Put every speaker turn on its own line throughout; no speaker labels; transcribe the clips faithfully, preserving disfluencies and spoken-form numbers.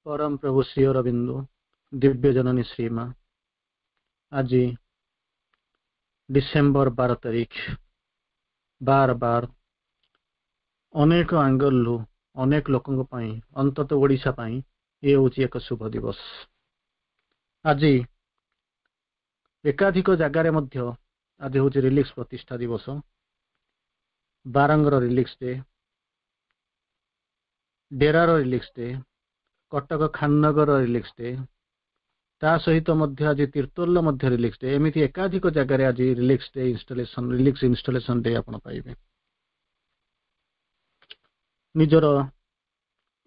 ପରମ ପ୍ରଭୁ ଶ୍ରୀ ଅରବିନ୍ଦ, ଦିବ୍ୟ ଜନନୀ ଶ୍ରୀମା, ଆଜି ଡିସେମ୍ବର ବାର ତାରିଖ, ବାର ବାର ଅନେକ ଆଙ୍ଗଲରୁ ଅନେକ ଲୋକଙ୍କ ପାଇଁ, ଅନ୍ତତଃ ଓଡ଼ିଶା ପାଇଁ ଏ ହେଉଛି ଏକ ଶୁଭ ଦିବସ। ଆଜି ଏକାଧିକ ଜାଗାରେ ମଧ୍ୟ ଆଜି ହେଉଛି ରିଲିକ୍ସ ପ୍ରତିଷ୍ଠା ଦିବସ। ବାରଙ୍ଗର ରିଲିକ୍ସ ଡେ, ଡେରାର relics day, Cuttack Khannagar relics day, ତା ସହିତ ମଧ୍ୟ ଆଜି ତିର୍ତ୍ତୋଲର ମଧ୍ୟ ରିଲିକ୍ସ ଡେ। ଏମିତି ଏକାଧିକ ଜାଗାରେ ଆଜି relics day installation, relics installation day ଆପଣ ପାଇବେ। ନିଜର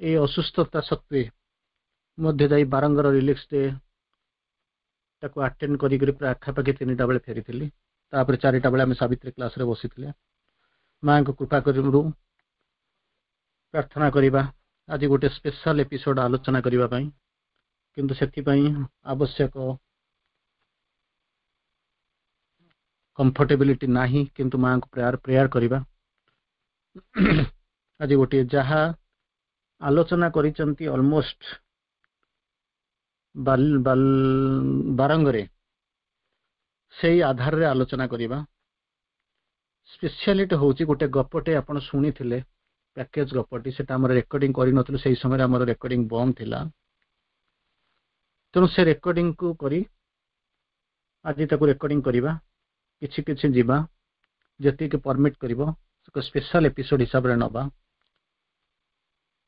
ଏଇ ଅସୁସ୍ଥତା ସତ୍ତ୍ୱେ ମଧ୍ୟ ଯାଇ ବାରଙ୍ଗର ରିଲିକ୍ସ ଡେ ତାକୁ ଆଟେଣ୍ଡ କରିକରି ପ୍ରାୟ ଆଖାପାଖି ତିନିଟା ବେଳେ ଫେରିଥିଲି। ତାପରେ ଚାରିଟା ବେଳେ ଆମେ ସାବିତ୍ରୀ କ୍ଲାସରେ ବସିଥିଲେ। ମାଙ୍କ କୃପା କରିରୁ ପ୍ରାର୍ଥନା କରିବା ଆଜି ଗୋଟେ ସ୍ପେଶାଲ ଏପିସୋଡ ଆଲୋଚନା କରିବା ପାଇଁ, କିନ୍ତୁ ସେଥିପାଇଁ ଆବଶ୍ୟକ କମ୍ଫର୍ଟେବିଲିଟି ନାହିଁ, କିନ୍ତୁ ମାଙ୍କୁ ପ୍ରେୟାର ପ୍ରେୟାର କରିବା। ଆଜି ଗୋଟିଏ ଯାହା ଆଲୋଚନା କରିଛନ୍ତି ଅଲମୋଷ୍ଟ ବାରଙ୍ଗରେ, ସେଇ ଆଧାରରେ ଆଲୋଚନା କରିବା। ସ୍ପେଶିଆଲିଟି ହେଉଛି ଗୋଟେ ଗପଟେ ଆପଣ ଶୁଣିଥିଲେ, ପ୍ୟାକେଜ ଗପଟି, ସେଟା ଆମର ରେକର୍ଡିଂ କରିନଥିଲୁ, ସେଇ ସମୟରେ ଆମର ରେକର୍ଡିଂ ବନ୍ଦ ଥିଲା। ତେଣୁ ସେ ରେକର୍ଡିଂକୁ କରି ଆଜି ତାକୁ ରେକର୍ଡିଂ କରିବା, କିଛି କିଛି ଯିବା ଯେତିକି ପରମିଟ୍ କରିବ, ସ୍ପେଶାଲ ଏପିସୋଡ ହିସାବରେ ନେବା।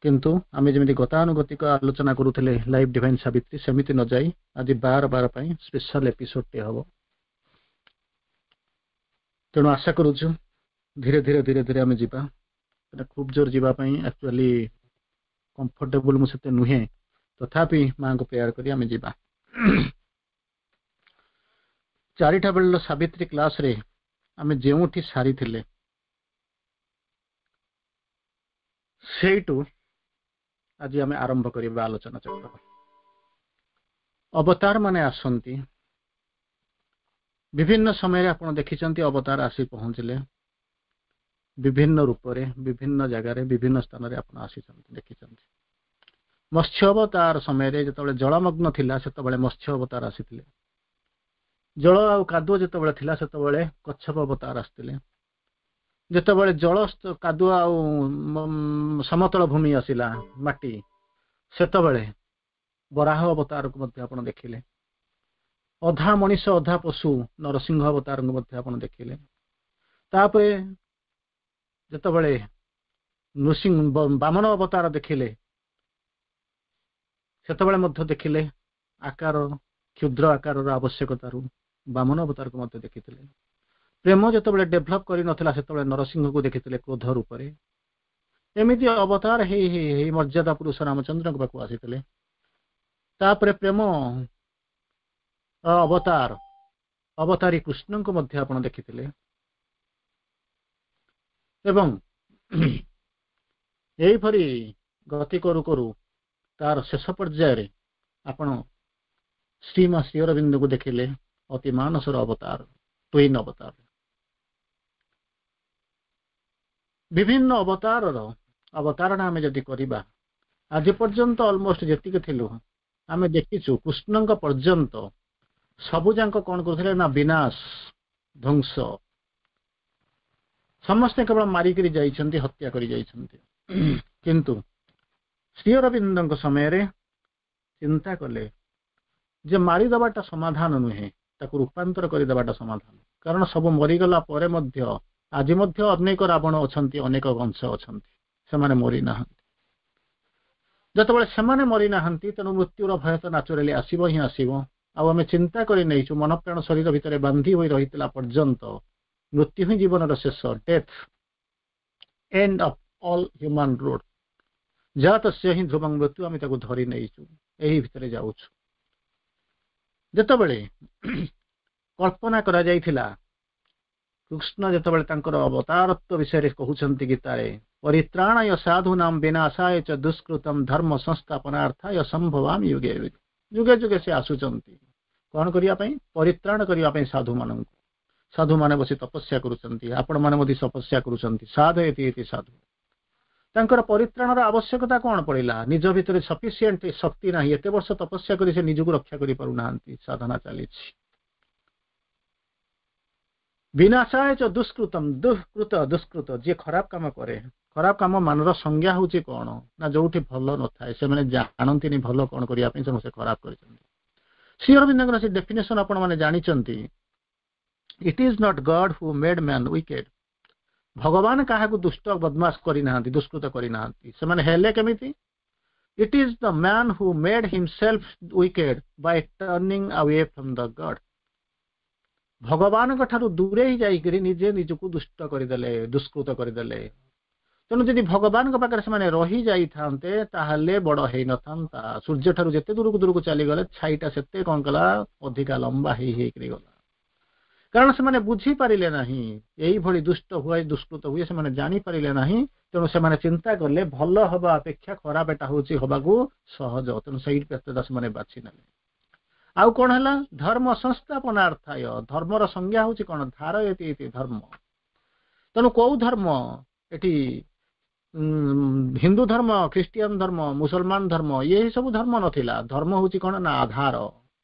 କିନ୍ତୁ ଆମେ ଯେମିତି ଗତାନୁଗତିକ ଆଲୋଚନା କରୁଥିଲେ ଲାଇଭ୍ ଡିଭାଇନ୍ ସାବିତ୍ରୀ, ସେମିତି ନ ଯାଇ ଆଜି ବାର ବାର ପାଇଁ ସ୍ପେଶାଲ ଏପିସୋଡଟେ ହେବ। ତେଣୁ ଆଶା କରୁଛୁ ଧୀରେ ଧୀରେ ଧୀରେ ଧୀରେ ଆମେ ଯିବା। ଖୁବ୍ ଜୋର ଯିବା ପାଇଁ ଆକ୍ଚୁଆଲି କମ୍ଫର୍ଟେବୁଲ ମୁଁ ସେତେ ନୁହେଁ, ତଥାପି ମାଙ୍କୁ ପ୍ରେୟାର କରି ଆମେ ଯିବା। ଚାରିଟା ବେଳର ସାବିତ୍ରୀ କ୍ଲାସରେ ଆମେ ଯେଉଁଠି ସାରିଥିଲେ ସେଇଠୁ ଆଜି ଆମେ ଆରମ୍ଭ କରିବା ଆଲୋଚନା ଚକ୍ର। ଅବତାର ମାନେ ଆସନ୍ତି ବିଭିନ୍ନ ସମୟରେ, ଆପଣ ଦେଖିଛନ୍ତି ଅବତାର ଆସି ପହଞ୍ଚିଲେ ବିଭିନ୍ନ ରୂପରେ, ବିଭିନ୍ନ ଜାଗାରେ, ବିଭିନ୍ନ ସ୍ଥାନରେ ଆପଣ ଆସିଛନ୍ତି, ଦେଖିଛନ୍ତି। ମତ୍ସ୍ୟ ଅବତାର ସମୟରେ ଯେତେବେଳେ ଜଳମଗ୍ନ ଥିଲା ସେତେବେଳେ ମତ୍ସ୍ୟ ଅବତାର ଆସିଥିଲେ। ଜଳ ଆଉ କାଦୁଅ ଯେତେବେଳେ ଥିଲା ସେତେବେଳେ କଚ୍ଛପ ଅବତାର ଆସିଥିଲେ। ଯେତେବେଳେ ଜଳ କାଦୁଅ ଆଉ ସମତଳ ଭୂମି ଆସିଲା, ମାଟି, ସେତେବେଳେ ବରାହ ଅବତାରକୁ ମଧ୍ୟ ଆପଣ ଦେଖିଲେ। ଅଧା ମଣିଷ ଅଧା ପଶୁ ନରସିଂହ ଅବତାରଙ୍କୁ ମଧ୍ୟ ଆପଣ ଦେଖିଲେ। ତାପରେ ଯେତେବେଳେ ନୃସିଂହ ବାମନ ଅବତାର ଦେଖିଲେ, ସେତେବେଳେ ମଧ୍ୟ ଦେଖିଲେ ଆକାର, କ୍ଷୁଦ୍ର ଆକାରର ଆବଶ୍ୟକତାରୁ ବାମନ ଅବତାରକୁ ମଧ୍ୟ ଦେଖିଥିଲେ। ପ୍ରେମ ଯେତେବେଳେ ଡେଭଲପ କରିନଥିଲା ସେତେବେଳେ ନରସିଂହକୁ ଦେଖିଥିଲେ କ୍ରୋଧ ରୂପରେ। ଏମିତି ଅବତାର ହେଇ ହେଇ ହେଇ ମର୍ଯ୍ୟାଦା ପୁରୁଷ ରାମଚନ୍ଦ୍ରଙ୍କ ପାଖକୁ ଆସିଥିଲେ। ତାପରେ ପ୍ରେମ ଅବତାର ଅବତାରୀ କୃଷ୍ଣଙ୍କୁ ମଧ୍ୟ ଆପଣ ଦେଖିଥିଲେ। ଏବଂ ଏହିପରି ଗତି କରୁ କରୁ ତାର ଶେଷ ପର୍ଯ୍ୟାୟରେ ଆପଣ ଶ୍ରୀମା ଶ୍ରୀ ଅରବିନ୍ଦଙ୍କୁ ଦେଖିଲେ, ଅତି ମାନସର ଅବତାର, ଟୁଇନ୍ ଅବତାର। ବିଭିନ୍ନ ଅବତାରର ଅବତାରଣା ଆମେ ଯଦି କରିବା, ଆଜି ପର୍ଯ୍ୟନ୍ତ ଅଲମୋଷ୍ଟ ଯେତିକି ଥିଲୁ ଆମେ ଦେଖିଛୁ କୃଷ୍ଣଙ୍କ ପର୍ଯ୍ୟନ୍ତ ସବୁ ଯାକ କଣ କରୁଥିଲେ ନା ବିନାଶ, ଧ୍ୱଂସ। ସମସ୍ତେ କେବଳ ମାରିକିରି ଯାଇଛନ୍ତି, ହତ୍ୟା କରି ଯାଇଛନ୍ତି। କିନ୍ତୁ ଶ୍ରୀ ଅରବିନ୍ଦଙ୍କ ସମୟରେ ଚିନ୍ତା କଲେ ଯେ ମାରିଦେବାଟା ସମାଧାନ ନୁହେଁ, ତାକୁ ରୂପାନ୍ତର କରିଦେବାଟା ସମାଧାନ। କାରଣ ସବୁ ମରିଗଲା ପରେ ମଧ୍ୟ ଆଜି ମଧ୍ୟ ଅନେକ ରାବଣ ଅଛନ୍ତି, ଅନେକ କଂସ ଅଛନ୍ତି, ସେମାନେ ମରିନାହାନ୍ତି। ଯେତେବେଳେ ସେମାନେ ମରିନାହାନ୍ତି, ତେଣୁ ମୃତ୍ୟୁର ଭୟ ତ ନ୍ୟାଚୁରାଲି ଆସିବ ହିଁ ଆସିବ। ଆଉ ଆମେ ଚିନ୍ତା କରି ନେଇଛୁ ମନ ପ୍ରାଣ ଶରୀର ଭିତରେ ବାନ୍ଧି ହୋଇ ରହିଥିଲା ପର୍ଯ୍ୟନ୍ତ ମୃତ୍ୟୁ ହିଁ ଜୀବନର ଶେଷ, death, end of all human road. ଜାତସ୍ୟ ହିଁ ଧ୍ରୁବଂ ମୃତ୍ୟୁ, ଆମେ ତାକୁ ଧରି ନେଇଛୁ, ଏହି ଭିତରେ ଯାଉଛୁ। ଯେତେବେଳେ କଳ୍ପନା କରାଯାଇଥିଲା, କୃଷ୍ଣ ଯେତେବେଳେ ତାଙ୍କର ଅବତାରତ୍ୱ ବିଷୟରେ କହୁଛନ୍ତି ଗୀତାରେ, ପରିତ୍ରାଣାୟ ସାଧୁନାମ ବିନାଶାୟ ଚ ଦୁଷ୍କୃତମ ଧର୍ମ ସଂସ୍ଥାପନାର୍ଥାୟ ସମ୍ଭବାମି ଯୁଗେ ଯୁଗେ। ଯୁଗେ ଯୁଗେ ସେ ଆସୁଛନ୍ତି କଣ କରିବା ପାଇଁ? ପରିତ୍ରାଣ କରିବା ପାଇଁ ସାଧୁମାନଙ୍କୁ। ସାଧୁମାନେ ବସି ତପସ୍ୟା କରୁଛନ୍ତି, ଆପଣମାନେ ମଧ୍ୟ ତପସ୍ୟା କରୁଛନ୍ତି। ସାଧୟତି ଇତି ସାଧୁ। ତାଙ୍କର ପରିତ୍ରାଣର ଆବଶ୍ୟକତା କଣ ପଡ଼ିଲା? ନିଜ ଭିତରେ ସଫିସିଏଣ୍ଟ ଶକ୍ତି ନାହିଁ। ଏତେ ବର୍ଷ ତପସ୍ୟା କରି ସେ ନିଜକୁ ରକ୍ଷା କରିପାରୁନାହାନ୍ତି। ସାଧନା ଚାଲିଛି। ବିନାଶାୟ ଚ ଦୁଷ୍କୃତମ। ଦୁଷ୍କୃତ, ଦୁଷ୍କୃତ, ଯିଏ ଖରାପ କାମ କରେ। ଖରାପ କାମ ମାନର ସଂଜ୍ଞା ହଉଛି କଣ ନା ଯୋଉଠି ଭଲ ନଥାଏ, ସେମାନେ ଜାଣନ୍ତିନି ଭଲ କଣ କରିବା ପାଇଁ, ସମସ୍ତେ ଖରାପ କରିଛନ୍ତି। ଶ୍ରୀ ଅରବିନ୍ଦଙ୍କର ସେ ଡେଫିନେସନ ଆପଣମାନେ ଜାଣିଛନ୍ତି। It is not God who made man wicked. ଭଗବାନ କାହାକୁ ଦୁଷ୍ଟ ବଦମାସ କରିନାହାନ୍ତି, ଦୁଷ୍କୃତ କରିନାହାନ୍ତି। ସେମାନେ ହେଲେ କେମିତି? It is the man who made himself wicked by turning away from the God. ଭଗବାନଙ୍କ ଠାରୁ ଦୂରେଇ ଯାଇକରି ନିଜେ ନିଜକୁ ଦୁଷ୍ଟ କରିଦେଲେ, ଦୁଷ୍କୃତ କରିଦେଲେ। ତେଣୁ ଯଦି ଭଗବାନଙ୍କ ପାଖରେ ସେମାନେ ରହି ଯାଇଥାନ୍ତେ, ତାହେଲେ ବଡ ହେଇନଥାନ୍ତା। ସୂର୍ଯ୍ୟ ଠାରୁ ଯେତେ ଦୂରକୁ ଦୂରକୁ ଚାଲିଗଲେ, ଛାଇଟା ସେତେ କଣ କଲା? ଅଧିକା ଲମ୍ବା ହେଇ ହେଇକରି ଗଲା। କାରଣ ସେମାନେ ବୁଝିପାରିଲେ ନାହିଁ, ଏଇଭଳି ଦୁଷ୍ଟ ହୁଏ, ଦୁଷ୍କୃତ ହୁଏ, ସେମାନେ ଜାଣିପାରିଲେ ନାହିଁ। ତେଣୁ ସେମାନେ ଚିନ୍ତା କଲେ, ଭଲ ହବା ଅପେକ୍ଷା ଖରାପ ଏଟା ହଉଛି ହବାକୁ ସହଜ। ତେଣୁ ସେଇ ପଥଟା ସେମାନେ ବାଛି ନେଲେ। ଆଉ କଣ ହେଲା? ଧର୍ମ ସଂସ୍ଥାପନାର୍ଥାୟ। ଧର୍ମର ସଂଜ୍ଞା ହଉଛି କଣ? ଧାରୟତି ଇତି ଧର୍ମ। ତେଣୁ କୋଉ ଧର୍ମ ଏଠି? ହିନ୍ଦୁ ଧର୍ମ, ଖ୍ରୀଷ୍ଟିଆନ ଧର୍ମ, ମୁସଲମାନ ଧର୍ମ, ଇଏ ସବୁ ଧର୍ମ ନଥିଲା। ଧର୍ମ ହଉଛି କଣ ନା ଆଧାର।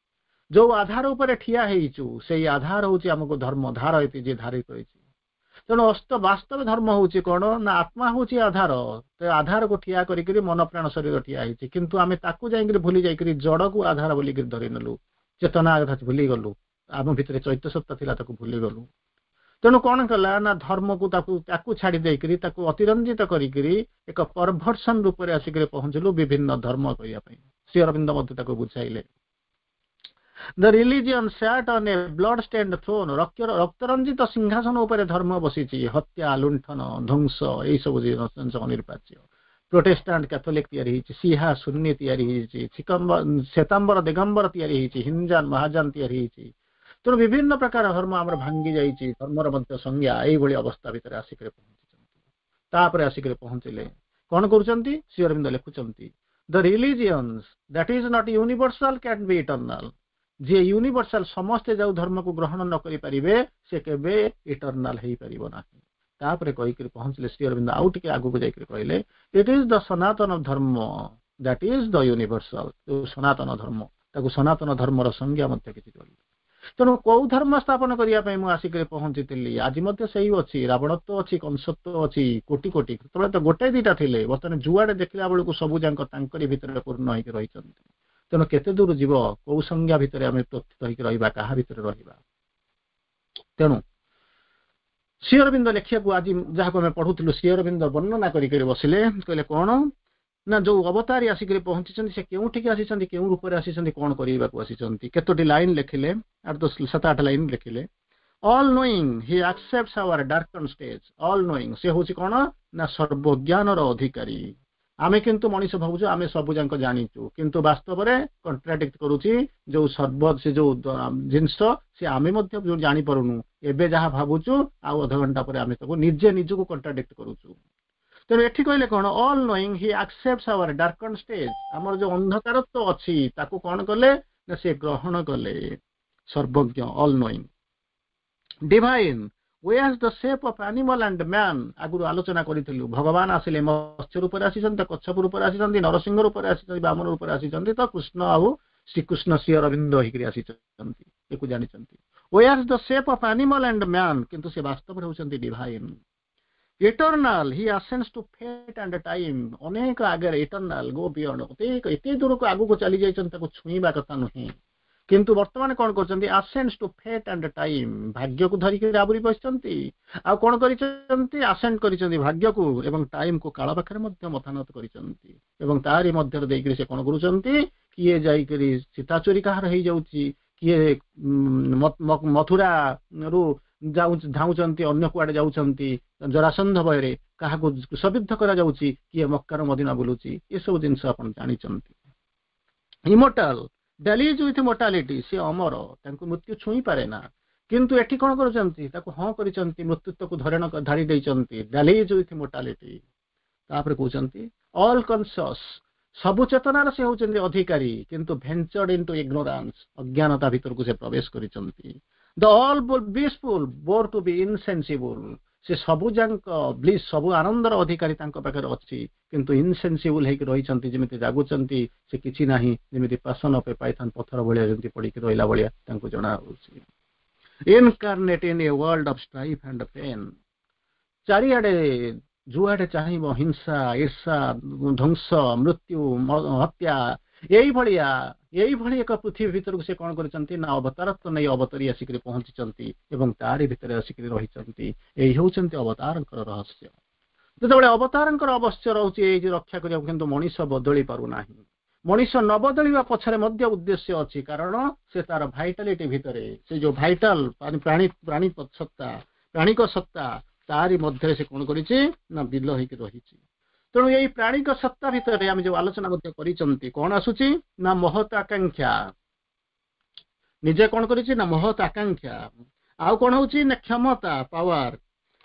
ଯୋଉ ଆଧାର ଉପରେ ଠିଆ ହେଇଛୁ, ସେଇ ଆଧାର ହଉଛି ଆମକୁ ଧର୍ମ। ଧାରୟତି, ଯିଏ ଧାରି କରିଛି। ତେଣୁ ଅସ୍ତ ବାସ୍ତବ ଧର୍ମ ହଉଛି କଣ ନା ଆତ୍ମା ହଉଛି ଆଧାର। ଆଧାରକୁ ଠିଆ କରିକିରି ମନ, ପ୍ରାଣ, ଶରୀର ଠିଆ ହେଇଛି। କିନ୍ତୁ ଆମେ ତାକୁ ଯାଇକିରି ଭୁଲି ଯାଇକିରି ଜଡକୁ ଆଧାର ବୋଲିକିରି ଧରି ନେଲୁ। ଚେତନା କଥା ଭୁଲିଗଲୁ। ଆମ ଭିତରେ ଚୈତ୍ୟ ସତ୍ତା ଥିଲା, ତାକୁ ଭୁଲିଗଲୁ। ତେଣୁ କଣ କଲା ନା ଧର୍ମକୁ ତାକୁ ତାକୁ ଛାଡି ଦେଇକିରି, ତାକୁ ଅତିରଞ୍ଜିତ କରିକିରି ଏକ ପରଭର୍ସନ ରୂପରେ ଆସିକିରି ପହଞ୍ଚିଲୁ ବିଭିନ୍ନ ଧର୍ମ କହିବା ପାଇଁ। ଶ୍ରୀ ଅରବିନ୍ଦ ମଧ୍ୟ ତାକୁ ବୁଝାଇଲେ। The religion sat on a blood stained throne. ରକ୍ତରଞ୍ଜିତ ସିଂହାସନ ଉପରେ ଧର୍ମ ବସିଛି। ହତ୍ୟା, ଲୁଣ୍ଠନ, ଧ୍ୱଂସ, ଏଇ ସବୁ ଜିନିଷ ଅନିବାର୍ଯ୍ୟ। ପ୍ରୋଟେଷ୍ଟାଣ୍ଟ, କ୍ୟାଥୋଲିକ ତିଆରି ହେଇଛି, ସିହା, ସୁନ୍ନି ତିଆରି ହେଇଛି, ଶ୍ଵେତାମ୍ବର, ଦିଗମ୍ବର ତିଆରି ହେଇଛି, ହିନଯାନ, ମହାଯାନ ତିଆରି ହେଇଛି। ତେଣୁ ବିଭିନ୍ନ ପ୍ରକାର ଧର୍ମ ଆମର ଭାଙ୍ଗି ଯାଇଛି। ଧର୍ମର ମଧ୍ୟ ସଂଜ୍ଞା ଏଇଭଳି ଅବସ୍ଥା ଭିତରେ ଆସିକରି ପହଞ୍ଚିଛନ୍ତି। ତାପରେ ଆସିକରି ପହଞ୍ଚିଲେ, କଣ କରୁଛନ୍ତି? ଶ୍ରୀ ଅରବିନ୍ଦ ଲେଖୁଛନ୍ତି, the religions that is not universal can be eternal. ଯିଏ ୟୁନିଭର୍ସାଲ, ସମସ୍ତେ ଯୋଉ ଧର୍ମକୁ ଗ୍ରହଣ ନ କରିପାରିବେ, ସେ କେବେ ଇଟର୍ନାଲ ହେଇପାରିବ ନାହିଁ। ତାପରେ କହିକିରି ପହଞ୍ଚିଲେ ଶ୍ରୀ ଅରବିନ୍ଦ, ଆଉ ଟିକେ ଆଗକୁ ଯାଇକରି କହିଲେ, it is the Sanatana Dharma that is the universal. ଯୋଉ ସନାତନ ଧର୍ମ, ତାକୁ ସନାତନ ଧର୍ମର ସଂଜ୍ଞା ମଧ୍ୟ କିଛି କରିଲେ। ତେଣୁ କୋଉ ଧର୍ମ ସ୍ଥାପନ କରିବା ପାଇଁ ମୁଁ ଆସିକରି ପହଞ୍ଚିଥିଲି? ଆଜି ମଧ୍ୟ ସେଇ ଅଛି। ରାବଣତ୍ୱ ଅଛି, କଂସତ୍ୱ ଅଛି, କୋଟି କୋଟି। ସେତେବେଳେ ତ ଗୋଟେ ଦିଟା ଥିଲେ, ବର୍ତ୍ତମାନ ଯୁଆଡେ ଦେଖିଲା ବେଳକୁ ସବୁ ଯାକ ତାଙ୍କରି ଭିତରେ ପୂର୍ଣ୍ଣ ହେଇକି ରହିଛନ୍ତି। ତେଣୁ କେତେ ଦୂର ଯିବ? କୋଉ ସଂଜ୍ଞା ଭିତରେ ଆମେ ପ୍ରସ୍ତୁତ ହେଇକି ରହିବା? କାହା ଭିତରେ ରହିବା? ତେଣୁ ଶ୍ରୀ ଅରବିନ୍ଦ ଲେଖିବାକୁ, ଆଜି ଯାହାକୁ ଆମେ ପଢୁଥିଲୁ, ଶ୍ରୀ ଅରବିନ୍ଦ ବର୍ଣ୍ଣନା କରିକରି ବସିଲେ। କହିଲେ କଣ ନା ଯୋଉ ଅବତାରୀ ଆସିକରି ପହଞ୍ଚିଛନ୍ତି, ସେ କେଉଁଠିକି ଆସିଛନ୍ତି, କେଉଁ ରୂପରେ ଆସିଛନ୍ତି, କଣ କରିବାକୁ ଆସିଛନ୍ତି, କେତୋଟି ଲାଇନ ଲେଖିଲେ, ଆଠ ଦଶ, ସାତ ଆଠ ଲାଇନ ଲେଖିଲେ। All knowing, he accept our darkened stage. All knowing, ସେ ହଉଛି କଣ ନା ସର୍ବଜ୍ଞାନର ଅଧିକାରୀ। ଆମେ କିନ୍ତୁ ମଣିଷ ଭାବୁଛୁ ଆମେ ସବୁ ଯାକ ଜାଣିଛୁ, କିନ୍ତୁ ବାସ୍ତବରେ କଣ୍ଟ୍ରାଡିକ୍ଟ କରୁଛି। ଯୋଉ ସର୍ବ ସେ ଯୋଉ ଜିନିଷ, ସେ ଆମେ ମଧ୍ୟ ଯୋଉ ଜାଣିପାରୁନୁ। ଏବେ ଯାହା ଭାବୁଛୁ, ଆଉ ଅଧଘଣ୍ଟା ପରେ ଆମେ ତାକୁ ନିଜେ ନିଜକୁ କଣ୍ଟ୍ରାଡିକ୍ଟ କରୁଛୁ। ତେଣୁ ଏଠି କହିଲେ କଣ? All knowing, he accept our darkened stage. ଆମର ଯୋଉ ଅନ୍ଧକାରତ୍ୱ ଅଛି, ତାକୁ କଣ କଲେ ନା ସେ ଗ୍ରହଣ କଲେ। ସର୍ବଜ୍ଞ, all knowing, divine, wears the shape of animal and man. ଆଗରୁ ଆଲୋଚନା କରିଥିଲୁ, ଭଗବାନ ଆସିଲେ ମତ୍ସ୍ୟ ରୂପରେ ଆସିଛନ୍ତି ତ କଚ୍ଛପ ରୂପରେ ଆସିଛନ୍ତି, ନରସିଂହ ରୂପରେ ଆସିଛନ୍ତି, ବାମନ ରୂପରେ ଆସିଛନ୍ତି, ତ କୃଷ୍ଣ ଆଉ ଶ୍ରୀକୃଷ୍ଣ ଶ୍ରୀ ଅରବିନ୍ଦ ହେଇକରି ଆସିଛନ୍ତି, ଏକୁ ଜାଣିଛନ୍ତି। Wears the shape of animal and man, କିନ୍ତୁ ସେ ବାସ୍ତବରେ ହେଉଛନ୍ତି divine. Eternal, he ascends to fate and time. ଅନେକ ଆଗରେ, ଇଟର୍ନାଲ, ଗୋ ବିୟଣ୍ଡ, ଏତେ ଦୂରକୁ ଆଗକୁ ଚାଲି ଯାଇଛନ୍ତି, ତାକୁ ଛୁଇଁବା କଥା ନୁହେଁ। କିନ୍ତୁ ବର୍ତ୍ତମାନ କଣ କରୁଛନ୍ତି? Ascends to fate and time. ଭାଗ୍ୟକୁ ଧରିକି ଆବୁରି ବସିଛନ୍ତି। ଆଉ କଣ କରିଛନ୍ତି? ଆସେଣ୍ଡ କରିଛନ୍ତି ଭାଗ୍ୟକୁ ଏବଂ ଟାଇମକୁ, କାଳ ପାଖରେ ମଧ୍ୟ ମଥାନତ କରିଛନ୍ତି। ଏବଂ ତାରି ମଧ୍ୟରେ ଦେଇକରି ସେ କଣ କରୁଛନ୍ତି? କିଏ ଯାଇକରି ସୀତା ଚୋରି କାହାର ହେଇଯାଉଛି, କିଏ ମଥୁରାରୁ ଯାଉ ଧାଉଁଛନ୍ତି, ଅନ୍ୟ କୁଆଡେ ଯାଉଛନ୍ତି ଜରାସନ୍ଧ ଭୟରେ, କାହାକୁ କ୍ରୁଶବିଦ୍ଧ କରାଯାଉଛି, କିଏ ମକ୍କାର ମଦିନା ବୁଲୁଛି, ଏସବୁ ଜିନିଷ ଆପଣ ଜାଣିଛନ୍ତି। Immortal, dallies with mortality. ସେ ଅମର, ତାଙ୍କୁ ମୃତ୍ୟୁ ଛୁଇଁ ପାରେ ନା। କିନ୍ତୁ ଏଠି କଣ କରୁଛନ୍ତି? ତାକୁ ହଁ କରିଛନ୍ତି, ମୃତ୍ୟୁତ୍ୱକୁ ଧରଣ ଧାରି ଦେଇଛନ୍ତି। ଡାଲିଜ ୱିଥ ମୋର୍ଟାଲିଟି। ତାପରେ କହୁଛନ୍ତି, ଅଲ୍ କନସିୟସ୍, ସବୁ ଚେତନାର ସେ ହଉଛନ୍ତି ଅଧିକାରୀ, କିନ୍ତୁ ଭେଞ୍ଚର୍ଡ ଇନଟୁ ଇଗ୍ନୋରାନ୍ସ, ଅଜ୍ଞାନତା ଭିତରକୁ ସେ ପ୍ରବେଶ କରିଛନ୍ତି। The all blissful bore to be insensible. ସେ ସବୁ ଯାକ ବ୍ଲିସ୍, ସବୁ ଆନନ୍ଦର ଅଧିକାରୀ ତାଙ୍କ ପାଖରେ ଅଛି, କିନ୍ତୁ ଇନସେନ୍ସିବୁଲ ହେଇକି ରହିଛନ୍ତି। ଯେମିତି ଜାଗୁଛନ୍ତି ସେ କିଛି ନାହିଁ, ଯେମିତି ପାସନ ଅଫ୍ ଏ ପାଇଥାନ, ପଥର ଭଳିଆ ଯେମିତି ପଡ଼ିକି ରହିଲା ଭଳିଆ ତାଙ୍କୁ ଜଣା ହଉଛି। Incarnate in a world of strife and pain, ଚାରିଆଡେ ଯୁଆଡେ ଚାହିଁବ ହିଂସା, ଈର୍ଷା, ଧ୍ୱଂସ, ମୃତ୍ୟୁ, ହତ୍ୟା, ଏଇଭଳିଆ ଏଇଭଳି ଏକ ପୃଥିବୀ ଭିତରକୁ ସେ କଣ କରିଛନ୍ତି ନା ଅବତାରତ୍ୱ ନେଇ ଅବତରୀ ଆସିକରି ପହଞ୍ଚିଛନ୍ତି ଏବଂ ତାରି ଭିତରେ ଆସିକରି ରହିଛନ୍ତି। ଏଇ ହେଉଛନ୍ତି ଅବତାରଙ୍କର ରହସ୍ୟ। ଯେତେବେଳେ ଅବତାରଙ୍କର ଅବଶ୍ୟ ରହୁଛି ଏଇ ଯେ ରକ୍ଷା କରିବାକୁ, କିନ୍ତୁ ମଣିଷ ବଦଳି ପାରୁନାହିଁ। ମଣିଷ ନ ବଦଳିବା ପଛରେ ମଧ୍ୟ ଉଦ୍ଦେଶ୍ୟ ଅଛି, କାରଣ ସେ ତାର ଭାଇଟାଲିଟି ଭିତରେ, ସେ ଯୋଉ ଭାଇଟାଲ ପ୍ରାଣୀ ପ୍ରାଣୀ ସତ୍ତା, ପ୍ରାଣିକ ସତ୍ତା, ତାରି ମଧ୍ୟରେ ସେ କଣ କରିଛି ନା ବିଲ ହେଇକି ରହିଛି। ତେଣୁ ଏଇ ପ୍ରାଣିକ ସତ୍ତା ଭିତରେ ଆମେ ଯୋଉ ଆଲୋଚନା ମଧ୍ୟ କରିଛନ୍ତି, କଣ ଆସୁଛି ନା ମହତ ଆକାଂକ୍ଷା। ନିଜେ କଣ କରିଛି ନା ମହତ ଆକାଂକ୍ଷା। ଆଉ କଣ ହଉଛି ନା କ୍ଷମତା, ପାୱାର,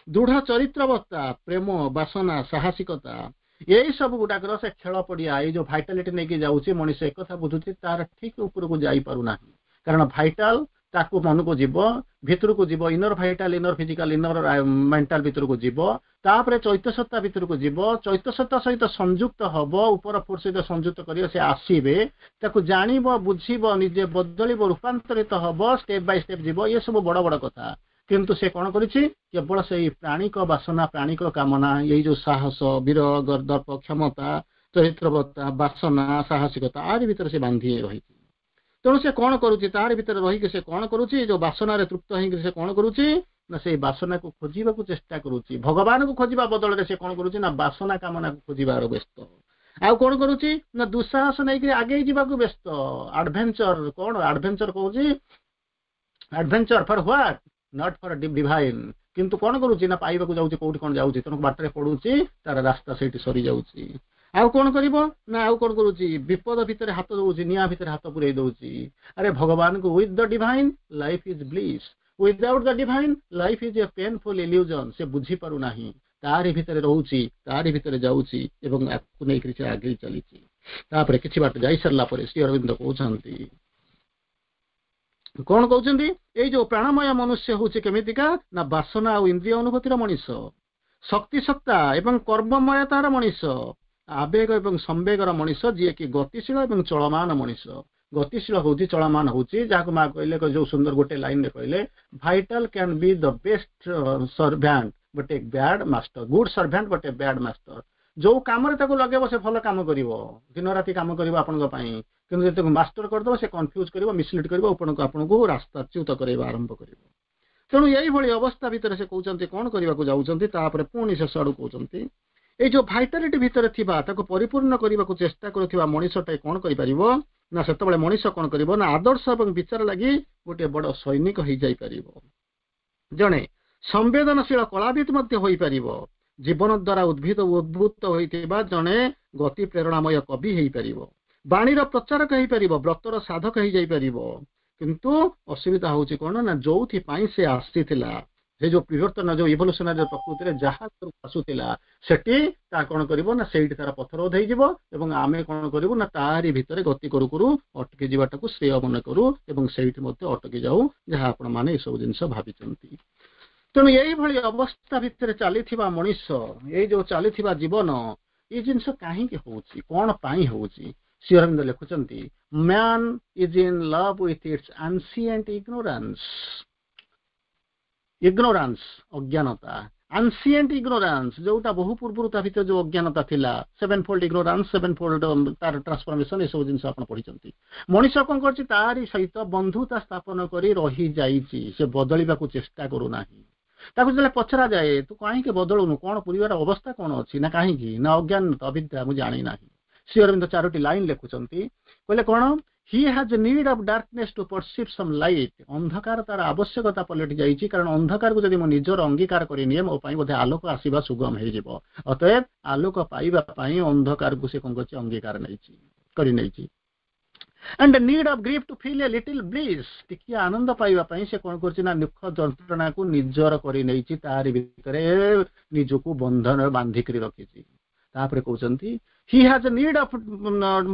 ଦୃଢ ଚରିତ୍ରବତ୍ତା, ପ୍ରେମ, ବାସନା, ସାହସିକତା, ଏଇ ସବୁ ଗୁଡାକର ସେ ଖେଳ ପଡିଆ। ଏଇ ଯୋଉ ଭାଇଟାଲିଟି ନେଇକି ଯାଉଛି ମଣିଷ, ଏକଥା ବୁଝୁଛି, ତାର ଠିକ ଉପରକୁ ଯାଇପାରୁନାହିଁ। କାରଣ ଭାଇଟାଲ ତାକୁ ମନକୁ ଯିବ, ଭିତରକୁ ଯିବ, inner vital, inner physical, inner mental ଭିତରକୁ ଯିବ, ତାପରେ ଚୈତ୍ୟ ସତ୍ତା ଭିତରକୁ ଯିବ, ଚୈତ୍ୟ ସତ୍ତା ସହିତ ସଂଯୁକ୍ତ ହବ, ଉପର ଫୋର୍ସ ସହିତ ସଂଯୁକ୍ତ କରିବ, ସେ ଆସିବେ, ତାକୁ ଜାଣିବ, ବୁଝିବ, ନିଜେ ବଦଳିବ, ରୂପାନ୍ତରିତ ହବ, ଷ୍ଟେପ ବାଇ ଷ୍ଟେପ ଯିବ। ଇଏ ସବୁ ବଡ ବଡ କଥା। କିନ୍ତୁ ସେ କଣ କରିଛି? କେବଳ ସେଇ ପ୍ରାଣିକ ବାସନା, ପ୍ରାଣିକ କାମନା, ଏଇ ଯୋଉ ସାହସ, ବୀର, ଦର୍ପ, କ୍ଷମତା, ଚରିତ୍ରବତ୍ତା, ବାସନା, ସାହସିକତା, ଆରି ଭିତରେ ସେ ବାନ୍ଧି ରହିଛି। ତେଣୁ ସେ କଣ କରୁଛି? ତାରି ଭିତରେ ରହିକି ସେ କଣ କରୁଛି? ଯୋଉ ବାସନାରେ ତୃପ୍ତ ହେଇକି ସେ କଣ କରୁଛି ନା ସେଇ ବାସନାକୁ ଖୋଜିବାକୁ ଚେଷ୍ଟା କରୁଛି। ଭଗବାନଙ୍କୁ ଖୋଜିବା ବଦଳରେ ସେ କଣ କରୁଛି ନା ବାସନା କାମନାକୁ ଖୋଜିବାର ବ୍ୟସ୍ତ। ଆଉ କଣ କରୁଛି ନା ଦୁଃସାହସ ନେଇକି ଆଗେଇ ଯିବାକୁ ବ୍ୟସ୍ତ। ଆଡଭେଞ୍ଚର କଣ? ଆଡଭେଞ୍ଚର କହୁଛି, adventure for what? Not for divine. କିନ୍ତୁ କଣ କରୁଛି ନା ପାଇବାକୁ ଯାଉଛି, କୋଉଠି କଣ ଯାଉଛି, ତେଣୁ ବାଟରେ ପଡୁଛି, ତାର ରାସ୍ତା ସେଇଠି ସରିଯାଉଛି। ଆଉ କଣ କରିବ ନା ଆଉ କଣ କରୁଛି? ବିପଦ ଭିତରେ ହାତ ଦଉଛି, ନିଆଁ ଭିତରେ ହାତ ପୁରେଇ ଦଉଛି। ଆରେ ଭଗବାନଙ୍କୁ, with the divine life is bliss, without the divine life is a painful illusion. ସେ ବୁଝିପାରୁନାହିଁ। ତାରି ଭିତରେ ରହୁଛି, ତାରି ଭିତରେ ଯାଉଛି ଏବଂ ଆକୁ ନେଇକରି ସେ ଆଗେଇ ଚାଲିଛି। ତାପରେ କିଛି ବାଟ ଯାଇ ସାରିଲା ପରେ ଶ୍ରୀ ଅରବିନ୍ଦ କହୁଛନ୍ତି, କଣ କହୁଛନ୍ତି? ଏଇ ଯୋଉ ପ୍ରାଣମୟ ମନୁଷ୍ୟ ହଉଛି କେମିତିକା ନା ବାସନା ଆଉ ଇନ୍ଦ୍ରିୟ ଅନୁଭୂତିର ମଣିଷ, ଶକ୍ତି ସତ୍ତା ଏବଂ କର୍ମମୟତାର ମଣିଷ, ଆବେଗ ଏବଂ ସମ୍ବେଗର ମଣିଷ, ଯିଏକି ଗତିଶୀଳ ଏବଂ ଚଳମାନ ମଣିଷ। ଗତିଶୀଳ ହଉଛି, ଚଳମାନ ହଉଛି, ଯାହାକୁ ମା କହିଲେ, ଯୋଉ ସୁନ୍ଦର ଗୋଟେ ଲାଇନରେ କହିଲେ, "Vital can be the best servant but a bad master, good servant but a bad master." ଯୋଉ କାମରେ ତାକୁ ଲଗେଇବ, ସେ ଭଲ କାମ କରିବ, ଦିନ ରାତି କାମ କରିବ ଆପଣଙ୍କ ପାଇଁ। କିନ୍ତୁ ଯଦି ତାକୁ ମାଷ୍ଟର କରିଦେବ, ସେ କନଫ୍ୟୁଜ କରିବ, ମିସଲିଡ୍ କରିବ, ଆପଣଙ୍କୁ ଆପଣଙ୍କୁ ରାସ୍ତାଚ୍ୟୁତ କରାଇବା ଆରମ୍ଭ କରିବ। ତେଣୁ ଏଇଭଳି ଅବସ୍ଥା ଭିତରେ ସେ କହୁଛନ୍ତି, କଣ କରିବାକୁ ଯାଉଛନ୍ତି? ତାପରେ ପୁଣି ଶେଷ ଆଡକୁ କହୁଛନ୍ତି, ଏଇ ଯୋଉ ଭାଇଟାଲିଟି ଭିତରେ ଥିବା, ତାକୁ ପରିପୂର୍ଣ୍ଣ କରିବାକୁ ଚେଷ୍ଟା କରୁଥିବା ମଣିଷଟା କଣ କରିପାରିବ ନା ସେତେବେଳେ ମଣିଷ କଣ କରିବ ନା ଆଦର୍ଶ ଏବଂ ବିଚାର ଲାଗି ଗୋଟିଏ ବଡ ସୈନିକ ହେଇଯାଇପାରିବ, ଜଣେ ସମ୍ବେଦନଶୀଳ କଳାବିତ ମଧ୍ୟ ହୋଇପାରିବ, ଜୀବନ ଦ୍ୱାରା ଉଦ୍ଭିଦ ଉଦ୍ଭୂତ ହୋଇଥିବା ଜଣେ ଗତି ପ୍ରେରଣାମୟ କବି ହେଇପାରିବ, ବାଣୀର ପ୍ରଚାରକ ହେଇପାରିବ, ବ୍ରତର ସାଧକ ହେଇଯାଇପାରିବ। କିନ୍ତୁ ଅସୁବିଧା ହଉଛି କଣ ନା ଯୋଉଥିପାଇଁ ସେ ଆସିଥିଲା, ସେ ଯୋଉ ବିବର୍ତ୍ତନ, ଯୋଉ ଇଭଲ୍ୟୁସନାରୀ ପ୍ରକୃତିରେ ଯାହା ଆସୁଥିଲା, ସେଠି ତା କଣ କରିବ ନା ସେଇଠି ତାର ପଥରୋଧ ହେଇଯିବ ଏବଂ ଆମେ କଣ କରିବୁ ନା ତାରି ଭିତରେ ଗତି କରୁ କରୁ ଅଟକି ଯିବାଟାକୁ ଶ୍ରେୟ ମନେ କରୁ ଏବଂ ସେଇଠି ମଧ୍ୟ ଅଟକି ଯାଉ, ଯାହା ଆପଣ ମାନେ ଏସବୁ ଜିନିଷ ଭାବିଛନ୍ତି। ତେଣୁ ଏଇଭଳି ଅବସ୍ଥା ଭିତରେ ଚାଲିଥିବା ମଣିଷ, ଏଇ ଯୋଉ ଚାଲିଥିବା ଜୀବନ, ଏଇ ଜିନିଷ କାହିଁକି ହଉଛି? କଣ ପାଇଁ ହଉଛି? ଶ୍ରୀ ଅରବିନ୍ଦ ଲେଖୁଛନ୍ତି, "Man is in love with its ancient ignorance." Ignorance, ଅଜ୍ଞାନତା, ଆନସିଏଣ୍ଟ ଇଗ୍ନୋରାନ୍ସ, ଯୋଉଟା ବହୁ ପୂର୍ବରୁ ତା ଭିତରେ ଯୋଉ ଅଜ୍ଞାନତା ଥିଲା, seven fold ignorance, seven fold ତାର ଟ୍ରାନ୍ସଫର୍ମେସନ, ଏସବୁ ଜିନିଷ ଆପଣ ପଢିଛନ୍ତି। ମଣିଷ କଣ କରୁଛି? ତାରି ସହିତ ବନ୍ଧୁତା ସ୍ଥାପନ କରି ରହିଯାଇଛି। ସେ ବଦଳିବାକୁ ଚେଷ୍ଟା କରୁନାହିଁ। ତାକୁ ଯେତେବେଳେ ପଚରା ଯାଏ, ତୁ କାହିଁକି ବଦଳୁନୁ, କଣ ପୁରିବାର ଅବସ୍ଥା କଣ ଅଛି ନା କାହିଁକି ନା ଅଜ୍ଞାନତା, ଅବିଦ୍ୟା, ମୁଁ ଜାଣିନାହିଁ। ଶ୍ରୀ ଅରବିନ୍ଦ ଚାରୋଟି ଲାଇନ ଲେଖୁଛନ୍ତି। କହିଲେ କଣ? "He has need of darkness to perceive some light." ଅନ୍ଧକାର ତାର ଆବଶ୍ୟକତା ପଲଟି ଯାଇଛି, କାରଣ ଅନ୍ଧକାରକୁ ଯଦି ମୁଁ ନିଜର ଅଙ୍ଗୀକାର କରିନିଏ, ମୋ ପାଇଁ ବୋଧେ ଆଲୋକ ଆସିବା ସୁଗମ ହେଇଯିବ। ଅତଏବ ଆଲୋକ ପାଇବା ପାଇଁ ଅନ୍ଧକାରକୁ ସେ କଣ କରିଛି? ଅଙ୍ଗୀକାର ନେଇଛି, କରିନେଇଛି। "And need of grief to feel a little bliss." ଟିକିଏ ଆନନ୍ଦ ପାଇବା ପାଇଁ ସେ କଣ କରୁଛି ନା ଦୁଃଖ ଯନ୍ତ୍ରଣାକୁ ନିଜର କରିନେଇଛି, ତାରି ଭିତରେ ନିଜକୁ ବନ୍ଧନ ବାନ୍ଧିକରି ରଖିଛି। ତାପରେ କହୁଛନ୍ତି, "He has need of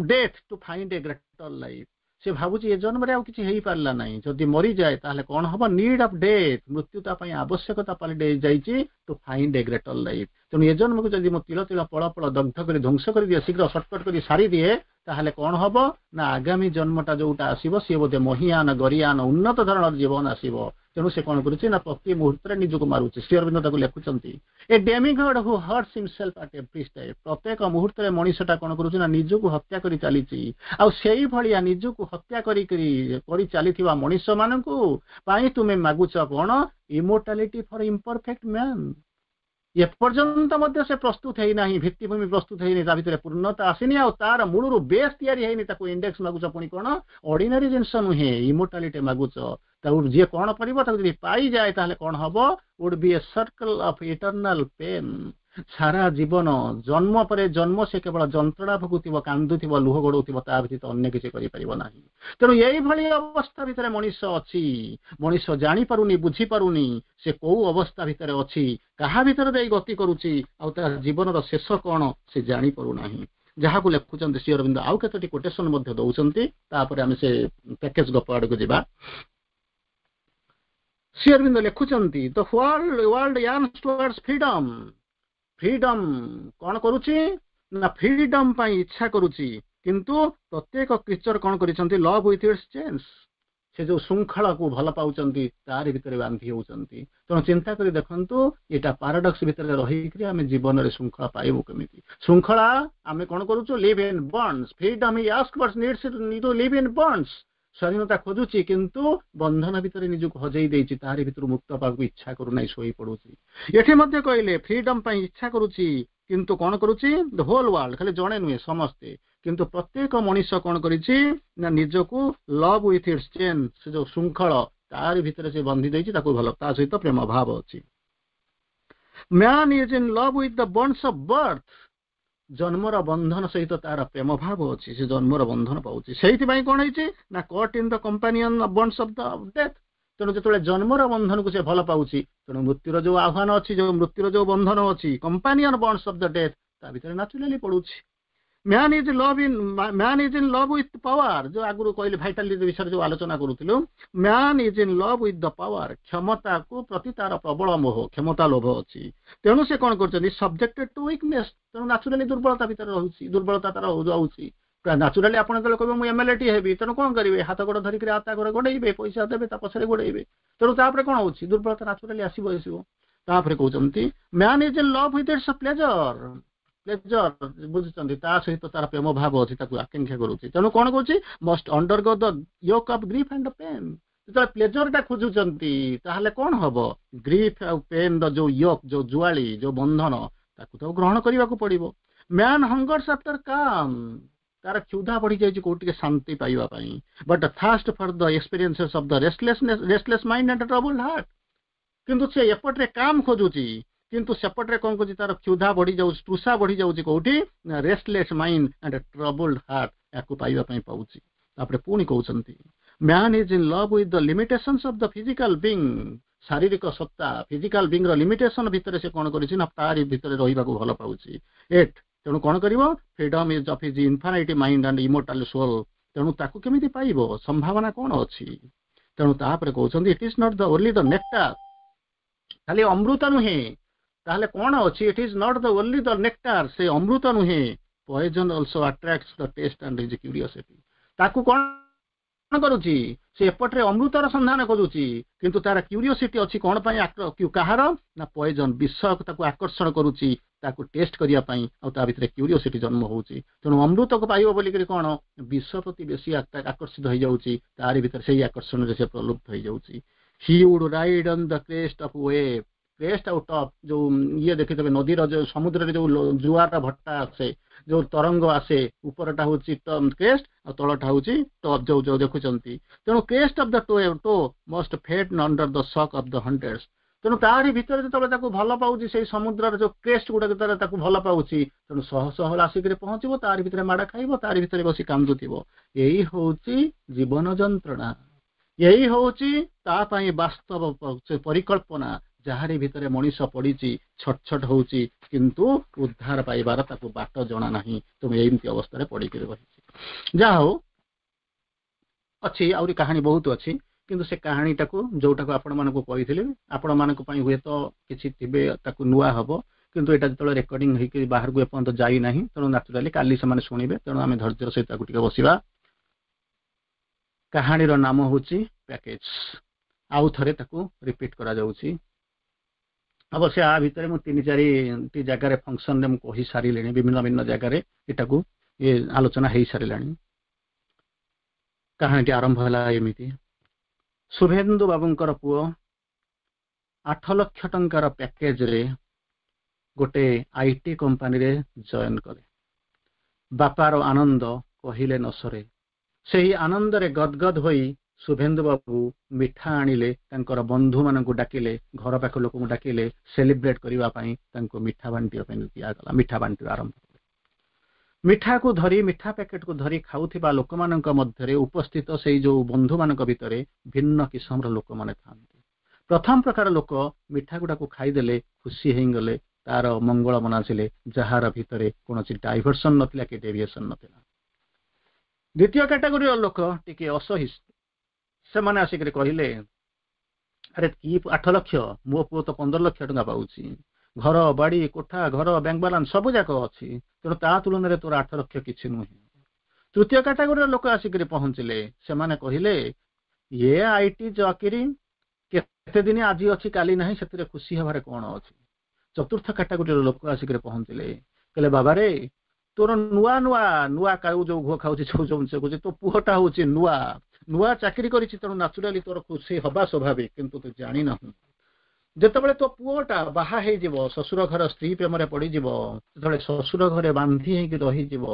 death to find a greater life." ସେ ଭାବୁଛି ଏ ଜନ୍ମରେ ଆଉ କିଛି ହେଇପାରିଲା ନାହିଁ ଯଦି ମରିଯାଏ ତାହେଲେ କଣ ହବ ନିଡ୍ ଅଫ୍ ଡେଥ୍ ମୃତ୍ୟୁ ତା ପାଇଁ ଆବଶ୍ୟକତା ପାଲଟି ଯାଇଛି to find a greater life ତେଣୁ ଏ ଜନ୍ମକୁ ଯଦି ମୁଁ ତିଳ ତିଳ ପଳ ପଳ ଦଗ୍ଧ କରି ଧ୍ୱଂସ କରିଦିଏ ଶୀଘ୍ର ସର୍ଟକଟ କରି ସାରିଦିଏ ତାହେଲେ କଣ ହବ ନା ଆଗାମୀ ଜନ୍ମଟା ଯୋଉଟା ଆସିବ ସିଏ ବୋଧେ ମହିଆନ ଗରିଆନ ଉନ୍ନତ ଧରଣର ଜୀବନ ଆସିବ ତେଣୁ ସେ କଣ କରୁଛି ନା ପ୍ରତି ମୁହୂର୍ତ୍ତରେ ନିଜକୁ ମାରୁଛି ଶ୍ରୀ ଅରବିନ୍ଦ ତାକୁ ଲେଖୁଛନ୍ତି a demigod who hurts himself at every step ପ୍ରତ୍ୟେକ ମୁହୂର୍ତ୍ତରେ ମଣିଷଟା କଣ କରୁଛି ନା ନିଜକୁ ହତ୍ୟା କରି ଚାଲିଛି ଆଉ ସେଇଭଳିଆ ନିଜକୁ ହତ୍ୟା କରିକରି କରି ଚାଲିଥିବା ମଣିଷମାନଙ୍କୁ ପାଇଁ ତୁମେ ମାଗୁଛ କଣ ଇମୋର୍ଟାଲିଟି ଫର ଇମ୍ପରଫେକ୍ଟ ମ୍ୟାନ୍ ଏପର୍ଯ୍ୟନ୍ତ ମଧ୍ୟ ସେ ପ୍ରସ୍ତୁତ ହେଇନାହିଁ ଭିତ୍ତିଭୂମି ପ୍ରସ୍ତୁତ ହେଇନି ତା ଭିତରେ ପୂର୍ଣ୍ଣତା ଆସିନି ଆଉ ତାର ମୂଳରୁ ବେସ୍ ତିଆରି ହେଇନି ତାକୁ ଇଣ୍ଡେକ୍ସ ମାଗୁଛ ପୁଣି କଣ ଅର୍ଡିନାରୀ ଜିନିଷ ନୁହେଁ ଇମୋର୍ଟାଲିଟି ମାଗୁଛ ତାକୁ ଯିଏ କଣ କରିବ ତାକୁ ଯଦି ପାଇଯାଏ ତାହେଲେ କଣ ହବ would be a circle of eternal pain ସାରା ଜୀବନ ଜନ୍ମ ପରେ ଜନ୍ମ ସେ କେବଳ ଯନ୍ତ୍ରଣା ଭୋଗୁଥିବ କାନ୍ଦୁଥିବ ଲୁହ ଗଡଉଥିବ ତା ବ୍ୟତୀତ ଅନ୍ୟ କିଛି କରିପାରିବ ନାହିଁ ତେଣୁ ଏଇଭଳି ଅବସ୍ଥା ଭିତରେ ମଣିଷ ଅଛି ମଣିଷ ଜାଣିପାରୁନି ବୁଝିପାରୁନି ସେ କୋଉ ଅବସ୍ଥା ଭିତରେ ଅଛି କାହା ଭିତରେ ଦେଇ ଗତି କରୁଛି ଆଉ ତା ଜୀବନର ଶେଷ କଣ ସେ ଜାଣିପାରୁନାହିଁ ଯାହାକୁ ଲେଖୁଛନ୍ତି ଶ୍ରୀ ଅରବିନ୍ଦ ଆଉ କେତୋଟି କୋଟେସନ ମଧ୍ୟ ଦଉଛନ୍ତି ତାପରେ ଆମେ ସେ ପ୍ୟାକେଜ ଗପ ଆଡକୁ ଯିବା ଶ୍ରୀ ଅରବିନ୍ଦ ଲେଖୁଛନ୍ତି the world world yearns towards freedom freedom କଣ କରୁଛି ନା ଫ୍ରିଡମ୍ ପାଇଁ ଇଚ୍ଛା କରୁଛି କିନ୍ତୁ ପ୍ରତ୍ୟେକ କ୍ରିଚର କଣ କରିଛନ୍ତି ଲଭ୍ ୱିଥ୍ it's chains ସେ ଯୋଉ ଶୃଙ୍ଖଳାକୁ ଭଲ ପାଉଛନ୍ତି ତାରି ଭିତରେ ବାନ୍ଧି ହେଉଛନ୍ତି ତେଣୁ ଚିନ୍ତା କରି ଦେଖନ୍ତୁ ଏଇଟା ପାରାଡକ୍ସ ଭିତରେ ରହିକରି ଆମେ ଜୀବନରେ ଶୃଙ୍ଖଳା ପାଇବୁ କେମିତି ଶୃଙ୍ଖଳା ଆମେ କଣ କରୁଛୁ live in bonds freedom he ask but needs to live in bonds ସ୍ୱାଧୀନତା ଖୋଜୁଛି କିନ୍ତୁ ବନ୍ଧନ ଭିତରେ ନିଜକୁ ହଜେଇ ଦେଇଛି ତାରି ଭିତରୁ ମୁକ୍ତ ପାବାକୁ ଇଚ୍ଛା କରୁନାହିଁ ଶୋଇ ପଡୁଛି ଏଠି ମଧ୍ୟ କହିଲେ ଫ୍ରିଡମ୍ ପାଇଁ ଇଚ୍ଛା କରୁଛି କିନ୍ତୁ କଣ କରୁଛି ଦ ହୋଲ ୱାର୍ଲଡ ଖାଲି ଜଣେ ନୁହେଁ ସମସ୍ତେ କିନ୍ତୁ ପ୍ରତ୍ୟେକ ମଣିଷ କଣ କରିଛି ନା ନିଜକୁ ଲଭ୍ ୱିଥ୍ it's chain ସେ ଯୋଉ ଶୃଙ୍ଖଳ ତାରି ଭିତରେ ସେ ବନ୍ଧି ଦେଇଛି ତାକୁ ଭଲ ତା ସହିତ ପ୍ରେମ ଭାବ ଅଛି man is in love with the bonds of birth ଜନ୍ମର ବନ୍ଧନ ସହିତ ତାର ପ୍ରେମ ଭାବ ଅଛି ସେ ଜନ୍ମର ବନ୍ଧନ ପାଉଛି ସେଇଥିପାଇଁ କଣ ହେଇଛି ନା caught in the companion bonds of the death ତେଣୁ ଯେତେବେଳେ ଜନ୍ମର ବନ୍ଧନକୁ ସେ ଭଲ ପାଉଛି ତେଣୁ ମୃତ୍ୟୁର ଯୋଉ ଆହ୍ୱାନ ଅଛି ଯୋଉ ମୃତ୍ୟୁର ଯୋଉ ବନ୍ଧନ ଅଛି companion bonds of the death ତା ଭିତରେ ନାଚୁରାଲି ପଡୁଛି man is love in man is in love with power ଯୋଉ ଆଗରୁ କହିଲି ଭାଇଟାଲିଟି ବିଷୟରେ ଯୋଉ ଆଲୋଚନା କରୁଥିଲୁ man is in love with the power କ୍ଷମତାକୁ ପ୍ରତି ତାର ପ୍ରବଳ ମୋହ କ୍ଷମତା ଲୋଭ ଅଛି ତେଣୁ ସେ କଣ କରୁଛନ୍ତି ସବଜେକ୍ଟେଡ ଟୁ ୱିକନେସ୍ ତେଣୁ ନାଚୁରାଲି ଦୁର୍ବଳତା ଭିତରେ ରହୁଛି ଦୁର୍ବଳତା ତାର ଯାଉଛି ନାଚୁରାଲି ଆପଣ ଯେତେବେଳେ କହିବେ ମୁଁ ଏମଏଲଏ ଟି ହେବି ତେଣୁ କଣ କରିବେ ହାତ ଗୋଡ଼ ଧରିକିରି ତା ଘରେ ଗୋଡେଇବେ ପଇସା ଦେବେ ତା ପଛରେ ଗୋଡେଇବେ ତେଣୁ ତାପରେ କଣ ହଉଛି ଦୁର୍ବଳତା ନାଚୁରାଲି ଆସିବ ଆସିବ ତାପରେ କହୁଛନ୍ତି man is in love with its pleasure pleasure ବୁଝୁଛନ୍ତି ତା ସହିତ ତାର ପ୍ରେମ ଭାବ ଅଛି ତାକୁ ଆକାଂକ୍ଷା କରୁଛି ତେଣୁ କଣ କରୁଛି must undergo the yoke of grief and pain ଯେତେବେଳେ ପ୍ଲେଜରଟା ଖୋଜୁଛନ୍ତି ତାହେଲେ କଣ ହବ ଗ୍ରିଫ୍ ଆଉ ପେନ୍ ର ଯୋଉ ୟୋକ୍ ଯୋଉ ଜୁଆଳି ଯୋଉ ବନ୍ଧନ ତାକୁ ତ ଗ୍ରହଣ କରିବାକୁ ପଡିବ man hungers after calm ତାର କ୍ଷୁଧା ବଢି ଯାଇଛି କୋଉଠି ଟିକେ ଶାନ୍ତି ପାଇବା ପାଇଁ but thirst for the experiences of the restlessness restless mind and troubled heart କିନ୍ତୁ ସେ ଏପଟରେ କାମ୍ ଖୋଜୁଛି କିନ୍ତୁ ସେପଟରେ କଣ କରୁଛି ତାର କ୍ଷୁଧା ବଢି ଯାଉଛି ତୃଷା ବଢି ଯାଉଛି କୋଉଠି ନା restless mind and troubled heart ୟାକୁ ପାଇବା ପାଇଁ ପାଉଛି ତାପରେ ପୁଣି କହୁଛନ୍ତି man is in love with the limitations of the physical being ଶାରୀରିକ ସତ୍ତା ଫିଜିକାଲ ବିଙ୍ଗ ର ଲିମିଟେସନ ଭିତରେ ସେ କଣ କରିଛି ନା ତାରି ଭିତରେ ରହିବାକୁ ଭଲ ପାଉଛି ଏଟ୍ ତେଣୁ କଣ କରିବ freedom is of his infinite mind and immortal soul ତେଣୁ ତାକୁ କେମିତି ପାଇବ ସମ୍ଭାବନା କଣ ଅଛି ତେଣୁ ତାପରେ କହୁଛନ୍ତି it is not the only the nectar ଖାଲି ଅମୃତ ନୁହେଁ ତାହେଲେ କଣ ଅଛି it is not the only the nectar ସେ ଅମୃତ ନୁହେଁ poison also attracts the taste and his curiosity ତାକୁ କଣ କରୁଛି ସେ ଏପଟରେ ଅମୃତର ସନ୍ଧାନ କରୁଛି କିନ୍ତୁ ତାର କ୍ୟୁରିଓସିଟି ଅଛି କଣ ପାଇଁ କାହାର ନା ପଏଜନ ବିଷ ତାକୁ ଆକର୍ଷଣ କରୁଛି ତାକୁ ଟେଷ୍ଟ କରିବା ପାଇଁ ଆଉ ତା ଭିତରେ କ୍ୟୁରିଓସିଟି ଜନ୍ମ ହଉଛି ତେଣୁ ଅମୃତକୁ ପାଇବ ବୋଲିକରି କଣ ବିଷ ପ୍ରତି ବେଶୀ ଆକର୍ଷିତ ହେଇଯାଉଛି ତାରି ଭିତରେ ସେଇ ଆକର୍ଷଣରେ ସେ ପ୍ରଲୁପ୍ତ ହେଇଯାଉଛି he would ride on the crest of wave crest ଆଉ ଟପ୍ ଯୋଉ ଇଏ ଦେଖିଥିବେ ନଦୀର ଯୋଉ ସମୁଦ୍ରରେ ଯୋଉ ଜୁଆର ଭଟ୍ଟା ଆସେ ଯୋଉ ତରଙ୍ଗ ଆସେ ଉପରଟା ହଉଛି କ୍ରେଷ୍ଟ ଆଉ ତଳଟା ହଉଛି ଟପ୍ ଯୋଉ ଯୋଉ ଦେଖୁଛନ୍ତି ତେଣୁ crest of the toe must faint under the shock of the hundreds ତେଣୁ ତାରି ଭିତରେ ଯେତେବେଳେ ତାକୁ ଭଲ ପାଉଛି ସେଇ ସମୁଦ୍ରର ଯୋଉ କ୍ରେଷ୍ଟ ଗୁଡାକ ଯେତେବେଳେ ତାକୁ ଭଲ ପାଉଛି ତେଣୁ ଶହ ଶହ ଆସିକରି ପହଞ୍ଚିବ ତାରି ଭିତରେ ମାଡ ଖାଇବ ତାରି ଭିତରେ ବସି କାନ୍ଦୁଥିବ ଏଇ ହଉଛି ଜୀବନ ଯନ୍ତ୍ରଣା ଏଇ ହଉଛି ତା ପାଇଁ ବାସ୍ତବ ପରିକଳ୍ପନା ଯାହାରି ଭିତରେ ମଣିଷ ପଡିଛି ଛଟ ଛଟ ହଉଛି କିନ୍ତୁ ଉଦ୍ଧାର ପାଇବାର ତାକୁ ବାଟ ଜଣା ନାହିଁ ତେଣୁ ଏମିତି ଅବସ୍ଥାରେ ପଡିକି ରହିଛି ଯାହା ହଉ ଅଛି, ଆହୁରି କାହାଣୀ ବହୁତ ଅଛି, କିନ୍ତୁ ସେ କାହାଣୀଟାକୁ ଯୋଉଟାକୁ ଆପଣମାନଙ୍କୁ କହିଥିଲି, ଆପଣମାନଙ୍କ ପାଇଁ ହୁଏତ କିଛି ଥିବେ ତାକୁ ନୂଆ ହବ, କିନ୍ତୁ ଏଇଟା ଯେତେବେଳେ ରେକର୍ଡିଂ ହେଇକି ବାହାରକୁ ଏପର୍ଯ୍ୟନ୍ତ ଯାଇନାହିଁ, ତେଣୁ ନ୍ୟାଚୁରାଲି କାଲି ସେମାନେ ଶୁଣିବେ। ତେଣୁ ଆମେ ଧୈର୍ଯ୍ୟର ସହିତ ତାକୁ ଟିକେ ବସିବା। କାହାଣୀର ନାମ ହଉଛି ପ୍ୟାକେଜ। ଆଉ ଥରେ ତାକୁ ରିପିଟ୍ କରାଯାଉଛି। ଅବଶ୍ୟ ଆ ଭିତରେ ମୁଁ ତିନି ଚାରିଟି ଜାଗାରେ ଫଙ୍କସନରେ ମୁଁ କହି ସାରିଲିଣି, ବିଭିନ୍ନ ଭିନ୍ନ ଜାଗାରେ ଏଟାକୁ ଇଏ ଆଲୋଚନା ହେଇସାରିଲାଣି। କାହାଣୀଟି ଆରମ୍ଭ ହେଲା ଏମିତି। ଶୁଭେନ୍ଦୁ ବାବୁଙ୍କର ପୁଅ ଆଠ ଲକ୍ଷ ଟଙ୍କାର ପ୍ୟାକେଜରେ ଗୋଟେ IT କମ୍ପାନୀରେ ଜଏନ୍ କଲେ। ବାପାର ଆନନ୍ଦ କହିଲେ ନ ସରେ। ସେହି ଆନନ୍ଦରେ ଗଦଗଦ ହୋଇ ଶୁଭେନ୍ଦୁ ବାବୁ ମିଠା ଆଣିଲେ, ତାଙ୍କର ବନ୍ଧୁମାନଙ୍କୁ ଡାକିଲେ, ଘର ପାଖ ଲୋକଙ୍କୁ ଡାକିଲେ ସେଲିବ୍ରେଟ କରିବା ପାଇଁ। ତାଙ୍କୁ ମିଠା ବାଣ୍ଟିବା ପାଇଁ ଦିଆଗଲା। ମିଠା ବାଣ୍ଟିବା ଆରମ୍ଭ କଲେ। ମିଠାକୁ ଧରି, ମିଠା ପ୍ୟାକେଟକୁ ଧରି ଖାଉଥିବା ଲୋକମାନଙ୍କ ମଧ୍ୟରେ ଉପସ୍ଥିତ ସେଇ ଯୋଉ ବନ୍ଧୁମାନଙ୍କ ଭିତରେ ଭିନ୍ନ କିସମର ଲୋକମାନେ ଥାନ୍ତି। ପ୍ରଥମ ପ୍ରକାର ଲୋକ ମିଠା ଗୁଡାକୁ ଖାଇଦେଲେ, ଖୁସି ହେଇଗଲେ, ତାର ମଙ୍ଗଳ ମନାସିଲେ, ଯାହାର ଭିତରେ କୌଣସି ଡାଇଭର୍ସନ ନଥିଲା କି ଡେଭିଏସନ ନଥିଲା। ଦ୍ୱିତୀୟ କାଟାଗୋରୀର ଲୋକ ଟିକେ ଅସହିଷ୍ଣୁ। ସେମାନେ ଆସିକରି କହିଲେ, ଆରେ କି ଆଠ ଲକ୍ଷ? ମୋ ପୁଅ ତ ପନ୍ଦର ଲକ୍ଷ ଟଙ୍କା ପାଉଛି। ଘର, ବାଡି, କୋଠା ଘର, ବ୍ୟାଙ୍କ ବାଲାନ୍ସ ସବୁ ଯାକ ଅଛି। ତେଣୁ ତା ତୁଳନାରେ ତୋର ଆଠ ଲକ୍ଷ କିଛି ନୁହେଁ। ତୃତୀୟ କାଟାଗୋରୀର ଲୋକ ଆସିକରି ପହଞ୍ଚିଲେ। ସେମାନେ କହିଲେ, ଇଏ IT ଚାକିରି କେତେ ଦିନ, ଆଜି ଅଛି କାଲି ନାହିଁ, ସେଥିରେ ଖୁସି ହେବାରେ କଣ ଅଛି? ଚତୁର୍ଥ କାଟାଗୋରୀର ଲୋକ ଆସିକରି ପହଞ୍ଚିଲେ। କହିଲେ, ବାବାରେ, ତୋର ନୂଆ ନୂଆ ନୂଆ କାଉ ଯୋଉ ଘୁଅ ଖାଉଛି, ଯୋଉ ଯୋଉ ତୋ ପୁଅଟା ହଉଛି ନୂଆ ନୂଆ ଚାକିରି କରିଛି, ତେଣୁ ନ୍ୟାଚୁରାଲି ତୋର ଖୁସି ହବା ସ୍ୱାଭାବିକ। କିନ୍ତୁ ତୁ ଜାଣିନାହୁଁ, ଯେତେବେଳେ ତୋ ପୁଅଟା ବାହା ହେଇଯିବ, ଶ୍ୱଶୁର ଘର ସ୍ତ୍ରୀ ପ୍ରେମରେ ପଡିଯିବ, ଯେତେବେଳେ ଶ୍ୱଶୁର ଘରେ ବାନ୍ଧି ହେଇକି ରହିଯିବ,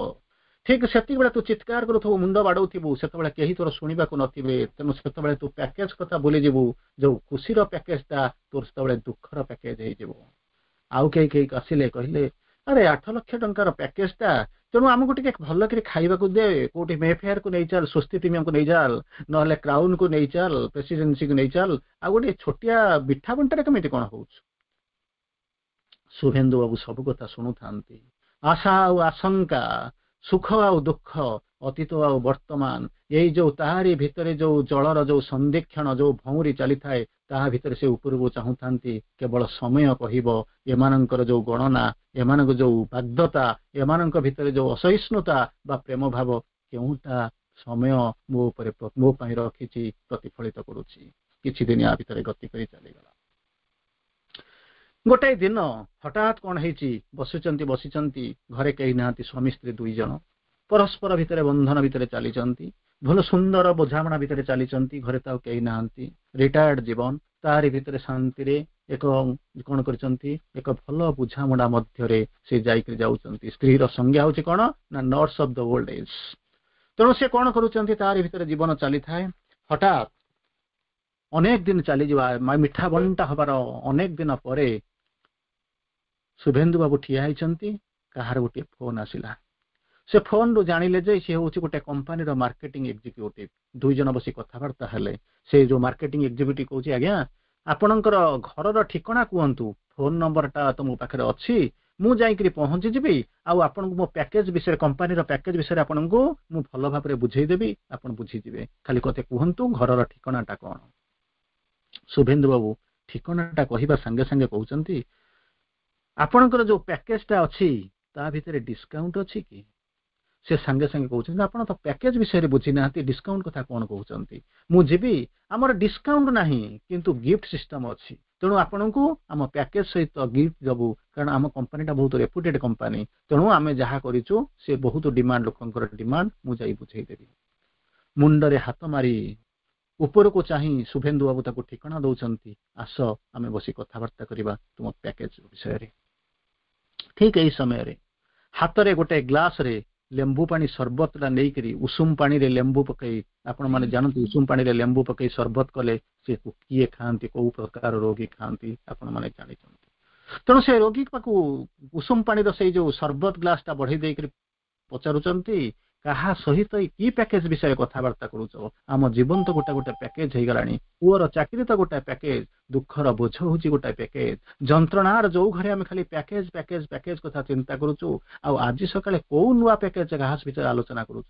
ଠିକ ସେତିକିବେଳେ ତୁ ଚିତ୍କାର କରୁଥିବୁ, ମୁଣ୍ଡ ବାଡଉଥିବୁ, ସେତେବେଳେ କେହି ତୋର ଶୁଣିବାକୁ ନଥିବେ। ତେଣୁ ସେତେବେଳେ ତୁ ପ୍ୟାକେଜ କଥା ଭୁଲିଯିବୁ। ଯୋଉ ଖୁସିର ପ୍ୟାକେଜଟା ତୋର ସେତେବେଳେ ଦୁଃଖର ପ୍ୟାକେଜ ହେଇଯିବ। ଆଉ କେହି କେହି ଆସିଲେ, କହିଲେ, ଆରେ ଆଠ ଲକ୍ଷ ଟଙ୍କାର ପ୍ୟାକେଜଟା, ତେଣୁ ଆମକୁ ଟିକେ ଭଲ କରି ଖାଇବାକୁ ଦେ। କୋଉଠି ମେଫେୟାରକୁ ନେଇ ଚାଲ, ସ୍ୱସ୍ତି ପ୍ରିମିୟମକୁ ନେଇ ଚାଲ, ନହେଲେ କ୍ରାଉନକୁ ନେଇ ଚାଲ, ପ୍ରେସିଡେନ୍ସିକୁ ନେଇ ଚାଲ। ଆଉ ଗୋଟେ ଛୋଟିଆ ମିଠା ବଣ୍ଟାରେ କେମିତି କଣ ହଉଛି? ଶୁଭେନ୍ଦୁ ବାବୁ ସବୁ କଥା ଶୁଣୁଥାନ୍ତି। ଆଶା ଆଉ ଆଶଙ୍କା, ସୁଖ ଆଉ ଦୁଃଖ, ଅତୀତ ଆଉ ବର୍ତ୍ତମାନ, ଏଇ ଯୋଉ ତାହାରି ଭିତରେ ଯୋଉ ଜଳର ଯୋଉ ସନ୍ଧିକ୍ଷଣ, ଯୋଉ ଭଉଁରୀ ଚାଲିଥାଏ, ତାହା ଭିତରେ ସେ ଉପରକୁ ଚାହୁଁଥାନ୍ତି। କେବଳ ସମୟ କହିବ ଏମାନଙ୍କର ଯୋଉ ଗଣନା, ଏମାନଙ୍କ ଯୋଉ ବାଗ୍ଦତ୍ତା, ଏମାନଙ୍କ ଭିତରେ ଯୋଉ ଅସହିଷ୍ଣୁତା ବା ପ୍ରେମ ଭାବ, କେଉଁଟା ସମୟ ମୋ ଉପରେ ମୋ ପାଇଁ ରଖିଛି, ପ୍ରତିଫଳିତ କରୁଛି। କିଛି ଦିନ ୟା ଭିତରେ ଗତି କରି ଚାଲିଗଲା। ଗୋଟାଏ ଦିନ ହଠାତ୍ କଣ ହେଇଛି, ବସିଛନ୍ତି ବସିଛନ୍ତି, ଘରେ କେହି ନାହାନ୍ତି, ସ୍ୱାମୀ ସ୍ତ୍ରୀ ଦୁଇ ଜଣ ପରସ୍ପର ଭିତରେ ବନ୍ଧନ ଭିତରେ ଚାଲିଛନ୍ତି, ଭଲ ସୁନ୍ଦର ବୁଝାମଣା ଭିତରେ ଚାଲିଛନ୍ତି। ଘରେ ତ ଆଉ କେହି ନାହାନ୍ତି। ରିଟାୟାର୍ଡ ଜୀବନ, ତାହାରି ଭିତରେ ଶାନ୍ତିରେ ଏକ କଣ କରିଛନ୍ତି, ଏକ ଭଲ ବୁଝାମଣା ମଧ୍ୟରେ ସେ ଯାଇକରି ଯାଉଛନ୍ତି। ସ୍ତ୍ରୀର ସଂଜ୍ଞା ହଉଛି କଣ ନା nurse of the old age। ତେଣୁ ସେ କଣ କରୁଛନ୍ତି, ତାହାରି ଭିତରେ ଜୀବନ ଚାଲିଥାଏ। ହଠାତ୍ ଅନେକ ଦିନ ଚାଲିଯିବା, ମିଠା ବଣ୍ଟା ହବାର ଅନେକ ଦିନ ପରେ ଶୁଭେନ୍ଦୁ ବାବୁ ଠିଆ ହେଇଛନ୍ତି। କାହାର ଗୋଟିଏ ଫୋନ ଆସିଲା। ସେ ଫୋନରୁ ଜାଣିଲେ ଯେ ସେ ହଉଛି ଗୋଟେ କମ୍ପାନୀର ମାର୍କେଟିଂ ଏକ୍ଜିକ୍ୟୁଟିଭ। ଦୁଇ ଜଣ ବସି କଥାବାର୍ତ୍ତା ହେଲେ। ସେ ଯୋଉ ମାର୍କେଟିଂ ଏକ୍ଜିକ୍ୟୁଟିଭ କହୁଛି, ଆଜ୍ଞା, ଆପଣଙ୍କର ଘରର ଠିକଣା କୁହନ୍ତୁ, ଫୋନ ନମ୍ବରଟା ତ ମୋ ପାଖରେ ଅଛି, ମୁଁ ଯାଇକରି ପହଞ୍ଚିଯିବି ଆଉ ଆପଣଙ୍କୁ ମୋ ପ୍ୟାକେଜ ବିଷୟରେ, କମ୍ପାନୀର ପ୍ୟାକେଜ ବିଷୟରେ ଆପଣଙ୍କୁ ମୁଁ ଭଲ ଭାବରେ ବୁଝେଇଦେବି, ଆପଣ ବୁଝିଯିବେ। ଖାଲି କଥା କୁହନ୍ତୁ ଘରର ଠିକଣାଟା କଣ। ଶୁଭେନ୍ଦୁ ବାବୁ ଠିକଣାଟା କହିବା ସାଙ୍ଗେ ସାଙ୍ଗେ କହୁଛନ୍ତି, ଆପଣଙ୍କର ଯୋଉ ପ୍ୟାକେଜଟା ଅଛି ତା ଭିତରେ ଡିସକାଉଣ୍ଟ ଅଛି କି? ସେ ସାଙ୍ଗେ ସାଙ୍ଗେ କହୁଛନ୍ତି, ଆପଣ ତ ପ୍ୟାକେଜ ବିଷୟରେ ବୁଝିନାହାନ୍ତି, ଡିସକାଉଣ୍ଟ କଥା କଣ କହୁଛନ୍ତି? ମୁଁ ଯିବି, ଆମର ଡିସକାଉଣ୍ଟ ନାହିଁ କିନ୍ତୁ ଗିଫ୍ଟ ସିଷ୍ଟମ ଅଛି। ତେଣୁ ଆପଣଙ୍କୁ ଆମ ପ୍ୟାକେଜ ସହିତ ଗିଫ୍ଟ ଦବୁ, କାରଣ ଆମ କମ୍ପାନୀଟା ବହୁତ ରେପୁଟେଡ କମ୍ପାନୀ। ତେଣୁ ଆମେ ଯାହା କରିଛୁ ସେ ବହୁତ ଡିମାଣ୍ଡ, ଲୋକଙ୍କର ଡିମାଣ୍ଡ। ମୁଁ ଯାଇ ବୁଝେଇଦେବି। ମୁଣ୍ଡରେ ହାତ ମାରି ଉପରକୁ ଚାହିଁ ଶୁଭେନ୍ଦୁ ବାବୁ ତାକୁ ଠିକଣା ଦଉଛନ୍ତି, ଆସ, ଆମେ ବସି କଥାବାର୍ତ୍ତା କରିବା ତୁମ ପ୍ୟାକେଜ ବିଷୟରେ। ଠିକ ଏଇ ସମୟରେ ହାତରେ ଗୋଟେ ଗ୍ଲାସରେ ଲେମ୍ବୁ ପାଣି ସରବତଟା ନେଇକରି, ଉଷୁମ ପାଣିରେ ଲେମ୍ବୁ ପକେଇ, ଆପଣମାନେ ଜାଣନ୍ତି ଉଷୁମ ପାଣିରେ ଲେମ୍ବୁ ପକେଇ ସରବତ କଲେ ସେ କିଏ ଖାଆନ୍ତି, କୋଉ ପ୍ରକାର ରୋଗୀ ଖାଆନ୍ତି, ଆପଣମାନେ ଜାଣିଛନ୍ତି। ତେଣୁ ସେ ରୋଗୀ ପାଖକୁ ଉଷୁମ ପାଣିର ସେଇ ଯୋଉ ସରବତ ଗ୍ଲାସଟା ବଢେଇ ଦେଇକରି ପଚାରୁଛନ୍ତି, କାହା ସହିତ କି ପ୍ୟାକେଜ ବିଷୟରେ କଥାବାର୍ତ୍ତା କରୁଛ? ଆମ ଜୀବନ ତ ଗୋଟେ ଗୋଟେ ପ୍ୟାକେଜ ହେଇଗଲାଣି। ପୁଅର ଚାକିରି ତ ଗୋଟେ ପ୍ୟାକେଜ, ଦୁଃଖର ବୋଝ ହଉଛି ଗୋଟେ ପ୍ୟାକେଜ, ଯନ୍ତ୍ରଣାର ଯୋଉ ଘରେ ଆମେ ଖାଲି ପ୍ୟାକେଜ, ପ୍ୟାକେଜ, ପ୍ୟାକେଜ କଥା ଚିନ୍ତା କରୁଛୁ। ଆଉ ଆଜି ସକାଳେ କୋଉ ନୂଆ ପ୍ୟାକେଜ କାହା ବିଷୟରେ ଆଲୋଚନା କରୁଛ?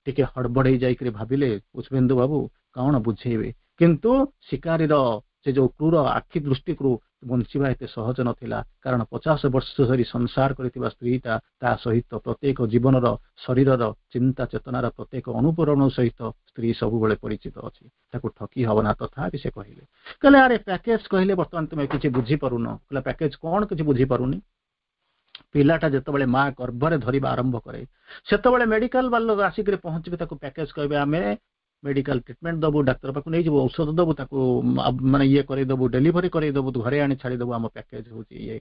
ଟିକେ ହଡ଼ବଡ଼େଇ ଯାଇକରି ଭାବିଲେ ପୁଷ୍ପେନ୍ଦୁ ବାବୁ କଣ ବୁଝେଇବେ, କିନ୍ତୁ ଶିକାରୀର ସେ ଯୋଉ କ୍ରୁର ଆଖି ଦୃଷ୍ଟିରୁ ବଞ୍ଚିବା ଏତେ ସହଜ ନଥିଲା। କାରଣ ପଚାଶ ବର୍ଷ ଧରି ସଂସାର କରିଥିବା ସ୍ତ୍ରୀଟା, ତା ସହିତ ପ୍ରତ୍ୟେକ ଜୀବନର, ଶରୀରର, ଚିନ୍ତା ଚେତନାର ପ୍ରତ୍ୟେକ ଅନୁପରଣ ସହିତ ସ୍ତ୍ରୀ ସବୁବେଳେ ପରିଚିତ ଅଛି, ତାକୁ ଠକି ହବ ନା। ତଥାପି ସେ କହିଲେ, କହିଲେ ଆରେ ପ୍ୟାକେଜ କହିଲେ ବର୍ତ୍ତମାନ ତୁମେ କିଛି ବୁଝିପାରୁନ। କହିଲା ପ୍ୟାକେଜ କଣ କିଛି ବୁଝିପାରୁନି? ପିଲାଟା ଯେତେବେଳେ ମା ଗର୍ଭରେ ଧରିବା ଆରମ୍ଭ କରେ, ସେତେବେଳେ ମେଡିକାଲ ବାଲା ଆସିକରି ପହଞ୍ଚିବେ, ତାକୁ ପ୍ୟାକେଜ କହିବେ। ଆମେ ମେଡିକାଲ ଟ୍ରିଟମେଣ୍ଟ ଦବୁ, ଡାକ୍ତର ପାଖକୁ ନେଇଯିବୁ, ଔଷଧ ଦବୁ, ତାକୁ ମାନେ ଇଏ କରେଇଦବୁ, ଡେଲିଭରି କରେଇଦବୁ, ଘରେ ଆଣି ଛାଡ଼ିଦବୁ, ଆମ ପ୍ୟାକେଜ ହଉଛି ଇଏ।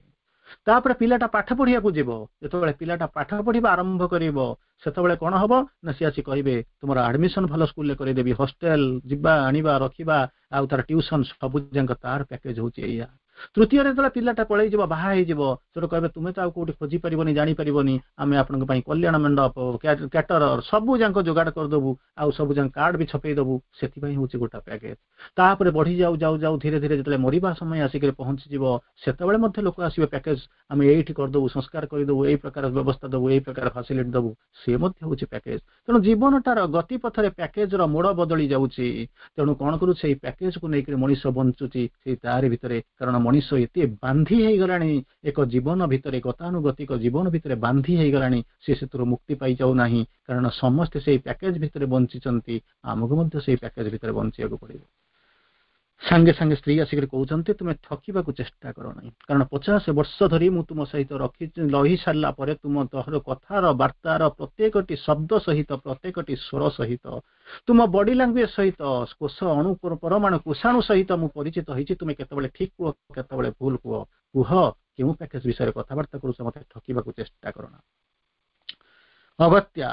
ତାପରେ ପିଲାଟା ପାଠ ପଢିବାକୁ ଯିବ। ଯେତେବେଳେ ପିଲାଟା ପାଠ ପଢିବା ଆରମ୍ଭ କରିବ, ସେତେବେଳେ କଣ ହବ ନା ସିଏ ଆସି କହିବେ ତୁମର ଆଡମିସନ ଭଲ ସ୍କୁଲରେ କରେଇଦେବି, ହଷ୍ଟେଲ ଯିବା ଆଣିବା ରଖିବା ଆଉ ତାର ଟ୍ୟୁସନ ସବୁ ଯାକ ତାର ପ୍ୟାକେଜ ହଉଛି ଏଇଆ। ତୃତୀୟରେ ଯେତେବେଳେ ପିଲାଟା ପଳେଇଯିବ, ବାହା ହେଇଯିବ, ସେଠୁ କହିବେ ତୁମେ ତ ଆଉ କୋଉଠି ଖୋଜି ପାରିବନି, ଜାଣିପାରିବନି, ଆମେ ଆପଣଙ୍କ ପାଇଁ କଲ୍ୟାଣ ମଣ୍ଡପ, କ୍ୟାଟରର ସବୁ ଯାକ ଯୋଗାଡ଼ କରିଦବୁ ଆଉ ସବୁ ଯାକ କାର୍ଡ ବି ଛପେଇ ଦବୁ, ସେଥିପାଇଁ ହଉଛି ଗୋଟା ପ୍ୟାକେଜ। ତାପରେ ବଢି ଯାଉ ଯାଉ ଯାଉ ଧୀରେ ଧୀରେ ଯେତେବେଳେ ମରିବା ସମୟ ଆସିକରି ପହଞ୍ଚିଯିବ, ସେତେବେଳେ ମଧ୍ୟ ଲୋକ ଆସିବେ, ପ୍ୟାକେଜ ଆମେ ଏଇଠି କରିଦବୁ, ସଂସ୍କାର କରିଦବୁ, ଏଇ ପ୍ରକାର ବ୍ୟବସ୍ଥା ଦବୁ, ଏଇ ପ୍ରକାର ଫାସିଲିଟି ଦବୁ, ସେ ମଧ୍ୟ ହଉଛି ପ୍ୟାକେଜ। ତେଣୁ ଜୀବନଟାର ଗତିପଥରେ ପ୍ୟାକେଜର ମୋଡ଼ ବଦଳି ଯାଉଛି। ତେଣୁ କଣ କରୁଛି, ସେଇ ପ୍ୟାକେଜକୁ ନେଇକରି ମଣିଷ ବଞ୍ଚୁଛି ସେଇ ତାରି ଭିତରେ। କାରଣ ମଣିଷ ଏତେ ବାନ୍ଧି ହେଇଗଲାଣି ଏକ ଜୀବନ ଭିତରେ, ଗତାନୁଗତିକ ଜୀବନ ଭିତରେ ବାନ୍ଧି ହେଇଗଲାଣି, ସେ ସେଥିରୁ ମୁକ୍ତି ପାଇଯାଉ ନାହିଁ। କାରଣ ସମସ୍ତେ ସେଇ ପ୍ୟାକେଜ ଭିତରେ ବଞ୍ଚିଛନ୍ତି, ଆମକୁ ମଧ୍ୟ ସେଇ ପ୍ୟାକେଜ ଭିତରେ ବଞ୍ଚିବାକୁ ପଡିବ। ସାଙ୍ଗେ ସାଙ୍ଗେ ସ୍ତ୍ରୀ ଆସିକରି କହୁଛନ୍ତି ତୁମେ ଠକିବାକୁ ଚେଷ୍ଟା କର ନାହିଁ, କାରଣ ପଚାଶ ବର୍ଷ ଧରି ମୁଁ ତୁମ ସହିତ ରଖି ରହି ସାରିଲା ପରେ ତୁମ ତହର କଥାର ବାର୍ତ୍ତାର ପ୍ରତ୍ୟେକଟି ଶବ୍ଦ ସହିତ, ପ୍ରତ୍ୟେକଟି ସ୍ୱର ସହିତ, ତୁମ ବଡି ଲାଙ୍ଗୁଏଜ ସହିତ, କୋଷ ଅଣୁ ପରମାଣୁ କୋଷାଣୁ ସହିତ ମୁଁ ପରିଚିତ ହେଇଛି। ତୁମେ କେତେବେଳେ ଠିକ କୁହ, କେତେବେଳେ ଭୁଲ କୁହ, କୁହ କେଉଁ ପ୍ୟାକେଜ ବିଷୟରେ କଥାବାର୍ତ୍ତା କରୁଛ, ମତେ ଠକିବାକୁ ଚେଷ୍ଟା କର ନା। ଅଗତ୍ୟା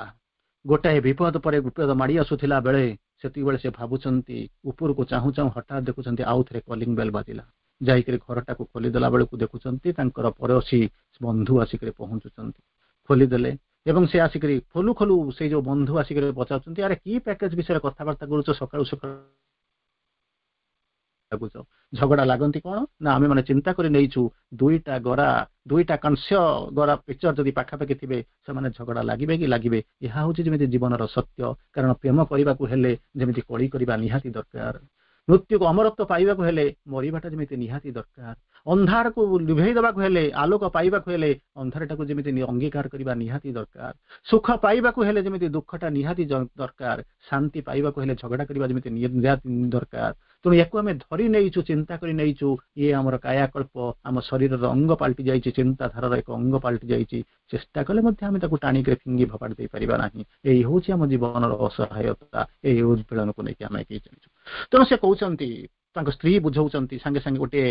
ଗୋଟାଏ ବିପଦ ପରେ ବିପଦ ମାଡ଼ି ଆସୁଥିଲା ବେଳେ ସେତିକିବେଳେ ସେ ଭାବୁଛନ୍ତି, ଉପରକୁ ଚାହୁଁ ଚାହୁଁ ହଠାତ୍ ଦେଖୁଛନ୍ତି ଆଉ ଥରେ କଲିଂ ବେଲ୍ ବାଜିଲା। ଯାଇକରି ଘରଟାକୁ ଖୋଲିଦେଲା ବେଳକୁ ଦେଖୁଛନ୍ତି ତାଙ୍କର ପଡ଼ୋଶୀ ବନ୍ଧୁ ଆସିକରି ପହଞ୍ଚୁଛନ୍ତି। ଖୋଲିଦେଲେ ଏବଂ ସେ ଆସିକରି ଖୋଲୁ ଖୋଲୁ ସେଇ ଯୋଉ ବନ୍ଧୁ ଆସିକରି ପଚାରୁଛନ୍ତି, ଆରେ କି ପ୍ୟାକେଜ ବିଷୟରେ କଥାବାର୍ତ୍ତା କରୁଛ, ସକାଳୁ ସକାଳୁ ଲାଗୁଛ? ଝଗଡ଼ା ଲାଗନ୍ତି କଣ ନା ଆମେ ମାନେ ଚିନ୍ତା କରି ନେଇଛୁ ଦୁଇଟା ଗରା, ଦୁଇଟା କଂସ୍ୟ ଗରା ପିକ୍ଚର ଯଦି ପାଖାପାଖି ଥିବେ ସେମାନେ ଝଗଡ଼ା ଲାଗିବେ କି ଲାଗିବେ। ଏହା ହଉଛି ଯେମିତି ଜୀବନର ସତ୍ୟ। କାରଣ ପ୍ରେମ କରିବାକୁ ହେଲେ ଯେମିତି କଳି କରିବା ନିହାତି ଦରକାର, ମୃତ୍ୟୁକୁ ଅମରତ୍ୱ ପାଇବାକୁ ହେଲେ ମରିବାଟା ଯେମିତି ନିହାତି ଦରକାର, ଅନ୍ଧାରକୁ ଲିଭେଇ ଦେବାକୁ ହେଲେ, ଆଲୋକ ପାଇବାକୁ ହେଲେ ଅନ୍ଧାରଟାକୁ ଯେମିତି ଅଙ୍ଗୀକାର କରିବା ନିହାତି ଦରକାର, ସୁଖ ପାଇବାକୁ ହେଲେ ଯେମିତି ଦୁଃଖଟା ନିହାତି ଦରକାର, ଶାନ୍ତି ପାଇବାକୁ ହେଲେ ଝଗଡ଼ା କରିବା ଯେମିତି ନିହାତି ଦରକାର। ତେଣୁ ୟାକୁ ଆମେ ଧରି ନେଇଛୁ, ଚିନ୍ତା କରି ନେଇଛୁ, ଇଏ ଆମର କାୟାକଳ୍ପ, ଆମ ଶରୀରର ଅଙ୍ଗ ପାଲଟି ଯାଇଛି, ଚିନ୍ତାଧାରାର ଏକ ଅଙ୍ଗ ପାଲଟି ଯାଇଛି। ଚେଷ୍ଟା କଲେ ମଧ୍ୟ ଆମେ ତାକୁ ଟାଣିକରି ଫିଙ୍ଗି ଫୋପାଡ଼ି ଦେଇପାରିବା ନାହିଁ। ଏଇ ହେଉଛି ଆମ ଜୀବନର ଅସହାୟତା, ଏଇ ଉଦ୍ବେଳନକୁ ନେଇକି ଆମେ ଏଗେଇ ଚାଲିଛୁ। ତେଣୁ ସେ କହୁଛନ୍ତି, ତାଙ୍କ ସ୍ତ୍ରୀ ବୁଝାଉଛନ୍ତି, ସାଙ୍ଗେ ସାଙ୍ଗେ ଗୋଟିଏ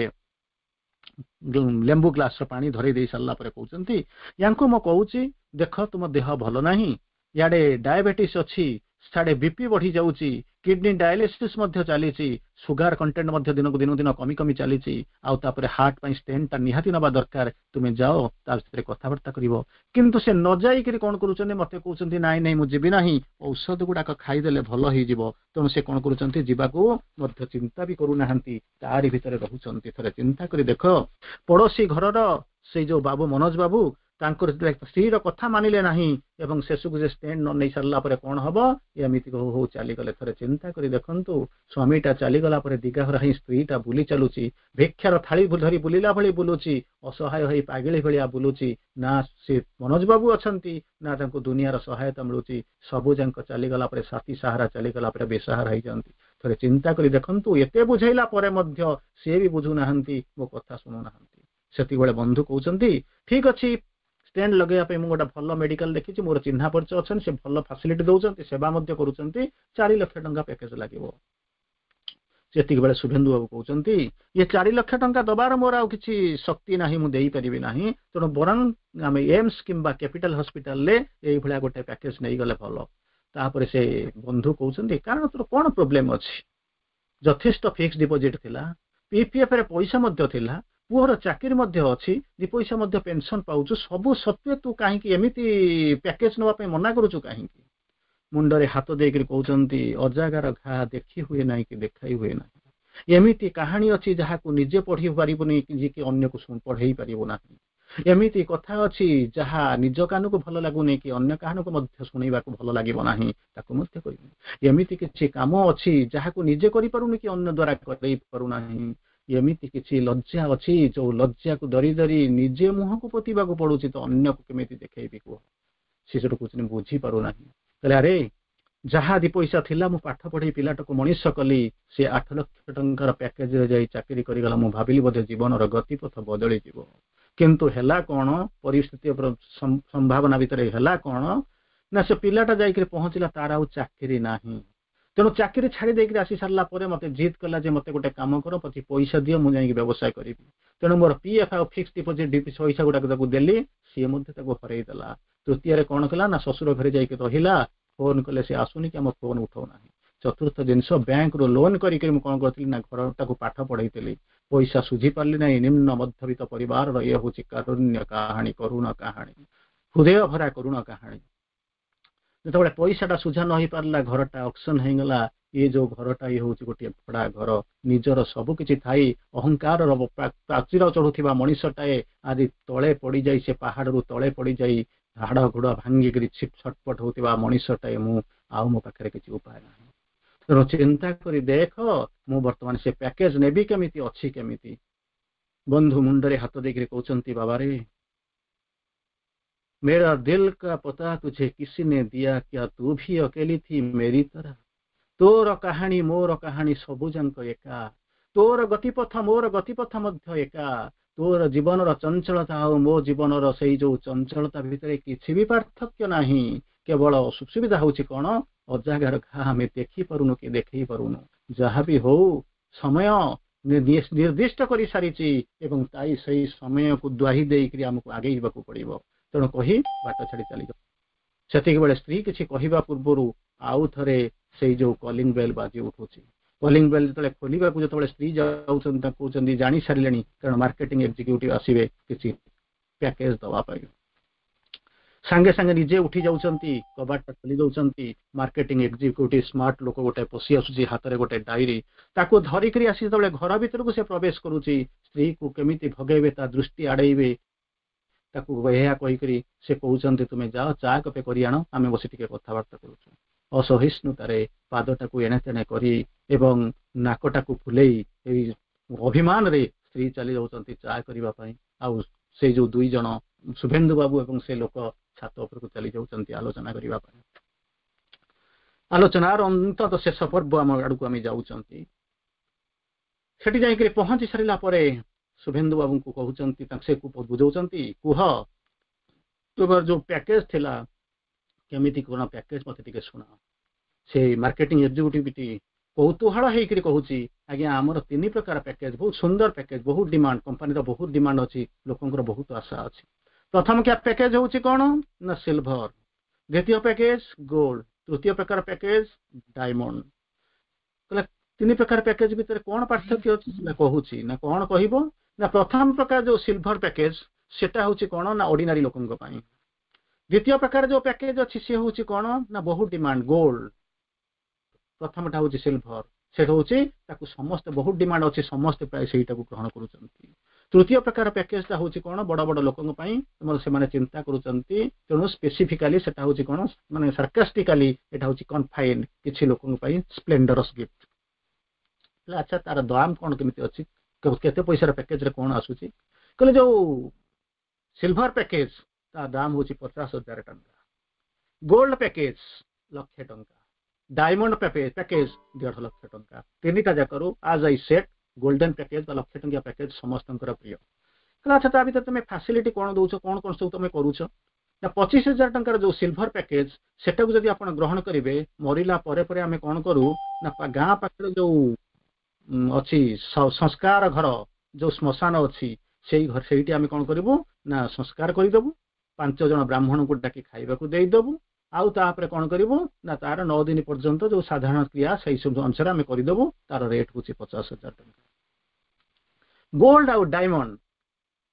ଲେମ୍ବୁ ଗ୍ଲାସର ପାଣି ଧରେଇ ଦେଇ ସାରିଲା ପରେ କହୁଛନ୍ତି, ୟାଙ୍କୁ ମୁଁ କହୁଛି ଦେଖ ତୁମ ଦେହ ଭଲ ନାହିଁ, ଇଆଡ଼େ ଡାଇବେଟିସ୍ ଅଛି, ସାଡେ ବିପି ବଢି ଯାଉଛି, କିଡନୀ ଡାୟାଲିସିସ୍ ମଧ୍ୟ ଚାଲିଛି, ସୁଗାର କଣ୍ଟେଣ୍ଟ ମଧ୍ୟ ଦିନକୁ ଦିନକୁ ଦିନ କମି କମି ଚାଲିଛି, ଆଉ ତାପରେ ହାର୍ଟ ପାଇଁ ଷ୍ଟେଣ୍ଟଟା ନିହାତି ନେବା ଦରକାର, ତୁମେ ଯାଅ ତା ଭିତରେ କଥାବାର୍ତ୍ତା କରିବ। କିନ୍ତୁ ସେ ନ ଯାଇକିରି କଣ କରୁଛନ୍ତି, ମତେ କହୁଛନ୍ତି ନାଇଁ ନାଇଁ ମୁଁ ଯିବି ନାହିଁ, ଔଷଧ ଗୁଡାକ ଖାଇଦେଲେ ଭଲ ହେଇଯିବ। ତେଣୁ ସେ କଣ କରୁଛନ୍ତି, ଯିବାକୁ ମଧ୍ୟ ଚିନ୍ତା ବି କରୁନାହାନ୍ତି, ତାରି ଭିତରେ ରହୁଛନ୍ତି। ଥରେ ଚିନ୍ତା କରି ଦେଖ, ପଡୋଶୀ ଘରର ସେଇ ଯୋଉ ବାବୁ ମନୋଜ ବାବୁ, ତାଙ୍କର ସ୍ତ୍ରୀର କଥା ମାନିଲେ ନାହିଁ ଏବଂ ଶେଷକୁ ସେ ଷ୍ଟେଣ୍ଟ ନ ନେଇ ସାରିଲା ପରେ କଣ ହବ, ଏମିତି ହଉ ହଉ ଚାଲିଗଲେ। ଥରେ ଚିନ୍ତା କରି ଦେଖନ୍ତୁ, ସ୍ୱାମୀଟା ଚାଲିଗଲା ପରେ ଦିଗାହରା ହିଁ ସ୍ତ୍ରୀଟା ବୁଲି ଚାଲୁଛି, ଭିକ୍ଷାର ଥାଳି ଧରି ବୁଲିଲା ଭଳି ବୁଲୁଛି, ଅସହାୟ ହେଇ ପାଗିଳି ଭଳିଆ ବୁଲୁଛି। ନା ସେ ମନୋଜ ବାବୁ ଅଛନ୍ତି, ନା ତାଙ୍କୁ ଦୁନିଆର ସହାୟତା ମିଳୁଛି। ସବୁ ଯାକ ଚାଲିଗଲା ପରେ, ସାଥୀ ସାହାରା ଚାଲିଗଲା ପରେ ବେସାହାରା ହେଇଯାନ୍ତି। ଥରେ ଚିନ୍ତା କରି ଦେଖନ୍ତୁ, ଏତେ ବୁଝେଇଲା ପରେ ମଧ୍ୟ ସିଏ ବି ବୁଝୁନାହାନ୍ତି, ମୋ କଥା ଶୁଣୁନାହାନ୍ତି। ସେତିକିବେଳେ ବନ୍ଧୁ କହୁଛନ୍ତି, ଠିକ ଅଛି, ଷ୍ଟେଣ୍ଟ ଲଗେଇବା ପାଇଁ ମୁଁ ଗୋଟେ ଭଲ ମେଡିକାଲ ଦେଖିଛି, ମୋର ଚିହ୍ନା ପରିଚୟ ଅଛନ୍ତି, ସେ ଭଲ ଫାସିଲିଟି ଦଉଛନ୍ତି, ସେବା ମଧ୍ୟ କରୁଛନ୍ତି, ଚାରି ଲକ୍ଷ ଟଙ୍କା ପ୍ୟାକେଜ ଲାଗିବ। ସେତିକି ବେଳେ ଶୁଭେନ୍ଦୁ ବାବୁ କହୁଛନ୍ତି, ଇଏ ଚାରି ଲକ୍ଷ ଟଙ୍କା ଦବାର ମୋର ଆଉ କିଛି ଶକ୍ତି ନାହିଁ, ମୁଁ ଦେଇପାରିବି ନାହିଁ, ତେଣୁ ବରଂ ଆମେ ଏମ୍ସ କିମ୍ବା କ୍ୟାପିଟାଲ ହସ୍ପିଟାଲରେ ଏଇଭଳିଆ ଗୋଟେ ପ୍ୟାକେଜ ନେଇଗଲେ ଭଲ। ତାପରେ ସେ ବନ୍ଧୁ କହୁଛନ୍ତି, କାରଣ ତୋର କଣ ପ୍ରୋବ୍ଲେମ ଅଛି, ଯଥେଷ୍ଟ ଫିକ୍ସ ଡିପୋଜିଟ୍ ଥିଲା, ପିପିଏଫ ରେ ପଇସା ମଧ୍ୟ ଥିଲା, ପୁଅର ଚାକିରି ମଧ୍ୟ ଅଛି, ଦି ପଇସା ମଧ୍ୟ ପେନସନ ପାଉଛୁ, ସବୁ ସତ୍ତ୍ୱେ ତୁ କାହିଁକି ଏମିତି ପ୍ୟାକେଜ ନେବା ପାଇଁ ମନା କରୁଛୁ କାହିଁକି? ମୁଣ୍ଡରେ ହାତ ଦେଇକରି କହୁଛନ୍ତି, ଅଜାଗାର ଘା ଦେଖି ହୁଏ ନାହିଁ କି ଦେଖାଇ ହୁଏ ନାହିଁ। ଏମିତି କାହାଣୀ ଅଛି ଯାହାକୁ ନିଜେ ପଢି ପାରିବୁନି କି ଅନ୍ୟକୁ ପଢେଇ ପାରିବୁ ନାହିଁ। ଏମିତି କଥା ଅଛି ଯାହା ନିଜ କାନକୁ ଭଲ ଲାଗୁନି କି ଅନ୍ୟ କାହାକୁ ମଧ୍ୟ ଶୁଣିବାକୁ ଭଲ ଲାଗିବ ନାହିଁ, ତାକୁ ମଧ୍ୟ କରିବୁନି। ଏମିତି କିଛି କାମ ଅଛି ଯାହାକୁ ନିଜେ କରିପାରୁନି କି ଅନ୍ୟ ଦ୍ୱାରା କରେଇ ପାରୁନାହିଁ। ଏମିତି କିଛି ଲଜ୍ଜା ଅଛି ଯୋଉ ଲଜ୍ଜାକୁ ଡରି ଡରି ନିଜେ ମୁହଁକୁ ପୋତିବାକୁ ପଡୁଛି, ତ ଅନ୍ୟକୁ କେମିତି ଦେଖେଇବି କୁହ? ସେ ସେଠୁ କହୁଛନ୍ତି ବୁଝିପାରୁନାହିଁ। କହିଲେ ଆରେ ଯାହା ଦି ପଇସା ଥିଲା ମୁଁ ପାଠ ପଢେଇ ପିଲାଟାକୁ ମଣିଷ କଲି, ସେ ଆଠ ଲକ୍ଷ ଟଙ୍କାର ପ୍ୟାକେଜରେ ଯାଇ ଚାକିରି କରିଗଲା। ମୁଁ ଭାବିଲି ବୋଧେ ଜୀବନର ଗତିପଥ ବଦଳିଯିବ, କିନ୍ତୁ ହେଲା କଣ? ପରିସ୍ଥିତି ସମ୍ଭାବନା ଭିତରେ ହେଲା କଣ ନା ସେ ପିଲାଟା ଯାଇକରି ପହଞ୍ଚିଲା, ତାର ଆଉ ଚାକିରି ନାହିଁ। ତେଣୁ ଚାକିରି ଛାଡ଼ି ଦେଇକରି ଆସି ସାରିଲା ପରେ ମତେ ଜିଦ୍ କଲା ଯେ ମତେ ଗୋଟେ କାମ କର, ପଛେ ପଇସା ଦିଅ, ମୁଁ ଯାଇକି ବ୍ୟବସାୟ କରିବି। ତେଣୁ ମୋର ପିଏଫ୍ ଆଉ ଫିକ୍ସ ଡିପୋଜିଟ୍ ପଇସା ଗୁଡାକ ତାକୁ ଦେଲି, ସିଏ ମଧ୍ୟ ତାକୁ ହରେଇ ଦେଲା। ତୃତୀୟରେ କଣ କଲା ନା ଶ୍ୱଶୁର ଘରେ ଯାଇକି ରହିଲା, ଫୋନ କଲେ ସେ ଆସୁନି କି ଆମ ଫୋନ ଉଠାଉନାହିଁ। ଚତୁର୍ଥ ଜିନିଷ, ବ୍ୟାଙ୍କରୁ ଲୋନ କରିକି ମୁଁ କଣ କରିଥିଲି ନା ଘର ତାକୁ ପାଠ ପଢେଇଥିଲି, ପଇସା ସୁଝି ପାରିଲି ନାହିଁ। ନିମ୍ନ ମଧ୍ୟବିତ୍ତ ପରିବାରର ଇଏ ହଉଛି କାରୁଣ୍ୟ କାହାଣୀ, କରୁଣ କାହାଣୀ, ହୃଦୟ ଭରା କରୁଣ କାହାଣୀ। ଯେତେବେଳେ ପଇସାଟା ସୁଝା ନ ହେଇପାରିଲା, ଘରଟା ଅକ୍ସନ ହେଇଗଲା। ଇଏ ଯୋଉ ଘରଟା ଇଏ ହଉଛି ଗୋଟିଏ ଭଡା ଘର। ନିଜର ସବୁ କିଛି ଥାଇ ଅହଙ୍କାରର ପ୍ରାଚୀର ଚଢୁଥିବା ମଣିଷଟାଏ ଆଜି ତଳେ ପଡିଯାଇ, ସେ ପାହାଡରୁ ତଳେ ପଡିଯାଇ ହାଡ ଗୁଡ ଭାଙ୍ଗିକିରି ଛଟପଟ ହଉଥିବା ମଣିଷଟାଏ ମୁଁ, ଆଉ ମୋ ପାଖରେ କିଛି ଉପାୟ ନାହିଁ। ତେଣୁ ଚିନ୍ତା କରି ଦେଖ, ମୁଁ ବର୍ତ୍ତମାନ ସେ ପ୍ୟାକେଜ ନେବି କେମିତି, ଅଛି କେମିତି? ବନ୍ଧୁ ମୁଣ୍ଡରେ ହାତ ଦେଇକିରି କହୁଛନ୍ତି, ବାବାରେ, मेरा दिल का पता तुझे किसी ने दिया क्या, तू भी अकेली थी मेरी तरह। ତୋର କାହାଣୀ ମୋର କାହାଣୀ ସବୁ ଯାକ ଏକା, ତୋର ଗତିପଥ ମୋର ଗତିପଥ ମଧ୍ୟ ଏକା। ତୋର ଜୀବନର ଚଞ୍ଚଳତା ଆଉ ମୋ ଜୀବନର ସେଇ ଯୋଉ ଚଞ୍ଚଳତା ଭିତରେ କିଛି ବି ପାର୍ଥକ୍ୟ ନାହିଁ। କେବଳ ସୁବିଧା ହଉଛି କଣ, ଅଜାଗାର ଘା ଆମେ ଦେଖିପାରୁନୁ କି ଦେଖେଇ ପାରୁନୁ। ଯାହା ବି ହଉ, ସମୟ ନିର୍ଦ୍ଦିଷ୍ଟ କରିସାରିଛି ଏବଂ ତାଇ ସେଇ ସମୟକୁ ଦ୍ୱାହି ଦେଇକରି ଆମକୁ ଆଗେଇ ଯିବାକୁ ପଡିବ। ତେଣୁ କହି ବାଟ ଛାଡି ଚାଲିଯାଉ। ସେତିକି ବେଳେ ସ୍ତ୍ରୀ କିଛି କହିବା ପୂର୍ବରୁ ଆଉ ଥରେ ସେଇ ଯୋଉ କଲିଂ ବେଲ୍ ବାଜି ଉଠୁଛି। କଲିଂ ବେଲ୍ ଯେତେବେଳେ ଖୋଲିବାକୁ ଯେତେବେଳେ ସ୍ତ୍ରୀ ଯାଉଛନ୍ତି, ତାଙ୍କୁ କହୁଛନ୍ତି ଜାଣି ସାରିଲେଣି, କାରଣ ମାର୍କେଟିଂ ଏକ୍ଜିକ୍ୟୁଟିଭ ଆସିବେ କିଛି ପ୍ୟାକେଜ ଦବା ପାଇଁ। ସାଙ୍ଗେ ସାଙ୍ଗେ ନିଜେ ଉଠି ଯାଉଛନ୍ତି, କବାଟଟା ଖୋଲି ଦଉଛନ୍ତି। ମାର୍କେଟିଂ ଏକ୍ଜିକ୍ୟୁଟିଭ ସ୍ମାର୍ଟ ଲୋକ ଗୋଟେ ପଶି ଆସୁଛି, ହାତରେ ଗୋଟେ ଡାଇରୀ। ତାକୁ ଧରିକରି ଆସି ଯେତେବେଳେ ଘର ଭିତରକୁ ସେ ପ୍ରବେଶ କରୁଛି, ସ୍ତ୍ରୀକୁ କେମିତି ଭଗେଇବେ, ତା ଦୃଷ୍ଟି ଆଡେଇବେ, ତାକୁ ଏହା କହିକରି ସେ କହୁଛନ୍ତି, ତୁମେ ଯାଅ ଚା କପେ କରି ଆଣ, ଆମେ ବସି ଟିକେ କଥାବାର୍ତ୍ତା କରୁଛୁ। ଅସହିଷ୍ଣୁତାରେ ପାଦଟାକୁ ଏଣେ ତେଣେ କରି ଏବଂ ନାକଟାକୁ ଫୁଲେଇ ଏଇ ଅଭିମାନରେ ସ୍ତ୍ରୀ ଚାଲି ଯାଉଛନ୍ତି ଚା କରିବା ପାଇଁ। ଆଉ ସେଇ ଯୋଉ ଦୁଇ ଜଣ ଶୁଭେନ୍ଦୁ ବାବୁ ଏବଂ ସେ ଲୋକ ଛାତ ଉପରକୁ ଚାଲି ଯାଉଛନ୍ତି ଆଲୋଚନା କରିବା ପାଇଁ। ଆଲୋଚନାର ଅନ୍ତତଃ ଶେଷ ପର୍ବ ଆମ ଆଡକୁ ଆମେ ଯାଉଛନ୍ତି। ସେଠି ଯାଇକରି ପହଞ୍ଚି ସାରିଲା ପରେ ଶୁଭେନ୍ଦୁ ବାବୁଙ୍କୁ କହୁଛନ୍ତି, ତାଙ୍କୁ ସେ ବୁଝାଉଛନ୍ତି, କୁହ ତୁମର ଯୋଉ ପ୍ୟାକେଜ ଥିଲା କେମିତି କଣ ପ୍ୟାକେଜ, ମତେ ଟିକେ ଶୁଣାଅ। ସେ ମାର୍କେଟିଂ ଏକ୍ଜିକ୍ୟୁଟିଭ କୌତୁହଳ ହେଇକରି କହୁଛି, ଆଜ୍ଞା ଆମର ତିନି ପ୍ରକାର ପ୍ୟାକେଜ, ବହୁତ ସୁନ୍ଦର ପ୍ୟାକେଜ, ବହୁତ ଡିମାଣ୍ଡ, କମ୍ପାନୀର ବହୁତ ଡିମାଣ୍ଡ ଅଛି, ଲୋକଙ୍କର ବହୁତ ଆଶା ଅଛି। ପ୍ରଥମ ପ୍ୟାକେଜ ହଉଛି କଣ ନା ସିଲଭର, ଦ୍ୱିତୀୟ ପ୍ୟାକେଜ ଗୋଲ୍ଡ, ତୃତୀୟ ପ୍ରକାର ପ୍ୟାକେଜ ଡାଇମଣ୍ଡ। କହିଲେ ତିନି ପ୍ରକାର ପ୍ୟାକେଜ ଭିତରେ କଣ ପାର୍ଥକ୍ୟ ଅଛି? ନା କହୁଛି ନା କଣ କହିବ ନା ପ୍ରଥମ ପ୍ରକାର ଯୋଉ ସିଲଭର ପ୍ୟାକେଜ ସେଟା ହଉଛି କଣ ନା ଅର୍ଡିନାରୀ ଲୋକଙ୍କ ପାଇଁ। ଦ୍ୱିତୀୟ ପ୍ରକାର ଯୋଉ ପ୍ୟାକେଜ ଅଛି ସେ ହଉଛି କଣ ନା ବହୁତ ଡିମାଣ୍ଡ ଗୋଲ୍ଡ। ପ୍ରଥମଟା ହଉଛି ସିଲଭର, ସେଟା ହଉଛି ତାକୁ ସମସ୍ତେ ବହୁତ ଡିମାଣ୍ଡ ଅଛି, ସମସ୍ତେ ପ୍ରାୟ ସେଇଟାକୁ ଗ୍ରହଣ କରୁଛନ୍ତି। ତୃତୀୟ ପ୍ରକାର ପ୍ୟାକେଜଟା ହଉଛି କଣ ବଡ ବଡ ଲୋକଙ୍କ ପାଇଁ, ସେମାନେ ଚିନ୍ତା କରୁଛନ୍ତି। ତେଣୁ ସ୍ପେସିଫିକାଲି ସେଟା ହଉଛି କଣ ମାନେ ସାର୍କାଷ୍ଟିକାଲି ଏଟା ହଉଛି କନଫାଇନ୍ କିଛି ଲୋକଙ୍କ ପାଇଁ ସ୍ପ୍ଲେଣ୍ଡରସ୍ ଗିଫ୍ଟ। ଆଚ୍ଛା ତାର ଦାମ କଣ କେମିତି ଅଛି, କେତେ ପଇସାର ପ୍ୟାକେଜରେ କଣ ଆସୁଛି? କହିଲେ ଯୋଉ ସିଲଭର ପ୍ୟାକେଜ ତା ଦାମ ହଉଛି ପଚାଶ ହଜାର ଟଙ୍କା, ଗୋଲ୍ଡ ପ୍ୟାକେଜ ଲକ୍ଷେ ଟଙ୍କା, ଡାଇମଣ୍ଡ ପ୍ୟାକେଜ ଦେଢ ଲକ୍ଷ ଟଙ୍କା। ତିନିଟା ଯାକରୁ ଆଜ I set golden package ବା ଲକ୍ଷେ ଟଙ୍କିଆ ପ୍ୟାକେଜ ସମସ୍ତଙ୍କର ପ୍ରିୟ। କହିଲେ ଆଚ୍ଛା ତା ଭିତରେ ତମେ ଫାସିଲିଟି କଣ ଦଉଛ, କଣ କଣ ସବୁ ତମେ କରୁଛ? ନା ପଚିଶ ହଜାର ଟଙ୍କାର ଯୋଉ ସିଲଭର ପ୍ୟାକେଜ ସେଟାକୁ ଯଦି ଆପଣ ଗ୍ରହଣ କରିବେ, ମରିଲା ପରେ ପରେ ଆମେ କଣ କରୁ ନା ଗାଁ ପାଖରେ ଯୋଉ ଅଛି ସଂସ୍କାର ଘର, ଯୋଉ ଶ୍ମଶାନ ଅଛି, ସେଇ ଘର ସେଇଠି ଆମେ କଣ କରିବୁ ନା ସଂସ୍କାର କରିଦେବୁ, ପାଞ୍ଚ ଜଣ ବ୍ରାହ୍ମଣଙ୍କୁ ଡାକି ଖାଇବାକୁ ଦେଇଦେବୁ, ଆଉ ତାପରେ କଣ କରିବୁ ନା ତାର ନଅ ଦିନ ପର୍ଯ୍ୟନ୍ତ ଯୋଉ ସାଧାରଣ କ୍ରିୟା ସେଇ ସବୁ ଅନୁସାରେ ଆମେ କରିଦେବୁ। ତାର ରେଟ୍ ହଉଛି ପଚାଶ ହଜାର ଟଙ୍କା। ଗୋଲ୍ଡ ଆଉ ଡାଇମଣ୍ଡ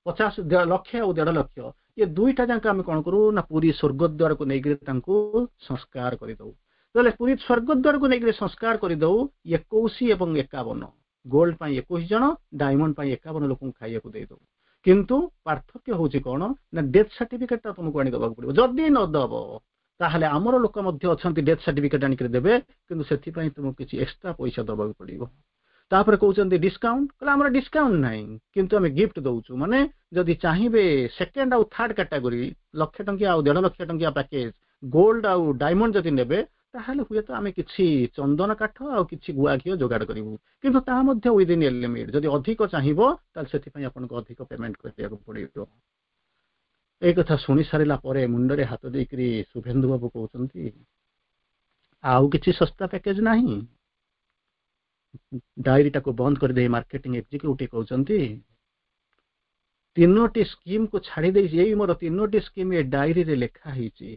ପଚାଶ ଲକ୍ଷ ଆଉ ଦେଢ ଲକ୍ଷ, ଏ ଦୁଇଟା ଯାକ ଆମେ କଣ କରୁ ନା ପୁରୀ ସ୍ୱର୍ଗଦ୍ୱାରକୁ ନେଇକରି ତାଙ୍କୁ ସଂସ୍କାର କରିଦଉ। ତାହେଲେ ପୁରୀ ସ୍ୱର୍ଗଦ୍ୱାରକୁ ନେଇକରି ସଂସ୍କାର କରିଦଉ ଏକୋଇଶ ଏବଂ ଏକାବନ, ଗୋଲ୍ଡ ପାଇଁ ଏକୋଇଶ ଜଣ, ଡାଇମଣ୍ଡ ପାଇଁ ଏକାବନ ଲୋକଙ୍କୁ ଖାଇବାକୁ ଦେଇଦଉ। କିନ୍ତୁ ପାର୍ଥକ୍ୟ ହଉଛି କଣ ନା ଡେଥ୍ ସାର୍ଟିଫିକେଟଟା ତୁମକୁ ଆଣି ଦେବାକୁ ପଡିବ। ଯଦି ନ ଦବ, ତାହେଲେ ଆମର ଲୋକ ମଧ୍ୟ ଅଛନ୍ତି, ଡେଥ୍ ସାର୍ଟିଫିକେଟ ଆଣିକରି ଦେବେ, କିନ୍ତୁ ସେଥିପାଇଁ ତୁମକୁ କିଛି ଏକ୍ସଟ୍ରା ପଇସା ଦେବାକୁ ପଡିବ। ତାପରେ କହୁଛନ୍ତି ଡିସକାଉଣ୍ଟ। କହିଲେ ଆମର ଡିସକାଉଣ୍ଟ ନାହିଁ, କିନ୍ତୁ ଆମେ ଗିଫ୍ଟ ଦଉଛୁ। ମାନେ ଯଦି ଚାହିଁବେ ସେକେଣ୍ଡ ଆଉ ଥାର୍ଡ କାଟାଗୋରୀ, ଲକ୍ଷେ ଟଙ୍କିଆ ଆଉ ଦେଢ ଲକ୍ଷ ଟଙ୍କିଆ ପ୍ୟାକେଜ, ଗୋଲ୍ଡ ଆଉ ଡାଇମଣ୍ଡ ଯଦି ନେବେ, ତାହେଲେ ହୁଏତ ଆମେ କିଛି ଚନ୍ଦନ କାଠ ଆଉ କିଛି ଗୁଆ ଘିଅ ଯୋଗାଡ଼ କରିବୁ, କିନ୍ତୁ ତାହା ମଧ୍ୟ ୱିଦିନ୍ ଏ ଲିମିଟ୍। ଯଦି ଅଧିକ ଚାହିଁବ, ତାହେଲେ ସେଥିପାଇଁ ଆପଣଙ୍କୁ ଅଧିକ ପେମେଣ୍ଟ କରିବାକୁ ପଡିବ। ଏଇ କଥା ଶୁଣି ସାରିଲା ପରେ ମୁଣ୍ଡରେ ହାତ ଦେଇକରି ଶୁଭେନ୍ଦୁ ବାବୁ କହୁଛନ୍ତି, ଆଉ କିଛି ଶସ୍ତା ପ୍ୟାକେଜ ନାହିଁ? ଡାଏରୀଟାକୁ ବନ୍ଦ କରିଦେଇ ମାର୍କେଟିଂ ଏକ୍ଜିକ୍ୟୁଟିଭ କହୁଛନ୍ତି, ତିନୋଟି ସ୍କିମ୍କୁ ଛାଡ଼ି ଦେଇଛି। ଏଇ ମୋର ତିନୋଟି ସ୍କିମ୍ ଏ ଡାଏରୀରେ ଲେଖା ହେଇଛି।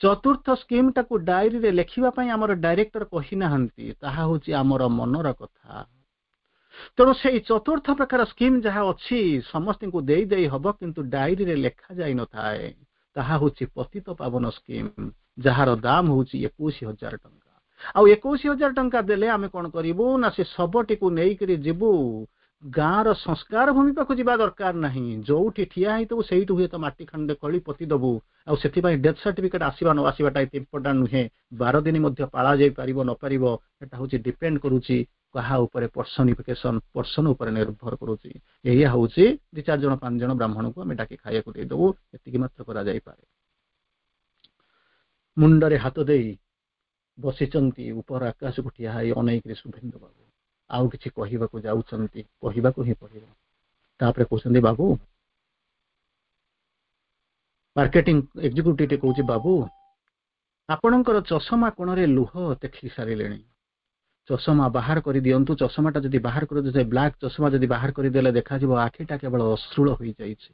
ଚତୁର୍ଥ ସ୍କିମ୍ଟାକୁ ଡାଏରୀରେ ଲେଖିବା ପାଇଁ ଆମର ଡାଇରେକ୍ଟର କହିନାହାନ୍ତି। ତାହା ହଉଛି ଆମର ମନର କଥା। ତେଣୁ ସେଇ ଚତୁର୍ଥ ପ୍ରକାର ସ୍କିମ୍ ଯାହା ଅଛି, ସମସ୍ତଙ୍କୁ ଦେଇ ଦେଇ ହବ, କିନ୍ତୁ ଡାଏରୀରେ ଲେଖା ଯାଇନଥାଏ। ତାହା ହଉଛି ପତିତ ପାବନ ସ୍କିମ୍, ଯାହାର ଦାମ ହଉଛି ଏକୋଇଶ ହଜାର ଟଙ୍କା। ଆଉ ଏକୋଇଶ ହଜାର ଟଙ୍କା ଦେଲେ ଆମେ କଣ କରିବୁ ନା ସେ ଶବଟିକୁ ନେଇକରି ଯିବୁ। ଗାଁର ସଂସ୍କାର ଭୂମି ପାଖକୁ ଯିବା ଦରକାର ନାହିଁ। ଯୋଉଠି ଠିଆ ହେଇଥିବୁ, ସେଇଠୁ ହୁଏତ ମାଟି ଖଣ୍ଡେ ଖୋଳି ପୋତି ଦବୁ। ଆଉ ସେଥିପାଇଁ ଡେଥ୍ ସାର୍ଟିଫିକେଟ ଆସିବା ନ ଆସିବାଟା ଏତେ ଇମ୍ପୋର୍ଟାଣ୍ଟ ନୁହେଁ। ବାର ଦିନ ମଧ୍ୟ ପାଳା ଯାଇପାରିବ ନପାରିବ, ସେଟା ହଉଛି ଡିପେଣ୍ଡ କରୁଛି କାହା ଉପରେ? ପର୍ସନିଫିକେସନ, ପର୍ସନ ଉପରେ ନିର୍ଭର କରୁଛି। ଏଇଆ ହଉଛି, ଦି ଚାରି ଜଣ ପାଞ୍ଚ ଜଣ ବ୍ରାହ୍ମଣକୁ ଆମେ ଡାକି ଖାଇବାକୁ ଦେଇଦବୁ, ଏତିକି ମାତ୍ର କରାଯାଇପାରେ। ମୁଣ୍ଡରେ ହାତ ଦେଇ ବସିଛନ୍ତି ଉପର ଆକାଶକୁ ଠିଆ ହେଇ ଅନେଇକିରି ଶୁଭେନ୍ଦୁ ବାବୁ। ଆଉ କିଛି କହିବାକୁ ଯାଉଛନ୍ତି, କହିବାକୁ ହିଁ ପଡିବ। ତାପରେ କହୁଛନ୍ତି, ବାବୁ, ମାର୍କେଟିଂ ଏକ୍ଜିକ୍ୟୁଟିଭ କହୁଛି, ବାବୁ, ଆପଣଙ୍କର ଚଷମା କୋଣରେ ଲୁହ ଦେଖି ସାରିଲେଣି। ଚଷମା ବାହାର କରିଦିଅନ୍ତୁ। ଚଷମାଟା ଯଦି ବାହାର କରିଦେବେ, ବ୍ଲାକ୍ ଚଷମା ଯଦି ବାହାର କରିଦେଲେ, ଦେଖାଯିବ ଆଖିଟା କେବଳ ଅଶ୍ରୁଳ ହୋଇଯାଇଛି।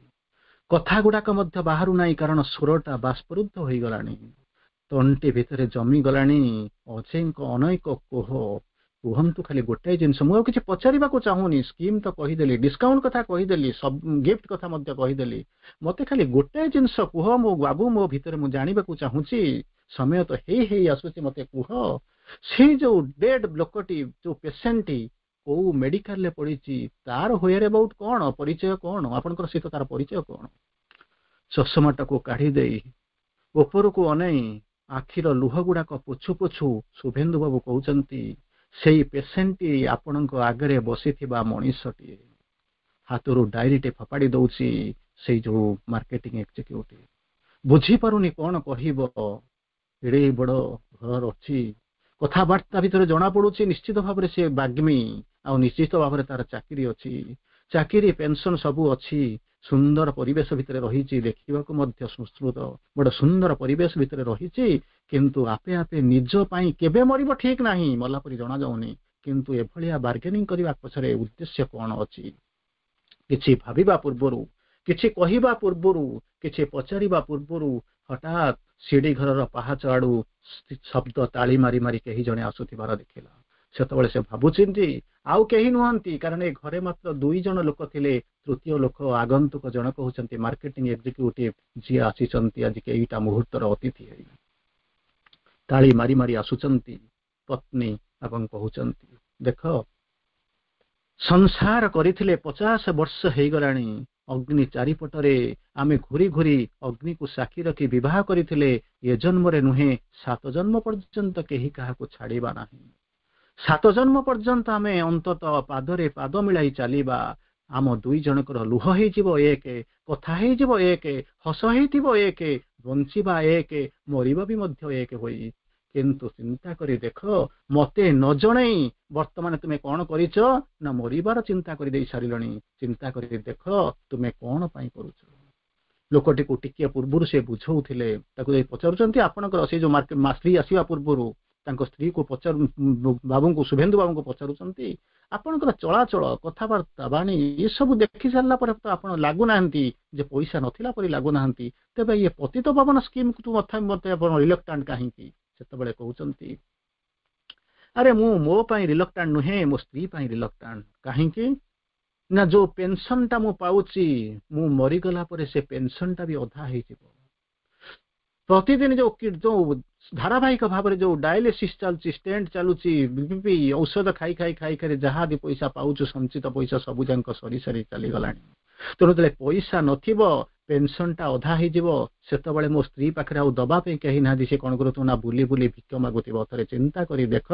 କଥା ଗୁଡାକ ମଧ୍ୟ ବାହାରୁ ନାହିଁ, କାରଣ ସ୍ୱରଟା ବାଷ୍ପରୁଦ୍ଧ ହୋଇଗଲାଣି। ତଣ୍ଟି ଭିତରେ ଜମିଗଲାଣି ଅଜେଙ୍କ ଅନେକ କୋହ। କୁହନ୍ତୁ ଖାଲି ଗୋଟାଏ ଜିନିଷ, ମୁଁ ଆଉ କିଛି ପଚାରିବାକୁ ଚାହୁଁନି। ସ୍କିମ୍ ତ କହିଦେଲି, ଡିସକାଉଣ୍ଟ କଥା କହିଦେଲି, ସବୁ ଗିଫ୍ଟ କଥା ମଧ୍ୟ କହିଦେଲି। ମତେ ଖାଲି ଗୋଟାଏ ଜିନିଷ କୁହ ମୋ ବାବୁ, ମୋ ଭିତରେ ମୁଁ ଜାଣିବାକୁ ଚାହୁଁଛି। ସମୟ ତ ହେଇ ହେଇ ଆସୁଛି। ମତେ କୁହ, ସେଇ ଯୋଉ ଡେଡ୍ ଲୋକଟି, ଯୋଉ ପେସେଣ୍ଟଟି କୋଉ ମେଡିକାଲରେ ପଡିଛି, ତାର ହ୍ୱେୟାର ଏବାଉଟ କଣ, ପରିଚୟ କଣ ଆପଣଙ୍କର ସହିତ ତାର ପରିଚୟ କଣ? ଚଷମାଟାକୁ କାଢି ଦେଇ ଉପରକୁ ଅନେଇ ଆଖିର ଲୁହ ଗୁଡାକ ପୋଛୁ ପୋଛୁ ଶୁଭେନ୍ଦୁ ବାବୁ କହୁଛନ୍ତି, ସେଇ ପେସେଣ୍ଟଟି ଆପଣଙ୍କ ଆଗରେ ବସିଥିବା ମଣିଷଟିଏ। ହାତରୁ ଡାଏରୀଟେ ଫୋପାଡ଼ି ଦଉଛି ସେଇ ଯୋଉ ମାର୍କେଟିଂ ଏକ୍ଜିକ୍ୟୁଟିଭ। ବୁଝିପାରୁନି କଣ କହିବ। ଏଡ଼େ ବଡ ଘର ଅଛି, କଥାବାର୍ତ୍ତା ଭିତରେ ଜଣା ପଡୁଛି ନିଶ୍ଚିତ ଭାବରେ ସେ ବାଗ୍ମୀ, ଆଉ ନିଶ୍ଚିତ ଭାବରେ ତାର ଚାକିରି ଅଛି, ଚାକିରି ପେନସନ ସବୁ ଅଛି। ସୁନ୍ଦର ପରିବେଶ ଭିତରେ ରହିଛି, ଦେଖିବାକୁ ମଧ୍ୟ ସୁଶ୍ରୁତ, ବଡ ସୁନ୍ଦର ପରିବେଶ ଭିତରେ ରହିଛି। କିନ୍ତୁ ଆପେ ଆପେ ନିଜ ପାଇଁ କେବେ ମରିବ ଠିକ ନାହିଁ, ମଲା ପରି ଜଣାଯାଉନି। କିନ୍ତୁ ଏଭଳିଆ ବାର୍ଗେନିଂ କରିବା ପଛରେ ଉଦ୍ଦେଶ୍ୟ କଣ ଅଛି? କିଛି ଭାବିବା ପୂର୍ବରୁ, କିଛି କହିବା ପୂର୍ବରୁ, କିଛି ପଚାରିବା ପୂର୍ବରୁ ହଠାତ୍ ସିଡି ଘରର ପାହାଚ ଆଡୁ ଶବ୍ଦ ତାଳି ମାରି ମାରି କେହି ଜଣେ ଆସୁଥିବାର ଦେଖିଲା। ସେତେବେଳେ ସେ ଭାବୁଛନ୍ତି ଆଉ କେହି ନୁହନ୍ତି, କାରଣ ଏ ଘରେ ମାତ୍ର ଦୁଇ ଜଣ ଲୋକ ଥିଲେ। ତୃତୀୟ ଲୋକ ଆଗନ୍ତୁକ ଜଣକ ହଉଛନ୍ତି ମାର୍କେଟିଂ ଏକ୍ଜିକ୍ୟୁଟିଭ, ଯିଏ ଆସିଛନ୍ତି ଆଜି କେଇଟା ମୁହୂର୍ତ୍ତର ଅତିଥି ହେଇ। ତାଳି ମାରି ମାରି ଆସୁଛନ୍ତି ପତ୍ନୀ ଏବଂ କହୁଛନ୍ତି, ଦେଖ, ସଂସାର କରିଥିଲେ ପଚାଶ ବର୍ଷ ହେଇଗଲାଣି। ଅଗ୍ନି ଚାରିପଟରେ ଆମେ ଘୁରି ଘୁରି ଅଗ୍ନିକୁ ସାକ୍ଷୀ ରଖି ବିବାହ କରିଥିଲେ। ଏ ଜନ୍ମରେ ନୁହେଁ, ସାତ ଜନ୍ମ ପର୍ଯ୍ୟନ୍ତ କେହି କାହାକୁ ଛାଡ଼ିବା ନାହିଁ। ସାତ ଜନ୍ମ ପର୍ଯ୍ୟନ୍ତ ଆମେ ଅନ୍ତତଃ ପାଦରେ ପାଦ ମିଳାଇ ଚାଲିବା। ଆମ ଦୁଇ ଜଣଙ୍କର ଲୁହ ହେଇଯିବ ଏକ, କଥା ହେଇଯିବ ଏକ, ହସ ହେଇଥିବ ଏକ, ବଞ୍ଚିବା ଏକ, ମରିବା ବି ମଧ୍ୟ ଏକ ହୋଇ। କିନ୍ତୁ ଚିନ୍ତା କରି ଦେଖ, ମତେ ନ ଜଣେଇ ବର୍ତ୍ତମାନ ତୁମେ କଣ କରିଛ ନା ମରିବାର ଚିନ୍ତା କରିଦେଇ ସାରିଲଣି। ଚିନ୍ତା କରି ଦେଖ, ତୁମେ କଣ ପାଇଁ କରୁଛ? ଲୋକଟିକୁ ଟିକିଏ ପୂର୍ବରୁ ସେ ବୁଝଉଥିଲେ। ତାକୁ ଯାଇ ପଚାରୁଛନ୍ତି, ଆପଣଙ୍କର ସେଇ ଯୋଉ ସ୍ତ୍ରୀ ଆସିବା ପୂର୍ବରୁ ତାଙ୍କ ସ୍ତ୍ରୀକୁ ପଚାରୁ, ବାବୁଙ୍କୁ, ଶୁଭେନ୍ଦୁ ବାବୁଙ୍କୁ ପଚାରୁଛନ୍ତି, ଆପଣଙ୍କର ଚଳାଚଳ, କଥାବାର୍ତ୍ତା, ବାଣୀ ଏସବୁ ଦେଖି ସାରିଲା ପରେ ତ ଆପଣ ଲାଗୁନାହାନ୍ତି ଯେ ପଇସା ନଥିଲା ପରି ଲାଗୁନାହାନ୍ତି। ତେବେ ଇଏ ପତିତ ପାବନ ସ୍କିମ୍କୁ ମତେ ଆପଣ ରିଲକ୍ଟାଣ୍ଟ କାହିଁକି? ସେତେବେଳେ କହୁଛନ୍ତି, ଆରେ ମୁଁ ମୋ ପାଇଁ ରିଲକ୍ଟାଣ୍ଟ ନୁହେଁ, ମୋ ସ୍ତ୍ରୀ ପାଇଁ ରିଲକ୍ଟାଣ୍ଟ। କାହିଁକି ନା ଯୋଉ ପେନସନଟା ମୁଁ ପାଉଛି, ମୁଁ ମରିଗଲା ପରେ ସେ ପେନସନଟା ବି ଅଧା ହେଇଯିବ। ପ୍ରତିଦିନ ଯୋଉ ଯୋଉ ଧାରାବାହିକ ଭାବରେ ଯୋଉ ଡାୟାଲିସିସ୍ ଚାଲୁଛି, ଷ୍ଟେଣ୍ଟ ଚାଲୁଛି, ବିପି ଔଷଧ ଖାଇ ଖାଇ ଖାଇ ଖାଇ ଯାହା ବି ପଇସା ପାଉଛୁ, ସଞ୍ଚିତ ପଇସା ସବୁ ଯାକ ସରି ସରି ଚାଲିଗଲାଣି। ତେଣୁ ଯେତେବେଳେ ପଇସା ନଥିବ, ପେନସନଟା ଅଧା ହେଇଯିବ, ସେତେବେଳେ ମୋ ସ୍ତ୍ରୀ ପାଖରେ ଆଉ ଦବା ପାଇଁ କେହି ନାହାନ୍ତି। ସେ କଣ କରୁଥିବ ନା ବୁଲି ବୁଲି ଭିକ ମାଗୁଥିବ। ଥରେ ଚିନ୍ତା କରି ଦେଖ,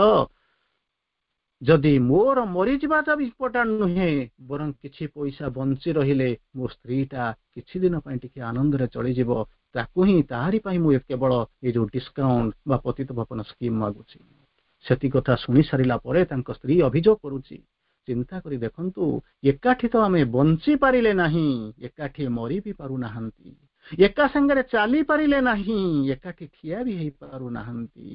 ଯଦି ମୋର ମରିଯିବାଟା ବି ଇମ୍ପୋର୍ଟାଣ୍ଟ ନୁହେଁ, ବରଂ କିଛି ପଇସା ବଞ୍ଚି ରହିଲେ ମୋ ସ୍ତ୍ରୀଟା କିଛି ଦିନ ପାଇଁ ଟିକେ ଆନନ୍ଦରେ ଚଳିଯିବ, ତାକୁ ହିଁ, ତାହାରି ପାଇଁ ମୁଁ କେବଳ ଏଇ ଯୋଉ ଡିସକାଉଣ୍ଟ ବା ପତିତ ପାବନ ସ୍କିମ୍ ମାଗୁଛି। ସେତିକି କଥା ଶୁଣି ସାରିଲା ପରେ ତାଙ୍କ ସ୍ତ୍ରୀ ଅଭିଯୋଗ କରୁଛି, ଚିନ୍ତା କରି ଦେଖନ୍ତୁ, ଏକାଠି ତ ଆମେ ବଞ୍ଚି ପାରିଲେ ନାହିଁ, ଏକାଠି ମରି ବି ପାରୁନାହାନ୍ତି। ଏକା ସାଙ୍ଗରେ ଚାଲି ପାରିଲେ ନାହିଁ, ଏକାଠି ଠିଆ ବି ହେଇପାରୁନାହାନ୍ତି।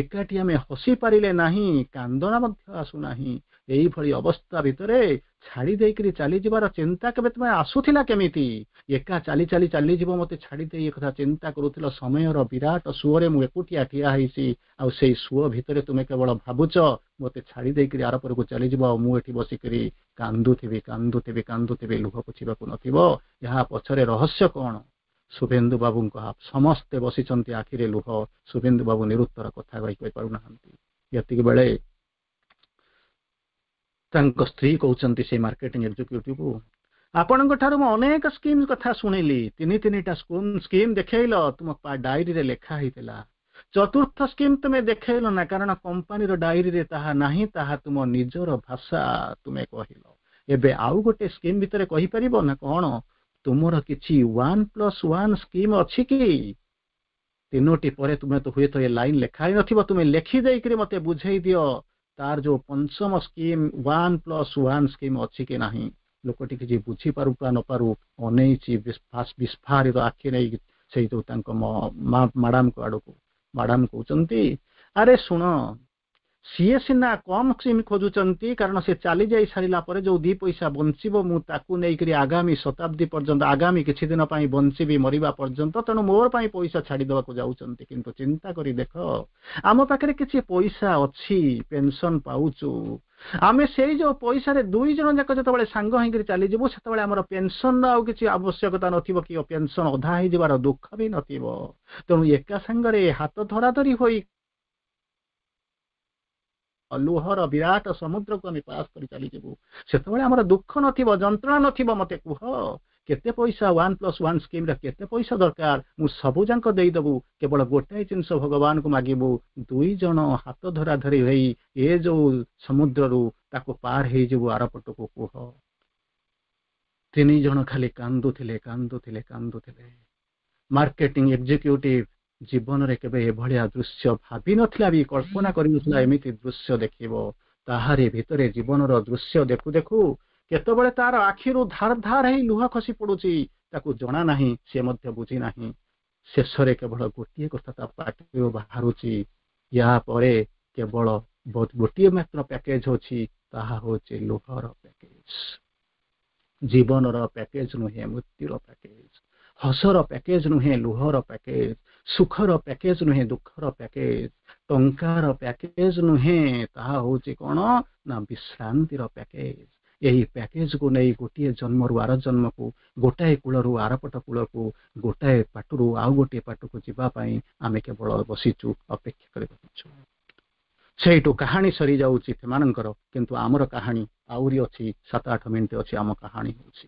ଏକାଠି ଆମେ ହସି ପାରିଲେ ନାହିଁ, କାନ୍ଦଣା ମଧ୍ୟ ଆସୁନାହିଁ। ଏଇଭଳି ଅବସ୍ଥା ଭିତରେ ଛାଡି ଦେଇକରି ଚାଲିଯିବାର ଚିନ୍ତା କେବେ ତୁମେ ଆସୁଥିଲା କେମିତି? ଏକା ଚାଲି ଚାଲି ଚାଲିଯିବ ମତେ ଛାଡି ଦେଇ, ଏକଥା ଚିନ୍ତା କରୁଥିଲ? ସମୟର ବିରାଟ ସୁଅରେ ମୁଁ ଏକୁଟିଆ ଠିଆ ହେଇଛି, ଆଉ ସେଇ ସୁଅ ଭିତରେ ତୁମେ କେବଳ ଭାବୁଛ ମତେ ଛାଡି ଦେଇକରି ଆରପରକୁ ଚାଲିଯିବ, ଆଉ ମୁଁ ଏଠି ବସିକରି କାନ୍ଦୁଥିବି, କାନ୍ଦୁଥିବି, କାନ୍ଦୁଥିବି, ଲୁହ ପୋଛିବାକୁ ନଥିବ। ଏହା ପଛରେ ରହସ୍ୟ କଣ? ଶୁଭେନ୍ଦୁ ବାବୁଙ୍କ ସମସ୍ତେ ବସିଛନ୍ତି, ଆଖିରେ ଲୁହ। ଶୁଭେନ୍ଦୁ ବାବୁ ନିରୁତ୍ତର, କଥା କହି କହିପାରୁନାହାନ୍ତି। ଏତିକି ବେଳେ ତାଙ୍କ ସ୍ତ୍ରୀ କହୁଛନ୍ତି ସେଇ ମାର୍କେଟିଂ ଏକ୍ଜିକ୍ୟୁଟିଭ, ଆପଣଙ୍କ ଠାରୁ ମୁଁ ଅନେକ ସ୍କିମ୍ କଥା ଶୁଣିଲି। ତିନି ତିନିଟା ସ୍କିମ୍ ଦେଖେଇଲ, ତୁମ ଡାଏରୀରେ ଲେଖା ହେଇଥିଲା। ଚତୁର୍ଥ ସ୍କିମ୍ ତୁମେ ଦେଖେଇଲ ନା, କାରଣ କମ୍ପାନୀର ଡାଏରୀରେ ତାହା ନାହିଁ, ତାହା ତୁମ ନିଜର ଭାଷା ତୁମେ କହିଲ। ଏବେ ଆଉ ଗୋଟେ ସ୍କିମ୍ ଭିତରେ କହିପାରିବ ନା କଣ? ତୁମର କିଛି ୱାନ୍ ପ୍ଲସ୍ ୱାନ୍ ସ୍କିମ୍ ଅଛି କି? ତିନୋଟି ପରେ ତୁମେ ତ ହୁଏତ ଏ ଲାଇନ୍ ଲେଖା ହେଇନଥିବ, ତୁମେ ଲେଖି ଦେଇକରି ମତେ ବୁଝେଇ ଦିଅ, ତାର ଯୋଉ ପଞ୍ଚମ scheme one plus one scheme ଅଛି କି ନାହିଁ? ଲୋକଟି କିଛି ବୁଝିପାରୁ ବା ନପାରୁ ଅନେଇଛି ବିସ୍ଫାରିତ ଆଖି ନେଇ ସେଇ ଯୋଉ ତାଙ୍କ ମାଡାମଙ୍କ ଆଡକୁ। ମାଡାମ କହୁଛନ୍ତି, ଆରେ ଶୁଣ, ସିଏ ସିନା କମ ସ୍କିମ୍ ଖୋଜୁଛନ୍ତି, କାରଣ ସେ ଚାଲି ଯାଇ ସାରିଲା ପରେ ଯୋଉ ଦି ପଇସା ବଞ୍ଚିବ, ମୁଁ ତାକୁ ନେଇକରି ଆଗାମୀ ଶତାବ୍ଦୀ ପର୍ଯ୍ୟନ୍ତ, ଆଗାମୀ କିଛି ଦିନ ପାଇଁ ବଞ୍ଚିବି ମରିବା ପର୍ଯ୍ୟନ୍ତ। ତେଣୁ ମୋର ପାଇଁ ପଇସା ଛାଡିଦେବାକୁ ଯାଉଛନ୍ତି। କିନ୍ତୁ ଚିନ୍ତା କରି ଦେଖ, ଆମ ପାଖରେ କିଛି ପଇସା ଅଛି, ପେନସନ ପାଉଛୁ ଆମେ। ସେଇ ଯୋଉ ପଇସାରେ ଦୁଇ ଜଣ ଯାକ ଯେତେବେଳେ ସାଙ୍ଗ ହେଇକରି ଚାଲିଯିବୁ, ସେତେବେଳେ ଆମର ପେନସନର ଆଉ କିଛି ଆବଶ୍ୟକତା ନଥିବ କି ପେନସନ ଅଧା ହେଇଯିବାର ଦୁଃଖ ବି ନଥିବ। ତେଣୁ ଏକା ସାଙ୍ଗରେ ହାତ ଧରାଧରି ହୋଇ ଲୁହର ବିରାଟ ସମୁଦ୍ରକୁ ଆମେ ପାସ୍ କରି ଚାଲିଯିବୁ, ସେତେବେଳେ ଆମର ଦୁଃଖ ନଥିବ, ଯନ୍ତ୍ରଣା ନଥିବ। ମତେ କୁହ, କେତେ ପଇସା, ୱାନ୍ ପ୍ଲସ୍ ୱାନ୍ ସ୍କିମ୍ରେ କେତେ ପଇସା ଦରକାର? ମୁଁ ସବୁ ଯାକ ଦେଇଦେବୁ। କେବଳ ଗୋଟାଏ ଜିନିଷ ଭଗବାନଙ୍କୁ ମାଗିବୁ, ଦୁଇ ଜଣ ହାତ ଧରା ଧରି ହେଇ ଏ ଯୋଉ ସମୁଦ୍ରରୁ ତାକୁ ପାର ହେଇଯିବୁ ଆରପଟକୁ, କୁହ। ତିନି ଜଣ ଖାଲି କାନ୍ଦୁଥିଲେ, କାନ୍ଦୁଥିଲେ, କାନ୍ଦୁଥିଲେ। ମାର୍କେଟିଂ ଏକ୍ଜିକ୍ୟୁଟିଭ ଜୀବନରେ କେବେ ଏଭଳିଆ ଦୃଶ୍ୟ ଭାବିନଥିଲା ବି, କଳ୍ପନା କରିନଥିଲା ଏମିତି ଦୃଶ୍ୟ ଦେଖିବ। ତାହାରି ଭିତରେ ଜୀବନର ଦୃଶ୍ୟ ଦେଖୁ ଦେଖୁ କେତେବେଳେ ତାର ଆଖିରୁ ଧାର ଧାର ହେଇ ଲୁହ ଖସି ପଡୁଛି, ତାକୁ ଜଣା ନାହିଁ, ସେ ମଧ୍ୟ ବୁଝି ନାହିଁ। ଶେଷରେ କେବଳ ଗୋଟିଏ କଥା ତା ପାଟିରୁ ବାହାରୁଛି, ୟା ପରେ କେବଳ ଗୋଟିଏ ମାତ୍ର ପ୍ୟାକେଜ ଅଛି, ତାହା ହଉଛି ଲୁହର ପ୍ୟାକେଜ। ଜୀବନର ପ୍ୟାକେଜ ନୁହେଁ, ମୃତ୍ୟୁର ପ୍ୟାକେଜ। ହସର ପ୍ୟାକେଜ ନୁହେଁ, ଲୁହର ପ୍ୟାକେଜ। ସୁଖର ପ୍ୟାକେଜ ନୁହେଁ, ଦୁଃଖର ପ୍ୟାକେଜ। ଟଙ୍କାର ପ୍ୟାକେଜ ନୁହେଁ, ତାହା ହଉଛି କଣ ନା ବିଶ୍ରାନ୍ତିର ପ୍ୟାକେଜ। ଏହି ପ୍ୟାକେଜକୁ ନେଇ ଗୋଟିଏ ଜନ୍ମରୁ ଆର ଜନ୍ମକୁ, ଗୋଟାଏ କୂଳରୁ ଆରପଟ କୂଳକୁ, ଗୋଟାଏ ପାଟରୁ ଆଉ ଗୋଟିଏ ପାଟକୁ ଯିବା ପାଇଁ ଆମେ କେବଳ ବସିଛୁ, ଅପେକ୍ଷା କରି ବସିଛୁ। ସେଇଠୁ କାହାଣୀ ସରିଯାଉଛି ସେମାନଙ୍କର, କିନ୍ତୁ ଆମର କାହାଣୀ ଆହୁରି ଅଛି। ସାତ ଆଠ ମିନିଟ୍ ଅଛି, ଆମ କାହାଣୀ ହେଉଛି।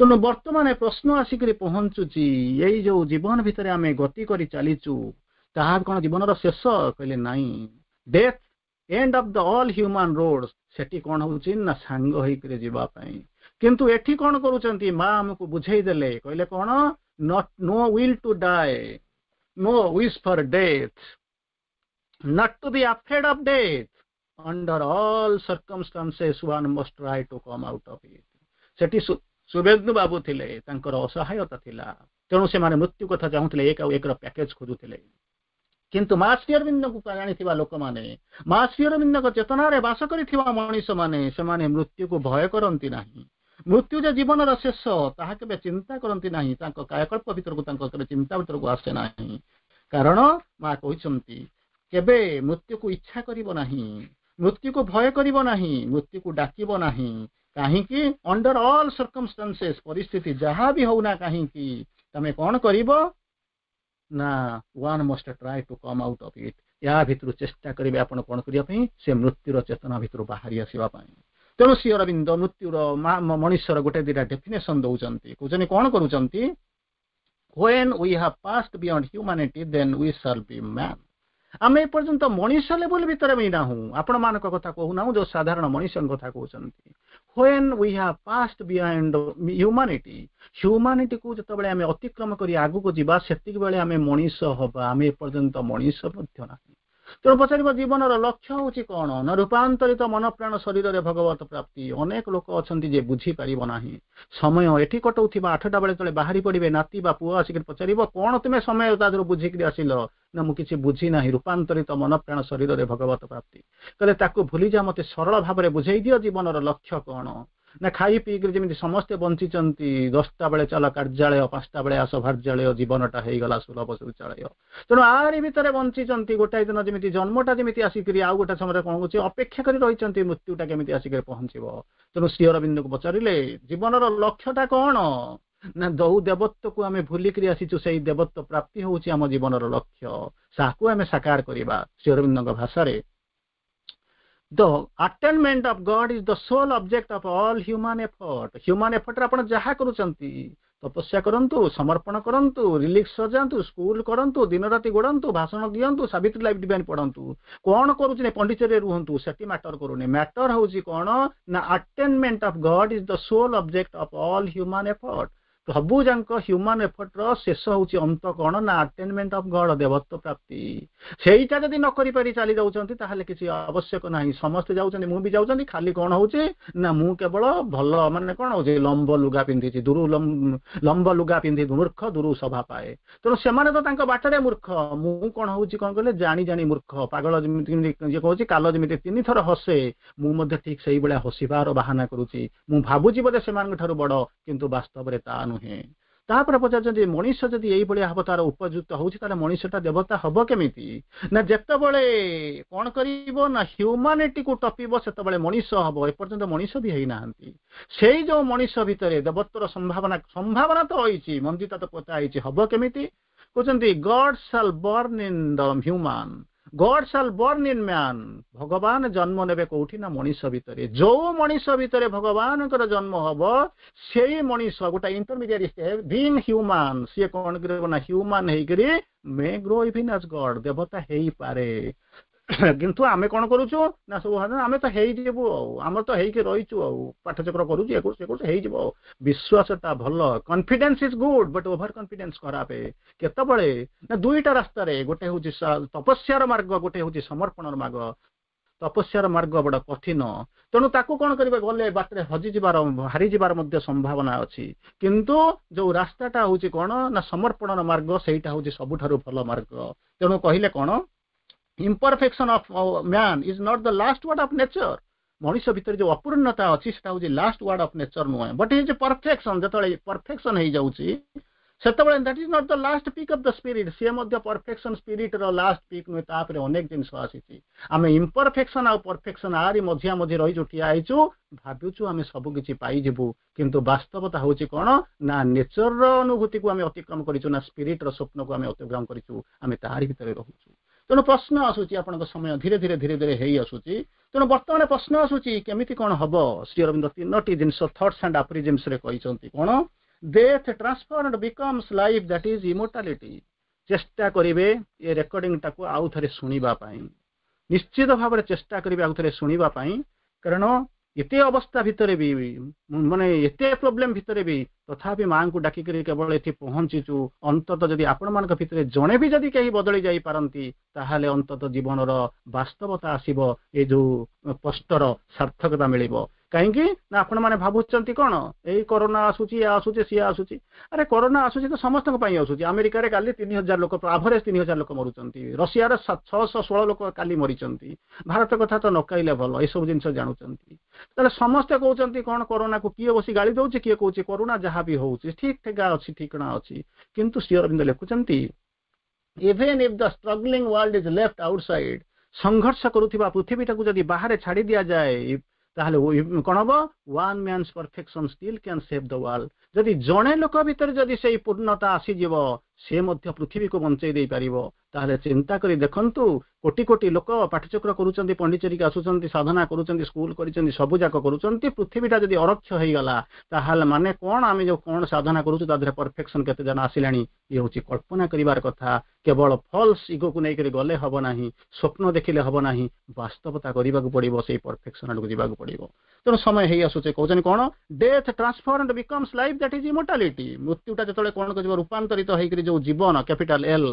ତେଣୁ ବର୍ତ୍ତମାନ ପ୍ରଶ୍ନ ଆସିକରି ପହଞ୍ଚୁଛି, ଏଇ ଯୋଉ ଜୀବନ ଭିତରେ ଆମେ ଗତି କରି ଚାଲିଛୁ, ତାହା କଣ ଜୀବନର ଶେଷ? କହିଲେ ନାଇଁ। Death, end of the all human road, ସେଠି କଣ ହଉଛି ନା ସାଙ୍ଗ ହେଇକରି ଯିବା ପାଇଁ। କିନ୍ତୁ ଏଠି କଣ କରୁଛନ୍ତି ମା? ଆମକୁ ବୁଝେଇ ଦେଲେ। କହିଲେ କଣ? Not no will to die, no wish for death, not to be afraid of death. Under all circumstances one must try to come out of it. ସେଠି ଶୁଭେନ୍ଦୁ ବାବୁ ଥିଲେ, ତାଙ୍କର ଅସହାୟତା ଥିଲା, ତେଣୁ ସେମାନେ ମୃତ୍ୟୁ କଥା ଚାହୁଁଥିଲେ, ଏକ ଆଉ ଏକର ପ୍ୟାକେଜ ଖୋଜୁଥିଲେ। କିନ୍ତୁ ମା ଶ୍ରୀ ଅରବିନ୍ଦଙ୍କୁ ଜାଣିଥିବା ଲୋକମାନେ, ମା ଶ୍ରୀ ଅରବିନ୍ଦଙ୍କ ଚେତନାରେ ବାସ କରିଥିବା ମଣିଷମାନେ, ସେମାନେ ମୃତ୍ୟୁକୁ ଭୟ କରନ୍ତି ନାହିଁ। ମୃତ୍ୟୁ ଯେ ଜୀବନର ଶେଷ, ତାହା କେବେ ଚିନ୍ତା କରନ୍ତି ନାହିଁ। ତାଙ୍କ କାୟକଳ୍ପ ଭିତରକୁ, ତାଙ୍କ କେବେ ଚିନ୍ତା ଭିତରକୁ ଆସେ ନାହିଁ। କାରଣ ମା କହିଛନ୍ତି, କେବେ ମୃତ୍ୟୁକୁ ଇଚ୍ଛା କରିବ ନାହିଁ, ମୃତ୍ୟୁକୁ ଭୟ କରିବ ନାହିଁ, ମୃତ୍ୟୁକୁ ଡାକିବ ନାହିଁ। କାହିଁକି? ଅଣ୍ଡର ଅଲ୍ ସର୍କମଷ୍ଟାନ୍ସେସ୍, ପରିସ୍ଥିତି ଯାହା ବି ହଉନା କାହିଁକି, ତମେ କଣ କରିବ ନା one must try to come out of it. ୟା ଭିତରୁ ଚେଷ୍ଟା କରିବେ ଆପଣ କଣ କରିବା ପାଇଁ? ସେ ମୃତ୍ୟୁର ଚେତନା ଭିତରୁ ବାହାରି ଆସିବା ପାଇଁ। ତେଣୁ ଶ୍ରୀ ଅରବିନ୍ଦ ମୃତ୍ୟୁର ମଣିଷର ଗୋଟେ ଦିଟା ଡେଫିନେସନ ଦଉଛନ୍ତି କହୁଛନ୍ତି କଣ କରୁଛନ୍ତି when we have passed beyond humanity then we shall be man ଆମେ ଏପର୍ଯ୍ୟନ୍ତ ମଣିଷ ଲେବୁଲ ଭିତରେ ବି ନାହୁଁ ଆପଣମାନଙ୍କ କଥା କହୁନାହୁଁ ଯୋଉ ସାଧାରଣ ମଣିଷଙ୍କ କଥା କହୁଛନ୍ତି when we have passed beyond humanity ହ୍ୟୁମାନିଟିକୁ ଯେତେବେଳେ ଆମେ ଅତିକ୍ରମ କରି ଆଗକୁ ଯିବା ସେତିକି ବେଳେ ଆମେ ମଣିଷ ହବା ଆମେ ଏପର୍ଯ୍ୟନ୍ତ ମଣିଷ ମଧ୍ୟ ନାହିଁ ତେଣୁ ପଚାରିବ ଜୀବନର ଲକ୍ଷ୍ୟ ହଉଛି କଣ ନା ରୂପାନ୍ତରିତ ମନ ପ୍ରାଣ ଶରୀରରେ ଭଗବତ ପ୍ରାପ୍ତି ଅନେକ ଲୋକ ଅଛନ୍ତି ଯେ ବୁଝିପାରିବ ନାହିଁ ସମୟ ଏଠି କଟଉଥିବା ଆଠଟା ବେଳେ ଯେତେବେଳେ ବାହାରି ପଡିବେ ନାତି ବା ପୁଅ ଆସିକି ପଚାରିବ କଣ ତୁମେ ସମୟ ତା ଦେହରୁ ବୁଝିକିରି ଆସିଲ ନା ମୁଁ କିଛି ବୁଝି ନାହିଁ ରୂପାନ୍ତରିତ ମନ ପ୍ରାଣ ଶରୀରରେ ଭଗବତ ପ୍ରାପ୍ତି କହିଲେ ତାକୁ ଭୁଲିଯା ମତେ ସରଳ ଭାବରେ ବୁଝେଇ ଦିଅ ଜୀବନର ଲକ୍ଷ୍ୟ କଣ ନା ଖାଇ ପିଇକିରି ଯେମିତି ସମସ୍ତେ ବଞ୍ଚିଛନ୍ତି ଦଶଟା ବେଳେ ଚାଲ କାର୍ଯ୍ୟାଳୟ ପାଞ୍ଚଟା ବେଳେ ଆସ ଭାର୍ଯ୍ୟାଳୟ ଜୀବନଟା ହେଇଗଲା ସୁଲଭ ଶୌଚାଳୟ ତେଣୁ ଆରି ଭିତରେ ବଞ୍ଚିଛନ୍ତି ଗୋଟାଏ ଦିନ ଯେମିତି ଜନ୍ମଟା ଯେମିତି ଆସିକିରି ଆଉ ଗୋଟେ ସମୟରେ କଣ ହଉଛି ଅପେକ୍ଷା କରି ରହିଛନ୍ତି ମୃତ୍ୟୁଟା କେମିତି ଆସିକିରି ପହଞ୍ଚିବ ତେଣୁ ଶ୍ରୀ ଅରବିନ୍ଦକୁ ପଚାରିଲେ ଜୀବନର ଲକ୍ଷ୍ୟଟା କଣ ନା ଯୋଉ ଦେବତ୍ୱକୁ ଆମେ ଭୁଲିକିରି ଆସିଛୁ ସେଇ ଦେବତ୍ୱ ପ୍ରାପ୍ତି ହଉଛି ଆମ ଜୀବନର ଲକ୍ଷ୍ୟ ତାକୁ ଆମେ ସାକାର କରିବା ଶ୍ରୀ ଅରବିନ୍ଦଙ୍କ ଭାଷାରେ The attainment of God is the sole object of all human effort. Human effort ରେ ଆପଣ ଯାହା କରୁଛନ୍ତି ତପସ୍ୟା କରନ୍ତୁ ସମର୍ପଣ କରନ୍ତୁ ରିଲିଫ ସଜାନ୍ତୁ ସ୍କୁଲ କରନ୍ତୁ ଦିନ ରାତି ଗୋଡ଼ାନ୍ତୁ ଭାଷଣ ଦିଅନ୍ତୁ ସାବିତ୍ରୀ ଲାଇଫ ଡିଭାଇନ ପଢନ୍ତୁ କଣ କରୁଛି ନା ପଣ୍ଡିଚେରୀରେ ରୁହନ୍ତୁ ସେଠି ମ୍ୟାଟର କରୁନି ମ୍ୟାଟର ହଉଛି କଣ ନା attainment of God is the sole object of all human effort ସବୁ ଯାକ ହ୍ୟୁମାନ ଏଫର୍ଟର ଶେଷ ହଉଛି ଅନ୍ତ କଣ ନା ଆଟେନମେଣ୍ଟ ଅଫ ଗଡ ଦେବତ୍ୱ ପ୍ରାପ୍ତି ସେଇଟା ଯଦି ନ କରିପାରି ଚାଲି ଯାଉଛନ୍ତି ତାହେଲେ କିଛି ଆବଶ୍ୟକ ନାହିଁ ସମସ୍ତେ ଯାଉଛନ୍ତି ମୁଁ ବି ଯାଉଛନ୍ତି ଖାଲି କଣ ହଉଛି ନା ମୁଁ କେବଳ ଭଲ ମାନେ କଣ ହଉଛି ଲମ୍ବ ଲୁଗା ପିନ୍ଧିଛି ଦୁରୁ ଲମ୍ବ ଲୁଗା ପିନ୍ଧି ମୂର୍ଖ ଦୁରୁ ସଭା ପାଏ ତେଣୁ ସେମାନେ ତ ତାଙ୍କ ବାଟରେ ମୂର୍ଖ ମୁଁ କଣ ହଉଛି କଣ କହିଲେ ଜାଣି ଜାଣି ମୂର୍ଖ ପାଗଳ ଯେମିତି ଯିଏ କହୁଛି କାଲ ଯେମିତି ତିନି ଥର ହସେ ମୁଁ ମଧ୍ୟ ଠିକ ସେଇଭଳିଆ ହସିବାର ବାହାନା କରୁଛି ମୁଁ ଭାବୁଛି ବୋଧେ ସେମାନଙ୍କ ଠାରୁ ବଡ କିନ୍ତୁ ବାସ୍ତବରେ ତା ନୁହେଁ ତାପରେ ପଚାରୁଛନ୍ତି ମଣିଷ ଯଦି ଏଇଭଳିଆ ହବ ତାର ଉପଯୁକ୍ତ ହଉଛି ତାହେଲେ ମଣିଷଟା ଦେବତା ହବ କେମିତି ନା ଯେତେବେଳେ କଣ କରିବ ନା ହ୍ୟୁମାନିଟିକୁ ଟପିବ ସେତେବେଳେ ମଣିଷ ହବ ଏପର୍ଯ୍ୟନ୍ତ ମଣିଷ ବି ହେଇନାହାନ୍ତି ସେଇ ଯୋଉ ମଣିଷ ଭିତରେ ଦେବତ୍ୱର ସମ୍ଭାବନା ସମ୍ଭାବନା ତ ରହିଛି ମଞ୍ଜିଟା ତ ପୋତା ହେଇଛି ହବ କେମିତି କହୁଛନ୍ତି God shall born in the human God shall born in man ଭଗବାନ ଜନ୍ମ ନେବେ କୋଉଠି ନା ମଣିଷ ଭିତରେ ଯୋଉ ମଣିଷ ଭିତରେ ଭଗବାନଙ୍କର ଜନ୍ମ ହବ ସେଇ ମଣିଷ ଗୋଟେ ଇଣ୍ଟରମିଡିଏଟ ଷ୍ଟେପ୍ ବିଙ୍ଗ ହ୍ୟୁମାନ ସିଏ କଣ କରିବ ନା ହ୍ୟୁମାନ ହେଇକରି may grow even as God ଦେବତା ହେଇପାରେ କିନ୍ତୁ ଆମେ କଣ କରୁଛୁ ନା ସବୁ ଆମେ ତ ହେଇଯିବୁ ଆଉ ଆମର ତ ହେଇକି ରହିଛୁ ଆଉ ପାଠଚକ୍ର କରୁଛୁ ଏ କରୁଛୁ ସେ କରୁଛୁ ହେଇଯିବ ଆଉ ବିଶ୍ୱାସଟା ଭଲ confidence is good but over confidence ଖରାପ କେତେବେଳେ ନା ଦୁଇଟା ରାସ୍ତାରେ ଗୋଟେ ହଉଛି ତପସ୍ୟାର ମାର୍ଗ ଗୋଟେ ହଉଛି ସମର୍ପଣର ମାର୍ଗ ତପସ୍ୟାର ମାର୍ଗ ବଡ କଠିନ ତେଣୁ ତାକୁ କଣ କରିବେ ଗଲେ ବାଟରେ ହଜିଯିବାର ହାରିଯିବାର ମଧ୍ୟ ସମ୍ଭାବନା ଅଛି କିନ୍ତୁ ଯୋଉ ରାସ୍ତାଟା ହଉଛି କଣ ନା ସମର୍ପଣର ମାର୍ଗ ସେଇଟା ହଉଛି ସବୁଠାରୁ ଭଲ ମାର୍ଗ ତେଣୁ କହିଲେ କଣ imperfection of man is not the last word of nature ମଣିଷ ଭିତରେ ଯୋଉ ଅପୂର୍ଣ୍ଣତା ଅଛି ସେଟା ହଉଛି ଲାଷ୍ଟ ୱାର୍ଡ ଅଫ ନେଚର ନୁହେଁ ବଟ୍ is perfection ଯେତେବେଳେ ପରଫେକ୍ସନ ହେଇଯାଉଛି ସେତେବେଳେ that is not the last peak of the spirit ସିଏ ମଧ୍ୟ ପରଫେକ୍ସନ ସ୍ପିରିଟର ଲାଷ୍ଟ ପିକ୍ ନୁହେଁ ତାପରେ ଅନେକ ଜିନିଷ ଆସିଛି ଆମେ ଇମ୍ପରଫେକ୍ସନ ଆଉ ପରଫେକ୍ସନ ଆରି ମଝିଆ ମଝି ରହିଛୁ ଠିଆ ହେଇଛୁ ଭାବୁଛୁ ଆମେ ସବୁ କିଛି ପାଇଯିବୁ କିନ୍ତୁ ବାସ୍ତବତା ହଉଛି କଣ ନା ନେଚରର ଅନୁଭୂତିକୁ ଆମେ ଅତିକ୍ରମ କରିଛୁ ନା ସ୍ପିରିଟର ସ୍ୱପ୍ନକୁ ଆମେ ଅତିକ୍ରମ କରିଛୁ ଆମେ ତାହାରି ଭିତରେ ରହୁଛୁ ତେଣୁ ପ୍ରଶ୍ନ ଆସୁଛି ଆପଣଙ୍କ ସମୟ ଧୀରେ ଧୀରେ ଧୀରେ ଧୀରେ ହେଇ ଆସୁଛି ତେଣୁ ବର୍ତ୍ତମାନ ପ୍ରଶ୍ନ ଆସୁଛି କେମିତି କଣ ହବ ଶ୍ରୀ ଅରବିନ୍ଦ ତିନୋଟି ଜିନିଷ ଥଟ୍ସ ଆଣ୍ଡ ଆଫୋରିଜିମ୍ସରେ କହିଛନ୍ତି କଣ death transformed becomes life that is immortality ଚେଷ୍ଟା କରିବେ ଏ ରେକର୍ଡିଂଟାକୁ ଆଉ ଥରେ ଶୁଣିବା ପାଇଁ ନିଶ୍ଚିତ ଭାବରେ ଚେଷ୍ଟା କରିବେ ଆଉ ଥରେ ଶୁଣିବା ପାଇଁ କାରଣ ଏତେ ଅବସ୍ଥା ଭିତରେ ବି ମାନେ ଏତେ ପ୍ରୋବ୍ଲେମ ଭିତରେ ବି ତଥାପି ମାଙ୍କୁ ଡାକିକରି କେବଳ ଏଠି ପହଞ୍ଚିଛୁ ଅନ୍ତତଃ ଯଦି ଆପଣମାନଙ୍କ ଭିତରେ ଜଣେ ବି ଯଦି କେହି ବଦଳି ଯାଇପାରନ୍ତି ତାହେଲେ ଅନ୍ତତଃ ଜୀବନର ବାସ୍ତବତା ଆସିବ ଏ ଯୋଉ କଷ୍ଟର ସାର୍ଥକତା ମିଳିବ କାହିଁକି ନା ଆପଣମାନେ ଭାବୁଛନ୍ତି କଣ ଏଇ କରୋନା ଆସୁଛି ଏ ଆସୁଛି ସିଏ ଆସୁଛି ଆରେ କରୋନା ଆସୁଛି ତ ସମସ୍ତଙ୍କ ପାଇଁ ଆସୁଛି ଆମେରିକାରେ କାଲି ତିନି ହଜାର ଲୋକ ଆଭରେଜ ତିନି ହଜାର ଲୋକ ମରୁଛନ୍ତି ରଷିଆର ଛଅଶହ ଷୋହଳ ଲୋକ କାଲି ମରିଛନ୍ତି ଭାରତ କଥା ତ ନ କହିଲେ ଭଲ ଏସବୁ ଜିନିଷ ଜାଣୁଛନ୍ତି ତାହେଲେ ସମସ୍ତେ କହୁଛନ୍ତି କଣ କରୋନାକୁ କିଏ ବସି ଗାଳି ଦଉଛି କିଏ କହୁଛି କରୋନା ଯାହା ବି ହଉଛି ଠିକ ଠିକା ଅଛି ଠିକଣା ଅଛି କିନ୍ତୁ ଶ୍ରୀ ଅରବିନ୍ଦ ଲେଖୁଛନ୍ତି even if the struggling world is left outside ସଂଘର୍ଷ କରୁଥିବା ପୃଥିବୀଟାକୁ ଯଦି ବାହାରେ ଛାଡି ଦିଆଯାଏ ତାହେଲେ କଣ ହବ one man's perfection still can save the world ଯଦି ଜଣେ ଲୋକ ଭିତରେ ଯଦି ସେଇ ପୂର୍ଣ୍ଣତା ଆସିଯିବ ସେ ମଧ୍ୟ ପୃଥିବୀକୁ ବଞ୍ଚେଇ ଦେଇପାରିବ। ତାହେଲେ ଚିନ୍ତା କରି ଦେଖନ୍ତୁ, କୋଟି କୋଟି ଲୋକ ପାଠଚକ୍ର କରୁଛନ୍ତି, ପଣ୍ଡିଚେରୀକି ଆସୁଛନ୍ତି, ସାଧନା କରୁଛନ୍ତି, ସ୍କୁଲ କରିଛନ୍ତି, ସବୁ ଯାକ କରୁଛନ୍ତି। ପୃଥିବୀଟା ଯଦି ଅରକ୍ଷ ହେଇଗଲା, ତାହେଲେ ମାନେ କଣ? ଆମେ ଯୋଉ କଣ ସାଧନା କରୁଛୁ, ତା ଦେହରେ ପରଫେକ୍ସନ କେତେ ଜଣ ଆସିଲାଣି? ଇଏ ହଉଛି କଳ୍ପନା କରିବାର କଥା। କେବଳ ଫଲ୍ସ ଇଗୋକୁ ନେଇକରି ଗଲେ ହବ ନାହିଁ, ସ୍ୱପ୍ନ ଦେଖିଲେ ହବ ନାହିଁ, ବାସ୍ତବତା କରିବାକୁ ପଡିବ, ସେଇ ପରଫେକ୍ସନ ଆଡକୁ ଯିବାକୁ ପଡିବ। ତେଣୁ ସମୟ ହେଇ ଆସୁଛି। କହୁଛନ୍ତି କଣ? Death transformed becomes life, that is immortality. ମୃତ୍ୟୁଟା ଯେତେବେଳେ କଣ କରିବ, ରୂପାନ୍ତରିତ ହେଇକରି ଯୋଉ ଜୀବନ କ୍ୟାପିଟାଲ ଏଲ,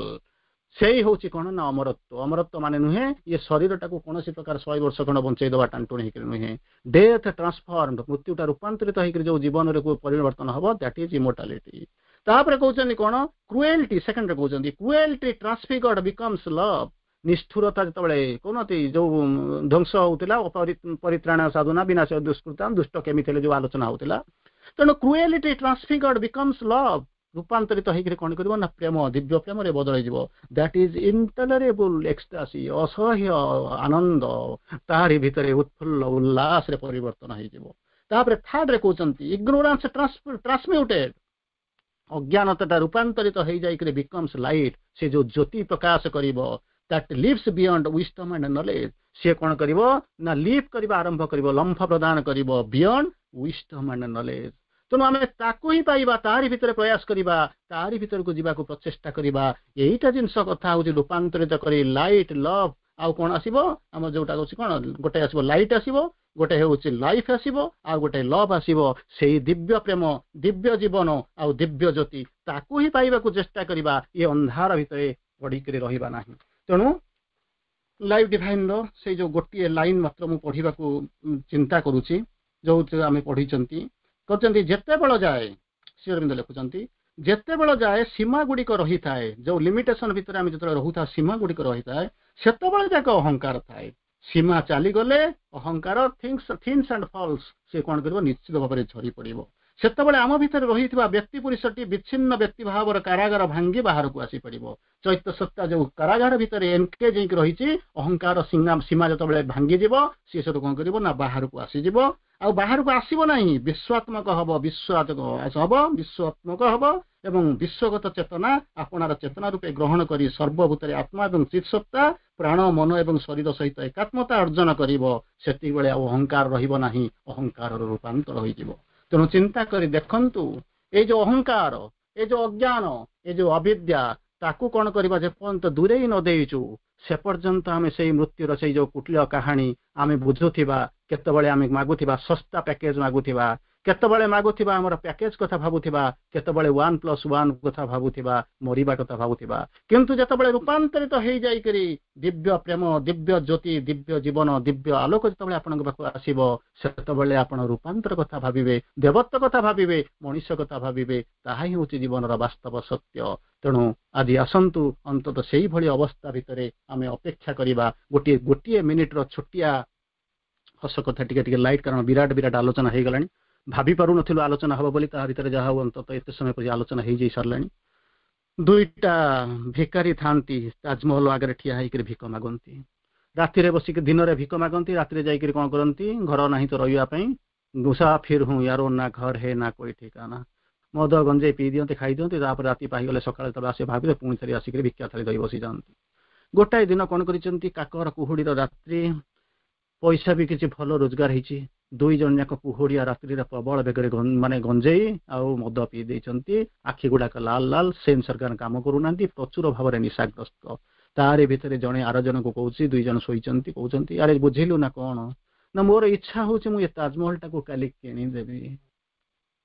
ସେଇ ହଉଛି କଣ ନା ଅମରତ୍ୱ। ଅମରତ୍ୱ ମାନେ ନୁହେଁ ଇଏ ଶରୀରଟାକୁ କୌଣସି ପ୍ରକାର ଶହେ ବର୍ଷ ଖଣ୍ଡ ବଞ୍ଚେଇ ଦବା ଟାଣଟୁଣି ହେଇକରି ନୁହେଁ। ଡେଥ୍ ଟ୍ରାନ୍ସଫର୍ମଡ, ମୃତ୍ୟୁଟା ରୂପାନ୍ତରିତ ହେଇକରି ଯୋଉ ଜୀବନରେ ପରିବର୍ତ୍ତନ ହବ, that is immortality. ତାପରେ କହୁଛନ୍ତି କଣ? କ୍ରୁଏଲ୍ଟି, ସେକେଣ୍ଡରେ କହୁଛନ୍ତି, cruelty transfigured becomes love. ନିଷ୍ଠୁରତା ଯେତେବେଳେ କହୁନାହାନ୍ତି, ଯୋଉ ଧ୍ୱଂସ ହଉଥିଲା, ପରିତ୍ରାଣ ସାଧୁନାଂ ବିନାଶ ଦୁଷ୍କୃତାଂ, ଦୁଷ୍ଟ କେମିତି ହେଲେ ଯୋଉ ଆଲୋଚନା ହଉଥିଲା। ତେଣୁ କ୍ରୁଏଲିଟି ଟ୍ରାନ୍ସଫିଗର୍ଡ ବିକମ୍ସ ଲଭ୍, ରୂପାନ୍ତରିତ ହେଇକରି କଣ କରିବ ନା ପ୍ରେମ, ଦିବ୍ୟ ପ୍ରେମରେ ବଦଳିଯିବ। That is intolerable ecstasy, ଅସହ୍ୟ ଆନନ୍ଦ ତାହାରି ଭିତରେ ଉତ୍ଫୁଲ୍ଲ ଉଲ୍ଲାସରେ ପରିବର୍ତ୍ତନ ହେଇଯିବ। ତାପରେ ଥାର୍ଡରେ କହୁଛନ୍ତି, ଇଗ୍ନୋରାନ୍ସ ଟ୍ରାନ୍ସମ୍ୟୁଟେଡ୍, ଅଜ୍ଞାନତାଟା ରୂପାନ୍ତରିତ ହେଇଯାଇକରି ବିକମ୍ସ ଲାଇଟ୍, ସେ ଯୋଉ ଜ୍ୟୋତି ପ୍ରକାଶ କରିବ, that leaps beyond wisdom and knowledge. ସିଏ କଣ କରିବ ନା ଲିପ୍ କରିବା ଆରମ୍ଭ କରିବ, ଲମ୍ଫ ପ୍ରଦାନ କରିବ ବିୟଣ୍ଡ ୱିଜଡମ୍ ଆଣ୍ଡ ନଲେଜ। ତେଣୁ ଆମେ ତାକୁ ହିଁ ପାଇବା, ତାରି ଭିତରେ ପ୍ରୟାସ କରିବା, ତାରି ଭିତରକୁ ଯିବାକୁ ପ୍ରଚେଷ୍ଟା କରିବା। ଏଇଟା ଜିନିଷ କଥା ହଉଛି ରୂପାନ୍ତରିତ କରି ଲାଇଟ୍, ଲଭ୍ ଆଉ କଣ ଆସିବ ଆମର? ଯୋଉଟା ହଉଛି କଣ, ଗୋଟେ ଆସିବ ଲାଇଟ୍ ଆସିବ, ଗୋଟେ ହେଉଛି ଲାଇଫ୍ ଆସିବ, ଆଉ ଗୋଟେ ଲଭ୍ ଆସିବ। ସେଇ ଦିବ୍ୟ ପ୍ରେମ, ଦିବ୍ୟ ଜୀବନ ଆଉ ଦିବ୍ୟ ଜ୍ୟୋତି, ତାକୁ ହିଁ ପାଇବାକୁ ଚେଷ୍ଟା କରିବା। ଏ ଅନ୍ଧାର ଭିତରେ ପଡ଼ିକରି ରହିବା ନାହିଁ। ତେଣୁ ଲାଇଫ୍ ଡିଭାଇନର ସେଇ ଯୋଉ ଗୋଟିଏ ଲାଇନ୍ ମାତ୍ର ମୁଁ ପଢିବାକୁ ଚିନ୍ତା କରୁଛି, ଯୋଉ ଆମେ ପଢିଛନ୍ତି। କହିଛନ୍ତି, ଯେତେବେଳ ଯାଏ, ଶ୍ରୀ ଲେଖୁଛନ୍ତି, ଯେତେବେଳ ଯାଏ ସୀମା ଗୁଡ଼ିକ ରହିଥାଏ, ଯୋଉ ଲିମିଟେସନ ଭିତରେ ଆମେ ଯେତେବେଳେ ରହୁଥାଉ, ସୀମା ଗୁଡ଼ିକ ରହିଥାଏ, ସେତେବେଳେ ଯାକ ଅହଙ୍କାର ଥାଏ। ସୀମା ଚାଲିଗଲେ ଅହଙ୍କାର ଥିନ୍ସ ଥିନ୍ସ ଆଣ୍ଡ ଫଲ୍ସ, ସେ କଣ କରିବ? ନିଶ୍ଚିତ ଭାବରେ ଝରି ପଡିବ। ସେତେବେଳେ ଆମ ଭିତରେ ରହିଥିବା ବ୍ୟକ୍ତି ପୁରୁଷଟି ବିଚ୍ଛିନ୍ନ ବ୍ୟକ୍ତି ଭାବର କାରାଗାର ଭାଙ୍ଗି ବାହାରକୁ ଆସିପାରିବ। ଚୈତ୍ୟ ସତ୍ତା ଯୋଉ କାରାଗାର ଭିତରେ ଏନକେଜ ହେଇକି ରହିଛି, ଅହଙ୍କାର ସୀମା ଯେତେବେଳେ ଭାଙ୍ଗିଯିବ, ସିଏ ସେଠୁ କଣ କରିବ ନା ବାହାରକୁ ଆସିଯିବ। ଆଉ ବାହାରକୁ ଆସିବ ନାହିଁ, ବିଶ୍ୱାତ୍ମକ ହବ, ବିଶ୍ୱାତ୍ମକ ହବ, ବିଶ୍ୱାତ୍ମକ ହବ ଏବଂ ବିଶ୍ୱଗତ ଚେତନା ଆପଣାର ଚେତନା ରୂପେ ଗ୍ରହଣ କରି ସର୍ବଭୂତରେ ଆତ୍ମା ଏବଂ ଚିତ୍ ସତ୍ତା ପ୍ରାଣ, ମନ ଏବଂ ଶରୀର ସହିତ ଏକାତ୍ମତା ଅର୍ଜନ କରିବ। ସେତିକିବେଳେ ଆଉ ଅହଙ୍କାର ରହିବ ନାହିଁ, ଅହଙ୍କାରର ରୂପାନ୍ତର ହୋଇଯିବ। ତେଣୁ ଚିନ୍ତା କରି ଦେଖନ୍ତୁ, ଏଇ ଯୋଉ ଅହଙ୍କାର, ଏ ଯୋଉ ଅଜ୍ଞାନ, ଏ ଯୋଉ ଅବିଦ୍ୟା, ତାକୁ କଣ କରିବା? ଯେପର୍ଯ୍ୟନ୍ତ ଦୂରେଇ ନ ଦେଇଛୁ, ସେ ପର୍ଯ୍ୟନ୍ତ ଆମେ ସେଇ ମୃତ୍ୟୁର ସେଇ ଯୋଉ କୁଟିଳ କାହାଣୀ ଆମେ ବୁଝୁଥିବା। କେତେବେଳେ ଆମେ ମାଗୁଥିବା ଶସ୍ତା ପ୍ୟାକେଜ ମାଗୁଥିବା, କେତେବେଳେ ମାଗୁଥିବା ଆମର ପ୍ୟାକେଜ କଥା ଭାବୁଥିବା, କେତେବେଳେ ୱାନ୍ ପ୍ଲସ୍ ୱାନ୍ କଥା ଭାବୁଥିବା, ମରିବା କଥା ଭାବୁଥିବା। କିନ୍ତୁ ଯେତେବେଳେ ରୂପାନ୍ତରିତ ହେଇଯାଇକରି ଦିବ୍ୟ ପ୍ରେମ, ଦିବ୍ୟ ଜ୍ୟୋତି, ଦିବ୍ୟ ଜୀବନ, ଦିବ୍ୟ ଆଲୋକ ଯେତେବେଳେ ଆପଣଙ୍କ ପାଖକୁ ଆସିବ, ସେତେବେଳେ ଆପଣ ରୂପାନ୍ତର କଥା ଭାବିବେ, ଦେବତ୍ୱ କଥା ଭାବିବେ, ମଣିଷ କଥା ଭାବିବେ। ତାହା ହିଁ ହେଉଛି ଜୀବନର ବାସ୍ତବ ସତ୍ୟ। ତେଣୁ ଆଜି ଆସନ୍ତୁ, ଅନ୍ତତଃ ସେଇଭଳି ଅବସ୍ଥା ଭିତରେ ଆମେ ଅପେକ୍ଷା କରିବା। ଗୋଟିଏ ଗୋଟିଏ ମିନିଟର ଛୋଟିଆ ହସ କଥା, ଟିକେ ଟିକେ ଲାଇଟ୍, କାରଣ ବିରାଟ ବିରାଟ ଆଲୋଚନା ହେଇଗଲାଣି। ଭାବି ପାରୁନଥିଲୁ ଆଲୋଚନା ହବ ବୋଲି, ତା ଭିତରେ ଯାହା ହଉ ଅନ୍ତତଃ ଏତେ ସମୟ ପର୍ଯ୍ୟନ୍ତ ଆଲୋଚନା ହେଇଯାଇ ସାରିଲାଣି। ଦୁଇଟା ଭିକାରୀ ଥାନ୍ତି, ତାଜମହଲ ଆଗରେ ଠିଆ ହେଇକରି ଭିକ ମାଗନ୍ତି। ରାତିରେ ବସିକି, ଦିନରେ ଭିକ ମାଗନ୍ତି, ରାତିରେ ଯାଇକରି କଣ କରନ୍ତି? ଘର ନାହିଁ ତ ରହିବା ପାଇଁ। मुसाफिर हूँ यारो, ना घर है ना कोई ठिकाना। ମଦ ଗଞ୍ଜେଇ ପିଇ ଦିଅନ୍ତି, ଖାଇ ଦିଅନ୍ତି। ତାପରେ ରାତି ପାହିଗଲେ ସକାଳେ ଯେତେବେଳେ ଆସି ଭାବିଲେ, ପୁଣି ଥରେ ଆସିକରି ଭିକ୍ଷା ଥାଳି ଧରି ବସିଯାଆନ୍ତି। ଗୋଟାଏ ଦିନ କଣ କରିଛନ୍ତି? କାକର କୁହୁଡ଼ିର ରାତ୍ରି, ପଇସା ବି କିଛି ଭଲ ରୋଜଗାର ହେଇଛି। ଦୁଇ ଜଣ ଯାକ କୁହୁଡ଼ିଆ ରାତ୍ରିରେ ପ୍ରବଳ ବେଗରେ ମାନେ ଗଞ୍ଜେଇ ଆଉ ମଦ ପିଇ ଦେଇଛନ୍ତି। ଆଖି ଗୁଡାକ ଲାଲ ଲାଲ, ସେନ୍ସ ଅର୍ଗାନ କାମ କରୁନାହାନ୍ତି, ପ୍ରଚୁର ଭାବରେ ନିଶାଗ୍ରସ୍ତ। ତାରି ଭିତରେ ଜଣେ ଆର ଜଣକୁ କହୁଛି, ଦୁଇ ଜଣ ଶୋଇଛନ୍ତି, କହୁଛନ୍ତି, ଆରେ ବୁଝିଲୁ ନା କଣ ନା, ମୋର ଇଚ୍ଛା ହଉଛି ମୁଁ ଏ ତାଜମହଲଟାକୁ କାଲି କିଣିଦେବି।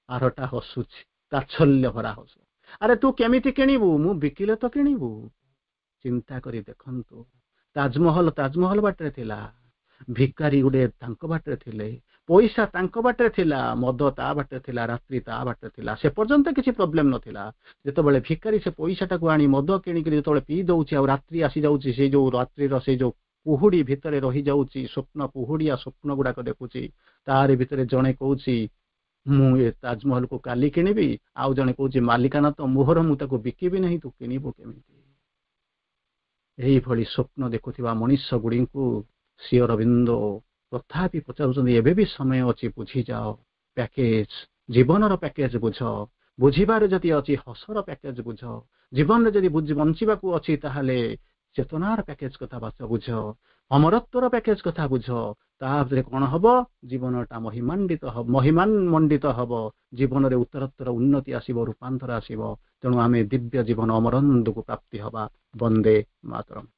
ଆରଟା ହସୁଛି, ତାଚ୍ଛଲ୍ୟ ଭରା ହସ। ଆରେ ତୁ କେମିତି କିଣିବୁ? ମୁଁ ବିକିଲେ ତ କିଣିବୁ। ଚିନ୍ତା କରି ଦେଖନ୍ତୁ, ତାଜମହଲ ତାଜମହଲ ବାଟରେ ଥିଲା, ଭିକାରୀ ଗୋଟେ ତାଙ୍କ ବାଟରେ ଥିଲେ, ପଇସା ତାଙ୍କ ବାଟରେ ଥିଲା, ମଦ ତା ବାଟରେ ଥିଲା, ରାତ୍ରି ତା ବାଟରେ ଥିଲା। ସେ ପର୍ଯ୍ୟନ୍ତ କିଛି ପ୍ରୋବ୍ଲେମ ନଥିଲା। ଯେତେବେଳେ ଭିକାରୀ ସେ ପଇସାଟାକୁ ଆଣି ମଦ କିଣିକିରି ଯେତେବେଳେ ପିଇ ଦଉଛି ଆଉ ରାତ୍ରି ଆସିଯାଉଛି, ସେଇ ଯୋଉ ରାତ୍ରିର ସେଇ ଯୋଉ କୁହୁଡି ଭିତରେ ରହିଯାଉଛି, ସ୍ୱପ୍ନ କୁହୁଡିଆ ସ୍ୱପ୍ନ ଗୁଡାକ ଦେଖୁଛି। ତାରି ଭିତରେ ଜଣେ କହୁଛି, ମୁଁ ଏ ତାଜମହଲକୁ କାଲି କିଣିବି। ଆଉ ଜଣେ କହୁଛି, ମାଲିକାନା ତ ମୋହର, ମୁଁ ତାକୁ ବିକିବି ନାହିଁ, ତୁ କିଣିବୁ କେମିତି? ଏଇଭଳି ସ୍ୱପ୍ନ ଦେଖୁଥିବା ମଣିଷ ଗୁଡ଼ିଙ୍କୁ ଶ୍ରୀ ଅରବିନ୍ଦ ତଥାପି ପଚାରୁଛନ୍ତି, ଏବେ ବି ସମୟ ଅଛି, ବୁଝିଯାଅ ପ୍ୟାକେଜ, ଜୀବନର ପ୍ୟାକେଜ ବୁଝ। ବୁଝିବାରେ ଯଦି ଅଛି, ହସର ପ୍ୟାକେଜ ବୁଝ। ଜୀବନରେ ଯଦି ବଞ୍ଚିବାକୁ ଅଛି, ତାହେଲେ ଚେତନାର ପ୍ୟାକେଜ କଥା ବାସ ବୁଝ, ଅମରତ୍ୱର ପ୍ୟାକେଜ କଥା ବୁଝ। ତାପରେ କଣ ହବ? ଜୀବନଟା ମହିମାଣ୍ଡିତ ହବ, ମହିମାନ ମଣ୍ଡିତ ହବ। ଜୀବନରେ ଉତ୍ତରୋତ୍ତର ଉନ୍ନତି ଆସିବ, ରୂପାନ୍ତର ଆସିବ। ତେଣୁ ଆମେ ଦିବ୍ୟ ଜୀବନ ଅମରନ୍ଦକୁ ପ୍ରାପ୍ତି ହବା। ବନ୍ଦେ ମାତରମ୍।